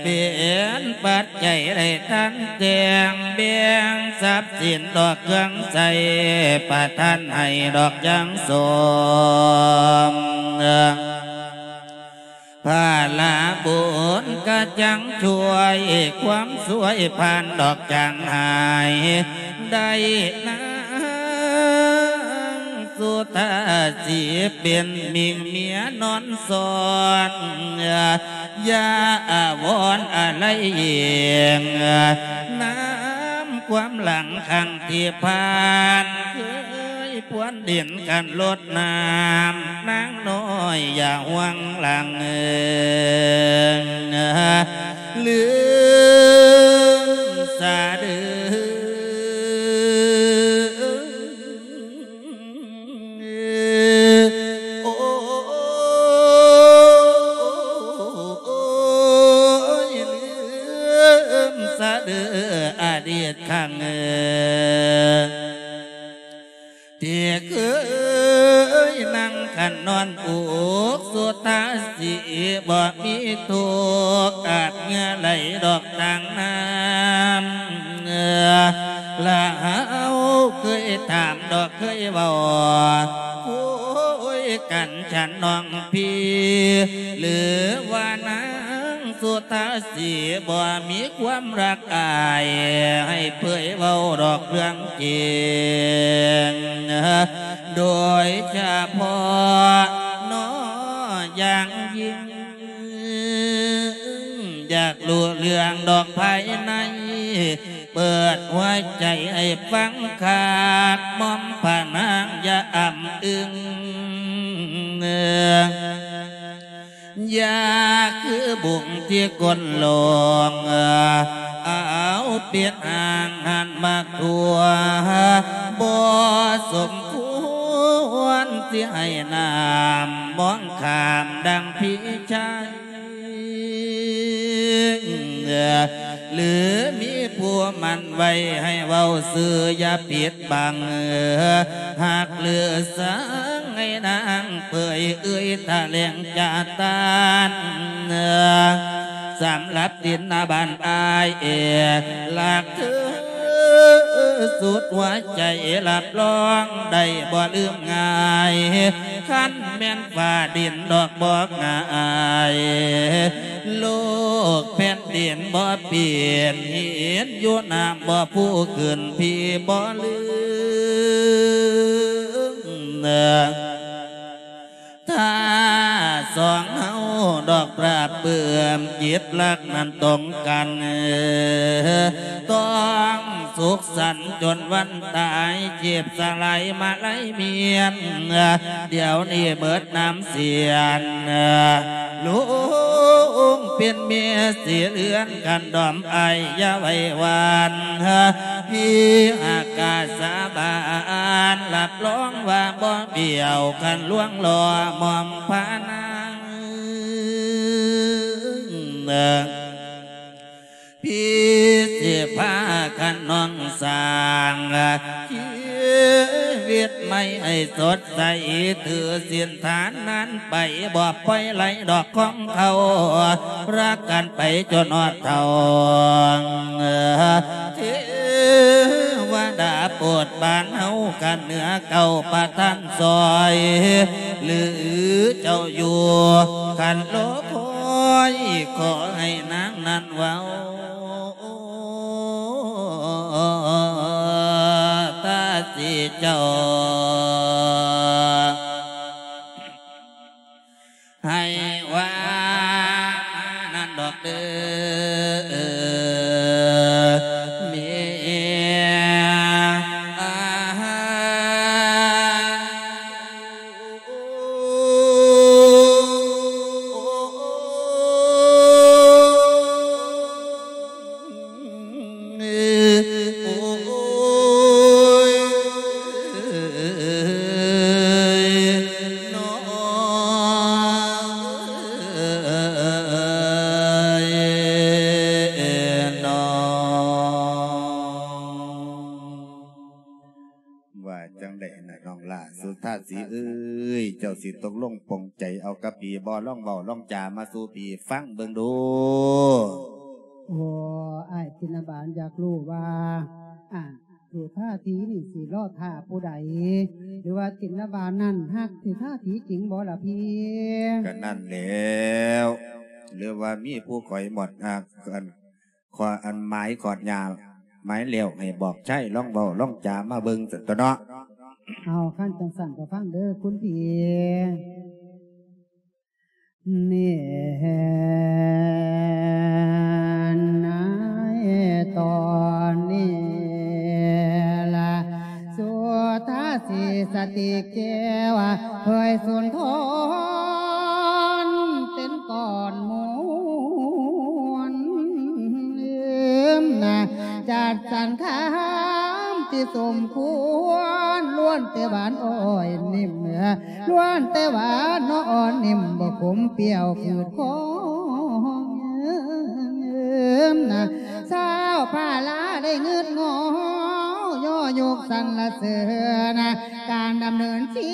ເປັນປັດໄຈໄດ້ທັນແຕ່ງ ແບ່ງຊັບສິນດອກເຄື່ອງໃຊ້ ປະທານໃຫ້ດອກຢ່າງສົມ ພາລະບຸນກະຈັ່ງຊ່ວຍ ຄວາມຊ່ວຍຜ່ານດອກຈາງຫາຍ ໄດ້ນາງສຸທາສີ ເປັນມິ່ງເມຍນອນສອນ ຢ່າອາວອນອາໄລເອງ ນຳຄວາມຫຼັງຄັ້ງທີ່ຜ່ານ ເຄີຍພວນດິນກັນລົດນ້ຳ ນາງນ້ອຍຢ່າຫ່ວງຫຼັງ ລືມສາເດີ ໂອ້ຍ ລືມສາເດີອະດີດຄັ້ງ ທີ່ເຄີຍນັ່ງຄັນນອນອຸກສຸທາສີ ບໍ່ມີທຸກອາດເຫື່ອໄຫຼດອກ ທາງນ້ຳ ລະເຮົາເຄີຍຖາມດອກເຄີຍເວົ້າ ໂອ້ຍ ກັນ ສັນນ້ອງພີ່ ຫຼືວ່ານາງສຸທາສີ ບໍ່ມີຄວາມລັກອາຍ ໃຫ້ເຜີຍເວົ້າດອກເລື່ອງຈິງ ໂດຍສະເພາະເນາະຢ່າງຍິ່ງ ຢາກຮູ້ເລື່ອງດອກພາຍໃນ ເປີດຫົວໃຈໃຫ້ຟັງຄັກ ໝ່ອມພະນາງຢ່າອຳອຶງ ຢ່າຄືບຸ້ງທີ່ກົ້ນໂລງ ເອົາເປັນອ່າງຫັ້ນມາທົ່ວ ບໍ່ສົມຄວນທີ່ໃຫ້ນ້ຳມອງຂ້າມດັ່ງພີ່ຊາຍ ຫຼືມີຜູ້ໝັ້ນໄວ້ໃຫ້ເວົ້າຊື່ຢ່າປິດບັງ ຫາກຫຼືສັງໃຫ້ນາງເຜີຍເອີຍຖະແຫຼງຈາຕານ ສຳລັບຕິນນະບານອ້າຍເອກ ລັກເທີສຸດຫົວໃຈ ຮັບຮອງໄດ້ບໍ່ລືມງ່າຍ ຄັນແມ່ນຟ້າດິນດອກບໍ່ງ່າຍ ໂລກແຜ່ນດິນບໍ່ປິ່ນ ຫີນຢູ່ນ້ຳບໍ່ຟູຂຶ້ນ ພີ່ບໍ່ລືມ ຖ້າສອງເຮົາດອກປາ ປຶ້ມຈິດລັກນັ້ນຕົງກັນ ຕ້ອງສຸກສັນຈົນວັນຕາຍ ເຈັບສະຫຼາຍມາໄລມຽນ ດຽວນີ້ເໝິດນ້ຳສຽນ ລຸງເປັນເມຍສີເຫຼືອນ ຄັນດອມອ້າຍຢ່າໄວ້ວານ ພີ່ອາກາສາບານ ຮັບຮອງວ່າບໍ່ບຽວ ຄັນລວງລໍ້ໝອມພານາງ ພີ່ຊິພາຂະນ້ອງສ້າງຊີວິດໃໝ່ໃຫ້ສົດໃສ ຖືສິນຖານນັ້ນໄປ ບໍ່ປ່ອຍໄຫຼດອກຂອງເຂົາ ຮັກກັນໄປຈົນຮອດເຖົ້າ ເທວະດາໂປດປານເຮົາ ຄັນເໜືອເກົ້າປະທານຊ່ອຍ ຫຼືເຈົ້າຢູ່ ຄັນລໍຄອຍ ຂໍໃຫ້ນາງນັ້ນເວົ້າ ຕາສີເຈົ້າ ໃຫ້ວ່າມານັ້ນດອກເດີ ເມຍ ໂອ້ຍ ນ້ອງເອີຍ ນ້ອງ ວ່າຈັ່ງໃດນະ ນ້ອງຫຼ້າສຸທາສີເອີຍ ເຈົ້າຊິຕົກລົງປົງໃຈເອົາກັບພີ່ບໍ່? ລອງເວົ້າລອງຈາມາສູ່ພີ່ຟັງເບິ່ງດູ. ໂອ້ ອ້າຍຕິນນະບານຢາກຮູ້ວ່າ ອ່າ ສຸທາສີນີ້ຊິລໍຖ້າຜູ້ໃດ ຫຼືວ່າຕິນນະບານນັ້ນຮັກສຸທາສີຈິງບໍ່ລະພີ່? ກະນັ້ນແລ້ວ ຫຼືວ່າມີຜູ້ຂ້ອຍໝົດ ອ່າ ອັນ ຂໍອັນໝາຍຂອດຫຍ້າໝາຍແລ້ວໃຫ້ບອກໃຊ້ ລອງເວົ້າລອງຈາມາເບິ່ງຊັ້ນຕົວະເນາະ. ເອົາ ຄັນຈັ່ງຊັ້ນກໍຟັງເດີຄຸນພີ່. ແມ່ນນາຍຕອນນີ້ລະ ສຸທາສີສະຕິແກ້ວ ເຄີຍສຸນທອນເປັນກ່ອນໝູນ ນະ ຈັດສັນຄຳທີ່ສົມຄວນ ລ້ວນແຕ່ຫວານອ້ອຍນິ້ມ ລ້ວນແຕ່ຫວານນ້ອຍນິ້ມ ບໍ່ຂົມປ່ຽວຂືດຄອງ ນະ ຊາວພາລາໄດ້ງຶດງໍ ຍໍຍົກສັນລະເສີນ ການດຳເນີນຊີ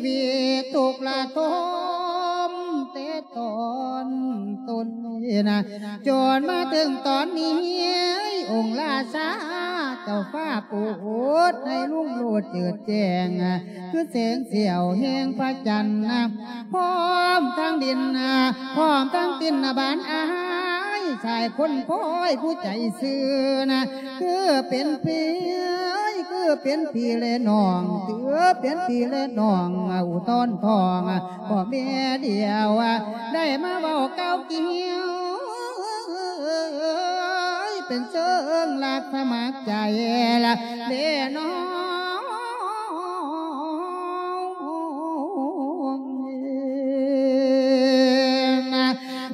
ວິດທຸກລະທົມ ແຕ່ຕອນຕົ້ນ ນະ ຈົນມາເຖິງຕອນນີ້ ອົງລາຊາເຈົ້າຟ້າໂປດໃຫ້ລຸງໂລດເຈີດແຈ້ງ ຄືແສງສ່ຽວແຫ່ງພະຈັນນະ ພ້ອມທັງດິນນະ ພ້ອມທັງຕິນນະບານອາຍ ຊາຍຄົນພອຍຜູ້ໃຈຊື່ນະ ຄືເປັນພີ່ ຄືເປັນພີ່ແລະນ້ອງ ຖືເປັນພີ່ແລະນ້ອງ ອຸທອນທອງ ພໍ່ແມ່ດຽວ ໄດ້ມາເວົ້າກ່າວກ່ຽວ ເປັນເຊີງລັກສະໝັກໃຈລະເດນ້ອງ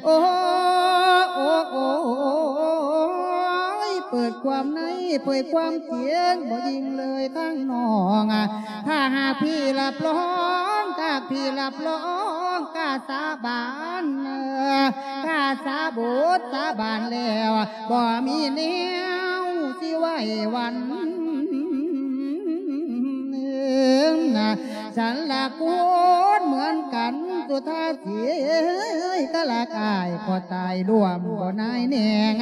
ໂອ້ ໂອ້ ໂອ້ຍ ເປີດຄວາມໃນ ເຜີຍຄວາມຈິງ ບໍ່ຍິງເລີຍທາງນ້ອງ ຖ້າຫາກພີ່ຮັບຮອງ ຖ້າພີ່ຮັບຮອງ ກ້າສາບານ ກ້າສາບົດສາບານແລ້ວ ບໍ່ມີແນວຊິໄຫວ້ວັນ ນະ ສັນລະຄົນເໝືອນກັນ ສຸທາສີເອີຍ ກະລະກາຍກໍຕາຍລວມບໍ່ນາຍແນງ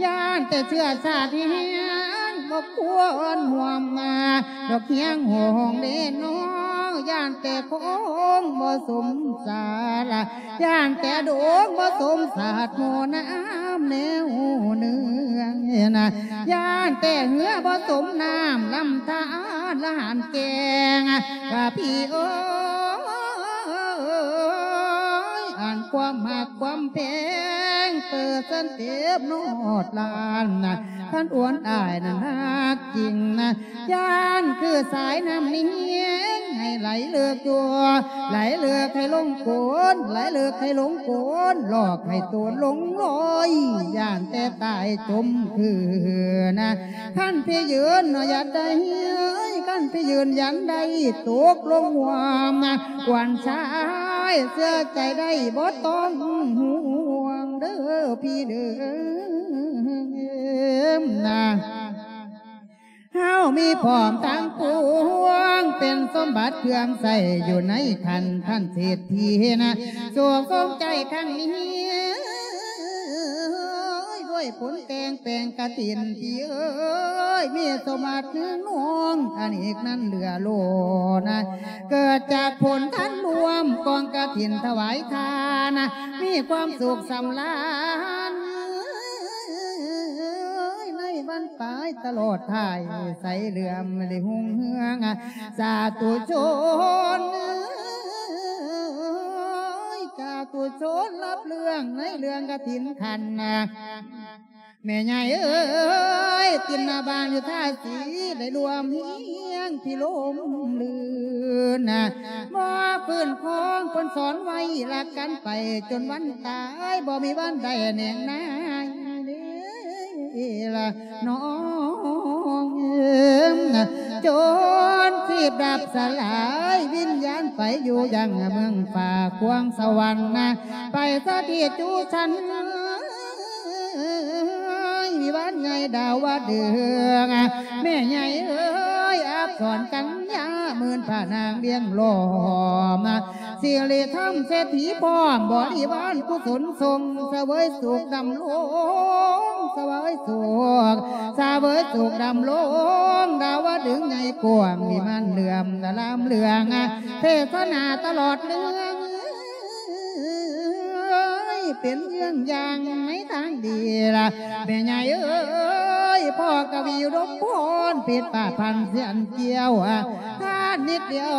ຢ້ານແຕ່ເຊື້ອຊາດແຮງ ບໍ່ຄວນຮ່ວມມາດອກຮຽງຫ້ອງເດ້ນ້ອງ ຢ້ານແຕ່ຄົງບໍ່ສົມສາລະ ຢ້ານແຕ່ດົງບໍ່ສົມສາດໂມນ້ຳແນວເໜືອນະ ຢ້ານແຕ່ເຮືອບໍ່ສົມນ້ຳລຳທານລະຫານແກງ ວ່າພີ່ເອີຍ ອັນຄວາມ ຄວາມຮັກຄວາມແພງ ເປີດສັນເຕັບນອດລ້ານນະ ຄັນອວນອ້າຍນັ້ນຮັກຈິງນະ ຢ້ານຄືສາຍນ້ຳນີ້ແຮງ ໃຫ້ໄຫຼເລິກຢູ່ ໄຫຼເລິກໃຫ້ລົງໂກນ ໄຫຼເລິກໃຫ້ລົງໂກນ ຫຼອກໃຫ້ໂຕນລົງລອຍ ຢ້ານແຕ່ຕາຍຈົມຄືນະ ຄັນພີ່ຢືນເນາະ ຢ່າໄດ້ ຄັນພີ່ຢືນຢັນໄດ້ ຕົກລົງຮ່ວມນະ ຂວັນຊາຍເຊື່ອໃຈໄດ້ ບໍ່ຕ້ອງຫ່ວງເດີພີ່ເດີນະ ເຮົາມີພ້ອມທັງປວງ ເປັນສົມບັດເຄື່ອງໃຊ້ ຢູ່ໃນຄັນທ່ານເສດຖີນະ ໂສກສົມໃຈຄັ້ງນີ້ ດ້ວຍຜົນແຕ່ງແປງກະຖິນ ພີ່ເອີຍ ມີສົມບັດເຮືອນນອງ ອັນອີກນັ້ນເຫຼືອໂລນະ ເກີດຈາກຜົນທານລວມ ກອງກະຖິນຖວາຍທານນະ ມີຄວາມສຸກສຳລານ ໃນບັ້ນປາຍຕະຫຼອດທ້າຍ ໃສເຫຼື້ອມໄດ້ຮຸ່ງເຮືອງ ສາທຸຊົນ ສາທຸຊົນ ຮັບເລື່ອງໃນເລື່ອງກະຖິນຂັນນະ ແມ່ໃຫຍ່ເອີຍ ຕິນນະບາງຢູ່ທ່າສີ ໄດ້ລວມຮຽງພິລົມລື່ນນະ ບໍ່ຟື້ນຄອງເພິ່ນສອນໄວ້ ລັກກັນໄປຈົນວັນຕາຍ ບໍ່ມີວັນໄດ້ແໜງນາຍເດ້ລະນ້ອງເອີຍ ຈົນຊີບດັບສະຫຼາຍ ວິນຍານໄປຢູ່ຍັງເມືອງຟ້າຄວາງສະຫວັນນະ ໄປສະຖິດຢູ່ຊັ້ນ ວິມານໃຫຍ່ດາວະດຶງ ແມ່ໃຫຍ່ເອີຍ ອັກສອນກັນຍາ ໝື່ນພະນາງວຽງລ້ອມ ສິລິທຳເສດຖີພ້ອມ ບໍລິວານກຸສົນຊົງ ສະເຫວີຍສຸກດຳລົງ ສະເຫວີຍສຸກ ສະເຫວີຍສຸກດຳລົງ ດາວະດຶງໃຫຍ່ກວ້າງ ວິມານເຫຼື້ອມລາມເລື່ອງ ເທສະໜາຕະຫຼອດເລື່ອງ ເປັນເລື່ອງຢ່າງໃນທາງດີລະ ແມ່ໃຫຍ່ເອີຍ ພໍ່ກະວີອຸດົມພອນ ເພັດປະພັນສຽນກ່ຽວ ທານນິດດຽວ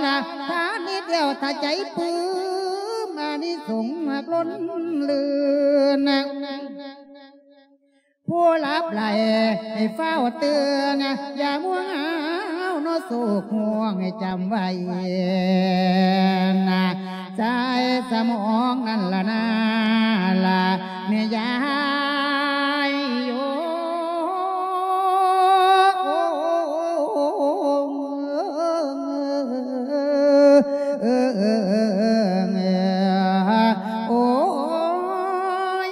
ລະ ທານນິດດຽວ ຖ້າໃຈປຶ້ມ ອານິສົງຮັກລົ້ນລື່ນ ຜູ້ຫຼັບໄຫຼໃຫ້ຟ້າວຕື່ນ ຢ່າມົວຫາວເນາະ ໂສກຮ່ວງໃຫ້ຈຳໄວ້ນະ ໃຈສະໝອງນັ້ນລະນາລະ ແມ່ຍາຍໂອ້. ໂອ້ຍ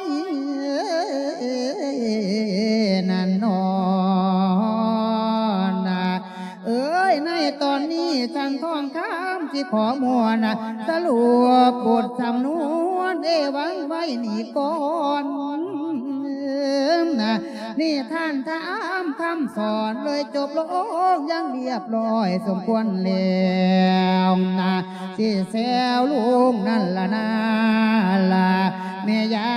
ນັ້ນນອນນະ ເອີຍ ໃນຕອນນີ້ ສັນທອງຄຳຊິຂໍມ່ວນ ສະຫຼຸບບົດສຳນວນ ເອວັງໄວ້ນີ້ກ່ອນ ນິທານທຳຄຳສອນ ເລີຍຈົບລົງຢ່າງລຽບລ້ອຍ ສົມຄວນແລ້ວນະ ຊິແຊວລຸງນັ້ນລະນາລະ ແມ່ຍາ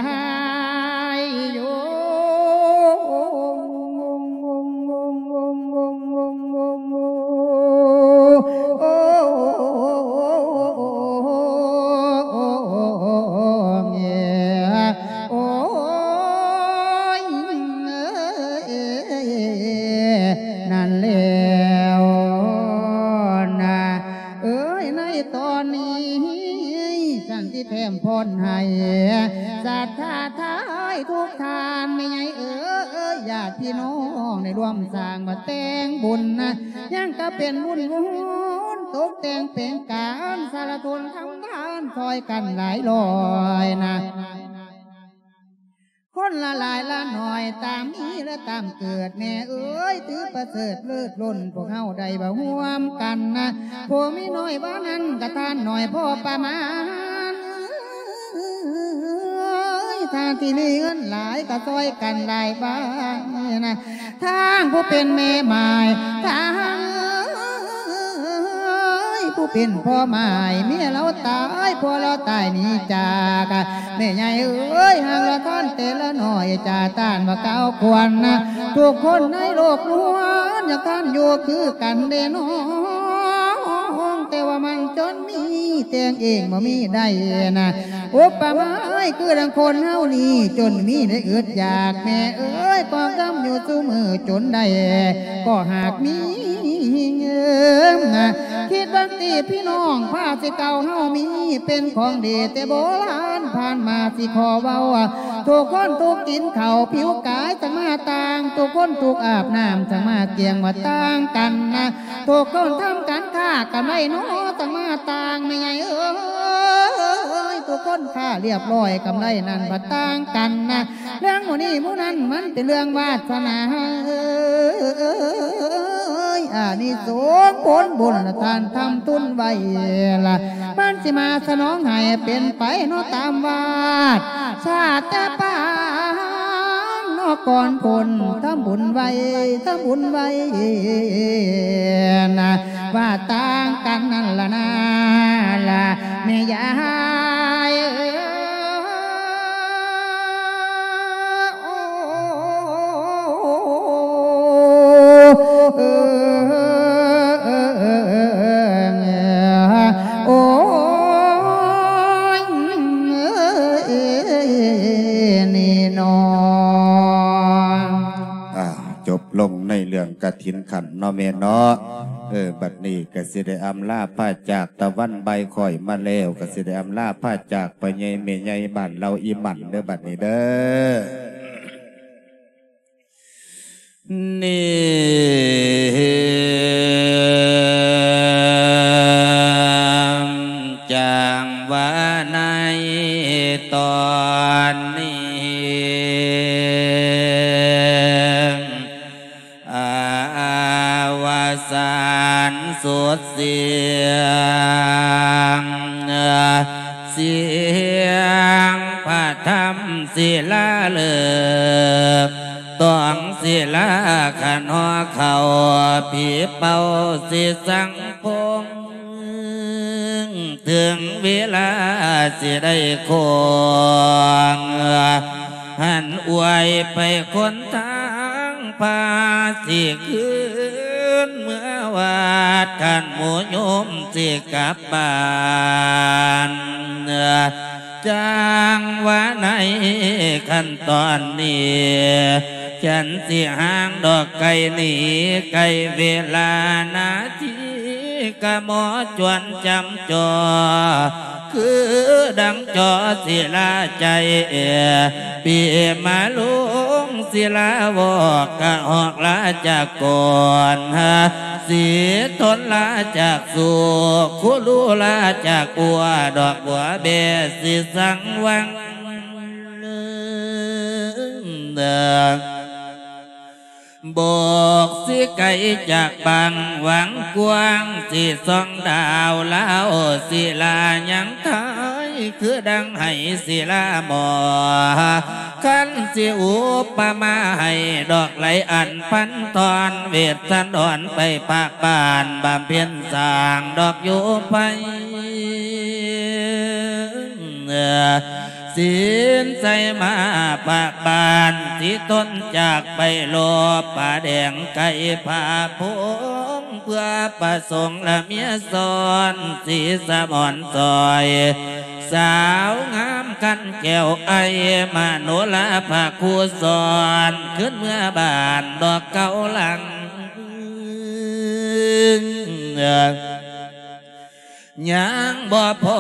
ຍໂຍ. ໂອ້ຍ ນັ້ນແລ້ວນະ ເອີຍ ໃນຕອນນີ້ ສັນຕິແຖມພອນໃຫ້ ສັດທາທາຍທຸກທ່ານ ແມ່ໃຫຍ່ເອີຍ ຍາດພີ່ນ້ອງ ໄດ້ຮ່ວມສ້າງມາແຕ່ງບຸນນະ ຍັງກະເປັນບຸນຫວນ ຕົກແຕ່ງແປງການ ສາລະຊົນທຳທານ ຊ່ອຍກັນຫຼາຍຮ້ອຍນະ ຄົນລະຫຼາຍລະໜ້ອຍ ຕາມມີລະຕາມເກີດ ແມ່ເອີຍ ຖືປະເສີດເລີດລົ້ນ ພວກເຮົາໄດ້ມາຮ່ວມກັນນະ ຜູ້ມີໜ້ອຍວ່ານັ້ນ ກະທານໜ້ອຍພໍປະມານ ທ່ານທີ່ມີເງິນຫຼາຍ ກະຊ່ອຍກັນຫຼາຍບາຍນະ ທາງຜູ້ເປັນແມ່ໝ້າຍ ທາງຜູ້ເປັນພໍ່ໝ້າຍ ເມຍລາວຕາຍ ຜົວລາວຕາຍໜີຈາກ ແມ່ໃຫຍ່ເອີຍ ຫາກລະທານແຕ່ລະໜ້ອຍ ຈາຕ້ານວ່າກ່າວຄວນນະ ທຸກຄົນໃນໂລກລ້ວນ ຢາກທ່ານຢູ່ຄືກັນເດ້ນ້ອງ ແຕ່ວ່າມັນຈົນມີ ແຕ່ງເອງບໍ່ມີໄດ້ນະ. ອຸປະມາຄືດັ່ງຄົນເຮົານີ້ ຈົນມີໄດ້ອຶດຢາກ ແມ່ເອີຍ ກໍກຳຢູ່ຊຸມື້ຈົນໄດ້ ກໍຫາກມີເງິນນະ. ຄິດເບິ່ງຕິພີ່ນ້ອງ ພາສິເກົ່າເຮົາມີ ເປັນຂອງດີແຕ່ໂບລານ ຜ່ານມາຊິຂໍເວົ້າ ທຸກຄົນທຸກກິນເຂົ້າ ຜິວກາຍຈະມາຕ່າງ ທຸກຄົນທຸກອາບນ້ຳ ຈະມາກ່ຽງວ່າຕ່າງກັນນະ. ທຸກຄົນທຳການຄ້າກຳໄລເນາະ ຕ້ອງມາຕ່າງແມ່ໃຫຍ່ເອີຍ ທຸກຄົນຄ້າລຽບຮ້ອຍ ກຳໄລນັ້ນບັດຕ່າງກັນນະ. ເລື່ອງໝູ່ນີ້ໝູ່ນັ້ນ ມັນເປັນເລື່ອງວາດສະໜາເອີຍ ອານິສົງຜົນບຸນລະທ່ານທຳທຸນໄວ້ລະ ມັນຊິມາສະໜອງໃຫ້ເປັນໄປເນາະຕາມວາດ ຊາດແຕ່ປາງເນາະກ່ອນພົ້ນ ທຳບຸນໄວ້ ທຳບຸນໄວ້ນະ ວ່າຕ່າງກັນນັ້ນລະນາລະແມ່ຍາຍເອີຍ. ໂອ້ຍ ນີ້ເນາະ ອ່າ ຈົບລົງໃນເລື່ອງກະຖິນຂັນເນາະແມ່ເນາະ. ເອີ ບັດນີ້ກະຊິໄດ້ອຳລາພາຈາກ ຕາວັນບ່າຍຄ້ອຍມາແລ້ວ ກະຊິໄດ້ອຳລາພາຈາກ ພໍ່ໃຫຍ່ແມ່ໃຫຍ່ບ້ານເຫຼົ່າອີ່ໝັ່ນເດີ ບັດນີ້ເດີ. ນີ້ ຈັ່ງວ່າໃນຕອນນີ້ ອາວະສານສຸດສຽງ ສຽງພະທຳສິລາເລີກ ຕ້ອງສິລາຂັນຫໍເຂົ້າ ຜີເປົ່າສິສັງພົງ ເຖິງເວລາສິໄດ້ຄົງ ຫັນອວຍໄປຄົນທາງພາ ຊິຄືນເມືອວັດ ຄັນໝູ່ໂຍມຊິກັບບ້ານ. ຈັ່ງວ່າໃນຂັ້ນຕອນນີ້ ຈັນຊິຫ່າງດອກໄກໜີ ໃກ້ເວລານາທີ ກະໝໍຈວນຈຳຈໍ ຄືດັ່ງຈໍສິລາໃຈ ປີມາລຸງສິລາວອກ ກະຮອກລາຈາກກ່ອນ ສີທົນລາຈາກສູ່ ຄູລູລາຈາກອົວ ດອກບົວແບສິສັງວັງ ບອກຊິໄກຈາກບາງຫວັງກວ້າງ ຊິສ່ອງດາວລາວ ສິລາຍັງໄທ ຄືດັ່ງໄຫສິລາໝໍ ຄັນຊິອຸປະມາໃຫ້ ດອກໄຫຼອັນພັນທອນ ເວດສັນດອນໄປພາກບ້ານ ບຳເພັນສ້າງດອກຢູ່ໄພ ສິນໃສ່ມາພາກບ້ານ ສິທົນຈາກໄປລົບ ປະແດງໄກ່ພາພົງ ເພື່ອປະສົງລະເມຍຊ້ອນ ສີສະໝອນຊອຍ ສາວງາມຄັນແກ້ວ ໄອມະໂນລາພະຄູສອນ ຄືນເມືອບ້ານດອກເກົ່າຫຼັງ. ຍັງບໍ່ພໍ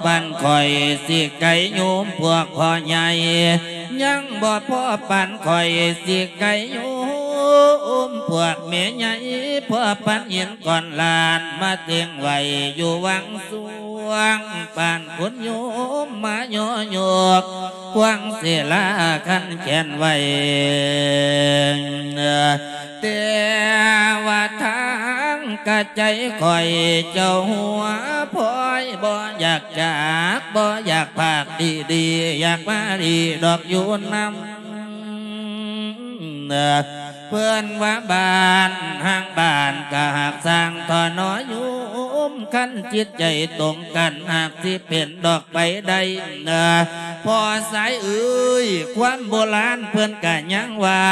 ປານຂ້ອຍຊິໄກໂຍມພວກພໍ່ໃຫຍ່ ຍັງບໍ່ພໍປານຂ້ອຍຊິໄກໂຍມພວກແມ່ໃຫຍ່ ພໍປານຫີນກ້ອນລ້ານມາເຕັງໄວ້ຢູ່ວັງສວງ ປານຄຸນໂຍມມາຍໍຍົກ ຄວາງສິລາຄັນແຂນໄວ້. ແຕ່ວ່າທາງກະໃຈຂ້ອຍເຈົ້າຫົວພອຍ ບໍ່ຢາກຈາກ ບໍ່ຢາກພາກດີໆ ຢາກມາດີດອກຢູ່ນຳ ເພິ່ນວ່າບ້ານຮ່າງບ້ານກະຫາກສ້າງທໍ້ໜໍໂຍມ ຄັນຈິດໃຈຕົງກັນຫາກຊິເປັນດອກໄປໄດ້ ພໍ່ຊາຍເອີຍ ຄວາມໂບລານເພິ່ນກະຍັງວ່າ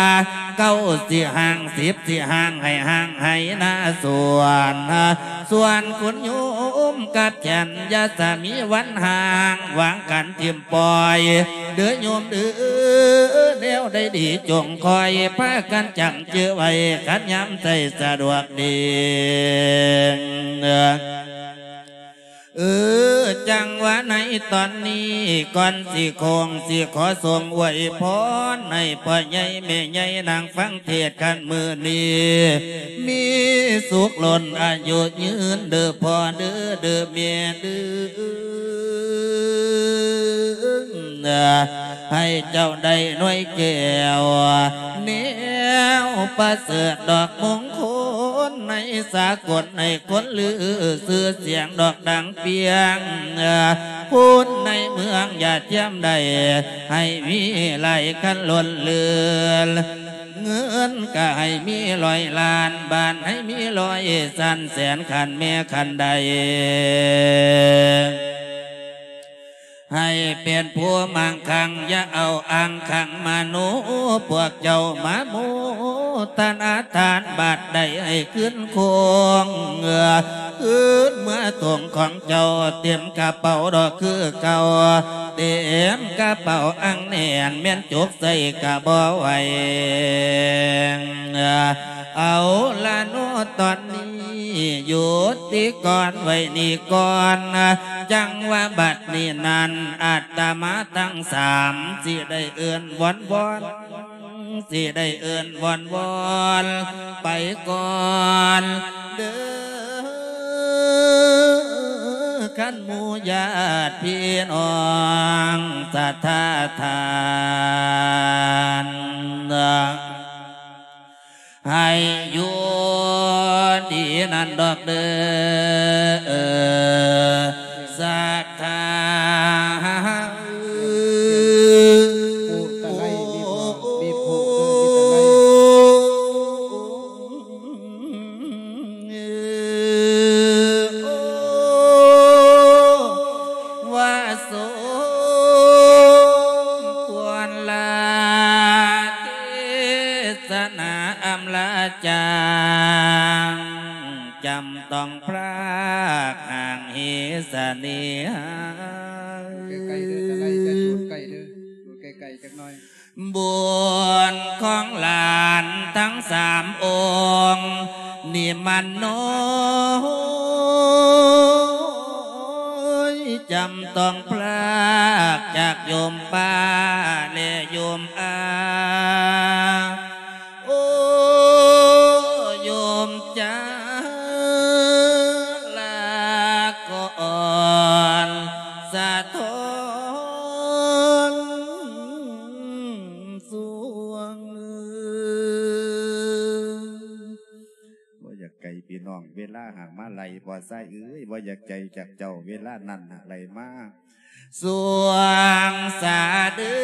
ເກົ້າຊິຫ້າງ ສິບຊິຫ້າງ ໃຫ້ຫ້າງໄຮ່ນາສວນ ສ່ວນຄຸນໂຍມກັບແກ່ນ ຢ່າສະມີວັນຫ່າງ ວາງກັນຖິ້ມປ່ອຍ ເດີໂຍມເດີ ແນວໃດດີຈົ່ງຄອຍ ພາກັນຈຳຈື່ໄວ້ ຄັນຍາມໃຊ້ສະດວກດີ. ເອີ ຈັ່ງວ່າໃນຕອນນີ້ ກ່ອນຊິໂຄ້ງ ຊິຂໍສົ່ງອວຍພອນໃຫ້ພໍ່ໃຫຍ່ແມ່ໃຫຍ່ ນັ່ງຟັງເທດຄັນມື້ນີ້ ມີສຸກລົ້ນອາຍຸຍືນເດີພໍ່ເດີ ເດີແມ່ເດີ. ໃຫ້ເຈົ້າໄດ້ໜ່ວຍແກ້ວ ແນວປະເສີດດອກມົງຄົນໃນສາກົນ ໃຫ້ຄົນລືຊື່ສຽງດອກດັງປ່ຽງ ຄົນໃນເມືອງຢ່າທຽມໄດ້ ໃຫ້ມີຫຼາຍຄັນລົ້ນເຫຼືອ ເງິນກະໃຫ້ມີຮ້ອຍລ້ານ ບ້ານໃຫ້ມີຮ້ອຍຊັ້ນແສນ ຄັນແມ່ຄັນໃດ ໃຫ້ເປັນຜູ້ມັ່ງຄັ່ງ ຢ່າເອົາອ້າງຄັງມະໂນ ພວກເຈົ້າມາໂມທະນາທານ ບາດໃດໃຫ້ຄືນຄົງ ຄືນເມືອຖົງຂອງເຈົ້າ ເຕັມກະເປົາດອກຄືເກົ່າ ເຕັມກະເປົາອັງແໜ້ນ ແມ່ນຈົກໃສ່ກະບໍ່ໄຫວ. ເອົາລະເນາະ ຕອນນີ້ຢຸດຕິກ່ອນໄວ້ນີ້ກ່ອນ ຈັ່ງວ່າບັດນີ້ນັ້ນ ອາດຕະມາທັງສາມ ຊິໄດ້ເອີ້ນວອນວອນ ຊິໄດ້ເອີ້ນວອນວອນ ໄປກ່ອນເດີ ຄັນໝູ່ຍາດພີ່ນ້ອງສັດທາທ່ານ ໃຫ້ຢູ່ດີນັ້ນດອກເດີ ສັດທາ. ຜູ້ຕະໄລມີບໍ່? ມີຜູ້ເດີ ມີຕະໄລ. ວ່າສົມຄວນລາເທສນາອຳລາຈາງ ຈຳຕ້ອງພລາກຫ່າງເຫສະເນຫາ. ໃກ້ໆເດີ ຕະໄລ ຈະຈູດໃກ້ເດີ ຈູດໃກ້ໆຈັກໜ່ອຍ. ບຸນຂອງຫຼານທັງສາມອົງນີ້ມັນນ້ອຍ ຈຳຕ້ອງພລາກຈາກໂຍມປ້າ ແລະ ໂຍມອາ ໂອ້ ໂຍມຈາ ລາກ່ອນສະທ້ອນສວງ. ບໍ່ຢາກໄກພີ່ນ້ອງ ເວລາຫາກມາໄລ່ ພໍ່ຊາຍເອີຍ ບໍ່ຢາກໄກຈາກເຈົ້າ ເວລານັ້ນຫາກໄລ່ມາ ສວງສາເດີ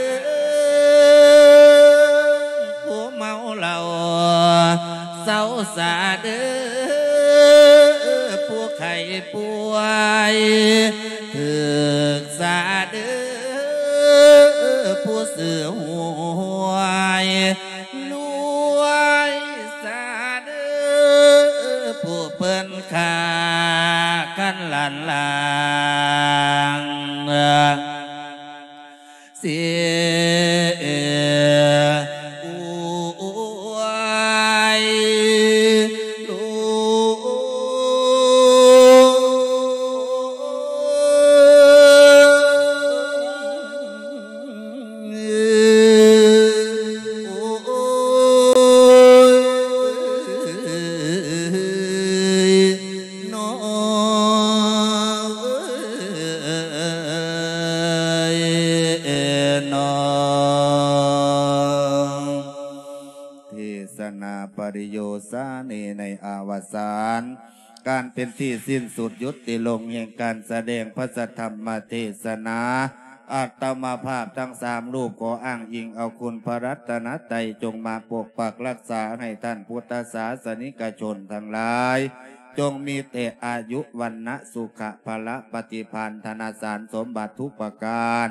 ຜູ້ເມົາເຫຼົ້າ ເຊົາສາເດີ ຜູ້ໄຂ້ປ່ວຍ ຖືກສາເດີ ຜູ້ຊື້ຫວຍ ລວຍສາເດີ ຜູ້ເພິ່ນຂ້າກັນລ້ານລາງ ເສຍອວຍຫຼວງ. ເທສະນາປະລິໂຍສານີ ໃນອະວະສານ ການເປັນທີ່ສິ້ນສຸດຢຸດຕິລົງແຫ່ງການສະແດງພະສັດທຳມະເທສະນາ, ອາດຕະມາພາບທັງສາມຮູບ ຂໍອ້າງອີງເອົາຄຸນພະລັດຕະນະໄຕ ຈົ່ງມາປົກປັກລັກສາໃຫ້ທ່ານພຸດທະສາສະນິກະຊົນທັງຫຼາຍ ຈົ່ງມີແຕ່ອາຍຸ ວັນນະ ສຸຂະ ພະລະ ປະຕິພານ ທະນະສານສົມບັດທຸກປະການ.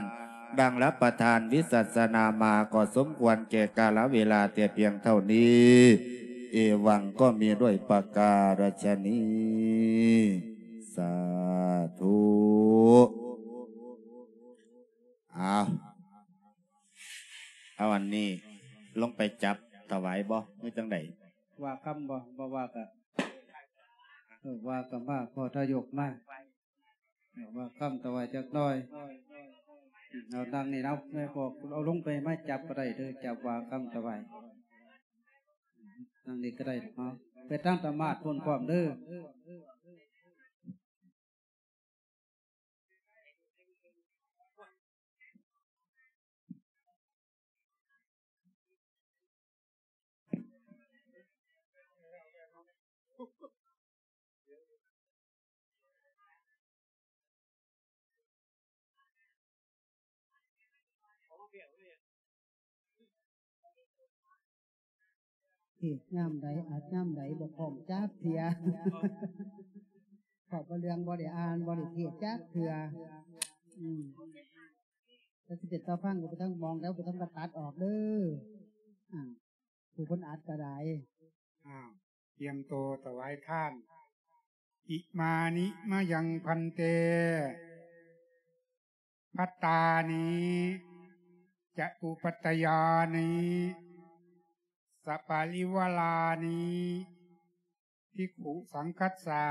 ດັ່ງຮັບປະທານວິສັດສະນາມາ ກໍສົມຄວນແກ່ກາລະເວລາແຕ່ພຽງເທົ່ານີ້. ເອວັງ ກໍມີດ້ວຍປະກາລະຊະນີ. ສາທຸ. ເອົາ ເອົາອັນນີ້ລົງໄປຈັບຖວາຍບໍ່ ຫຼືຈັ່ງໃດ? ວ່າຄຳບໍ່? ບໍ່ວ່າກະ ເອີ ວ່າກະມາ ພໍທະຍົກມາ ເອີ ວ່າຄຳຖວາຍຈັກໜ້ອຍ. ເອົານັ່ງນີ້ເນາະ ແມ່ບອກ ເອົາລົງໄປ ມາຈັບກໍໄດ້ເດີ ຈັບວ່າຄຳຖວາຍ. ນັ່ງນີ້ກໍໄດ້ເນາະ ໄປທາງຕະໝາດພຸ້ນພ້ອມເດີ. ເທດຍາມໃດ ອັດຍາມໃດ ບໍ່ພ້ອມຈັກເທື່ອ. ເພາະວ່າເລື່ອງບໍ່ໄດ້ອ່ານ ບໍ່ໄດ້ເທດຈັກເທື່ອ. ອືມ ແຕ່ສິເປັນຕາຟັງກໍໄປທາງໝ່ອງແລ້ວ ໄປທາງກໍຕັດອອກເດີ. ອ່າ ຜູ້ເພິ່ນອັດກໍໄດ້. ອ້າວ ຕຽມໂຕຖວາຍທານ. ອິມານິມະຍັງພັນເຕ ພັດຕານິ ຈະຕຸປັດຕະຍານິ ສະປະລິວາລານິ ພິກຂຸສັງຄັດສະ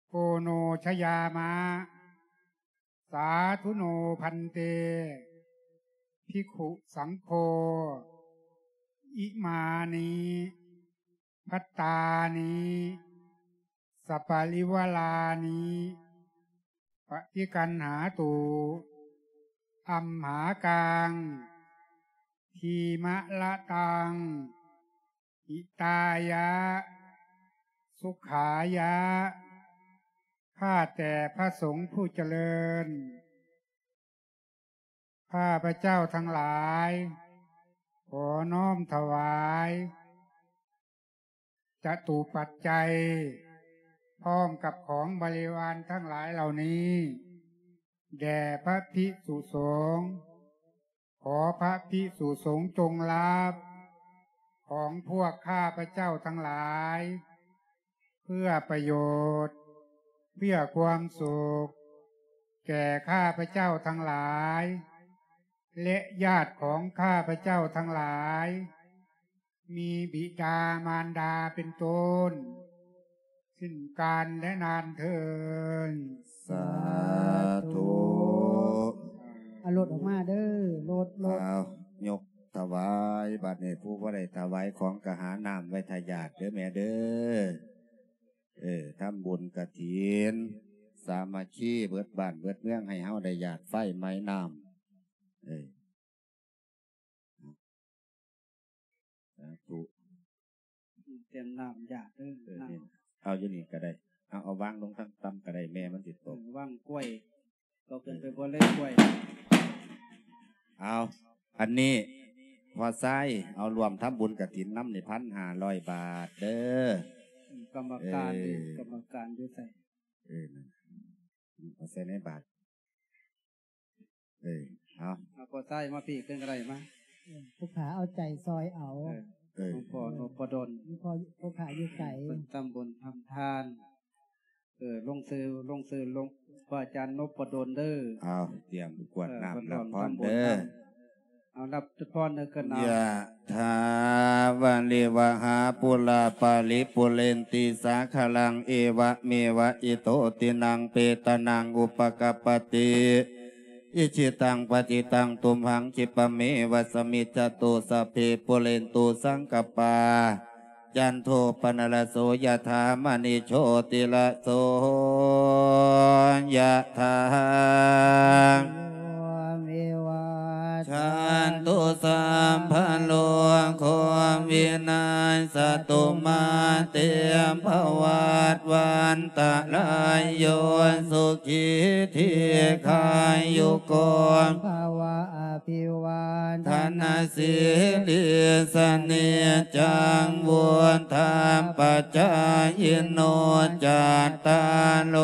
ໂອໂນຊະຍາມະ. ສາທຸໂນພັນເຕ ພິກຂຸສັງໂຄ ອິມານິ ພັດຕານິ ສະປະລິວາລານິ ປະຕິກັນຫາຕຸ ອັມຫາກັງ ທີມະລະຕັງ ຫິຕາຍະ ສຸຂາຍະ. ຂ້າແຕ່ພະສົງຜູ້ຈະເລີນ ຂ້າພະເຈົ້າທັງຫຼາຍ ຂໍນ້ອມຖວາຍ ຈະຕຸປັດໄຈ ພ້ອມກັບຂອງບໍລິວານທັງຫຼາຍເຫຼົ່ານີ້ ແດ່ພະພິກສຸສົງ. ຂໍພະພິກສຸສົງຈົ່ງຮັບຂອງພວກຂ້າພະເຈົ້າທັງຫຼາຍ ເພື່ອປະໂຫຍດ ເພື່ອຄວາມສຸກ ແກ່ຂ້າພະເຈົ້າທັງຫຼາຍ ແລະ ຍາດຂອງຂ້າພະເຈົ້າທັງຫຼາຍ ມີບິດາມານດາເປັນຕົ້ນ ສິ້ນການແລະນານເທີນ. ສາທຸ. ເອົາລົດອອກມາເດີ ລົດ ລົດ. ເອົາ ຍົກຖວາຍ ບັດນີ້ຜູ້ບໍ່ໄດ້ຖວາຍຂອງກໍຫານ້ຳໄວ້ຖ້າຢາດເດີແມ່ເດີ. ເອີ ທຳບຸນກະຖິນ ສາມັກຄີເບິດບ້ານເບິດເມືອງ ໃຫ້ເຮົາໄດ້ຢາດໄຟໃໝ້ນ້ຳ. ເອີ ສາທຸ. ຕຽມນ້ຳຢາດເດີ ເອີ ນ້ຳ ເອົາຢູ່ນີ້ກໍໄດ້ ເອົາ ເອົາວາງລົງທາງຕ່ຳກໍໄດ້ ແມ່ມັນຊິຕົກ ເອີ ວາງກ້ວຍ ຕົກຂຶ້ນໄປ ເອີ ບົນເລີຍກ້ວຍ. ເອົາ ອັນນີ້ພໍ່ຊາຍ ເອົາຮ່ວມທຳບຸນກະຖິນນຳນີ້ ພັນຫ້າຮ້ອຍບາດເດີ. ອືມ ກຳມະການ ເອີ ກຳມະການຢູ່ໃສ? ເອີ ນັ້ນ ເອົາໃສ່ໃນບາດ. ເອີ ເອົາ ເອົາພໍ່ຊາຍມາພີ້ຂຶ້ນກໍໄດ້ມາ. ເອີ ຜູ້ຂ້າເອົາໃຈຊ່ອຍເອົາ. ເອີ ເອີ ຫຼວງພໍ່ນົບປະດົນ ພໍ່ ຜູ້ຂ້າຢູ່ໄກ ເພິ່ນທຳບຸນທຳທານ. ເອີ ລົງຊື່ ລົງຊື່ ລົງ ພະອາຈານນົບປະດົນເດີ. ເອົາ ຕຽມກວດນ້ຳ ເອີ ເພິ່ນ ຮັບພອນເດີ. ເອົາ ຮັບພອນເດີກັນເອົາ. ຍະຖາ ວາລິວະຫາ ປູລາ ປາລິ ປູເຣນຕິ ສາຄະລັງ ເອວະເມວະ ອິໂຕ ຕິນັງ ເປຕານັງ ອຸປະກັບປະຕິ ອິຊິຕັງ ປະຕິຕັງ ຕຸມຫັງ ຂິບປະເມວະ ສະມິດຈະຕຸ ສັບເພ ປູເຣນຕຸ ສັງກະປາ ຈັນໂທ ປະນະລະໂສ ຍະຖາ ມະນີ ໂຊຕິລະໂສ ຍະຖາ ວິວັດ ຈັນຕຸ ສັບພະໂລໂຄ ວິນາສະຕຸ ມາເຕ ພະວັດ ວັນຕະລາຍໂຍ ສຸຂີ ດີຄາຍຸໂກ ພະວະ ອະພິວາທະນະສີລິສະເນຈັງ ວຸດທະປະຈາຍິໂນ ຈັດຕາໂລ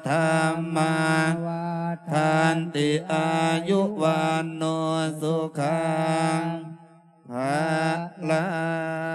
ທຳມາ ວັດທັນຕິ ອາຍຸວັນໂນ ສຸຂັງ ພະລັງ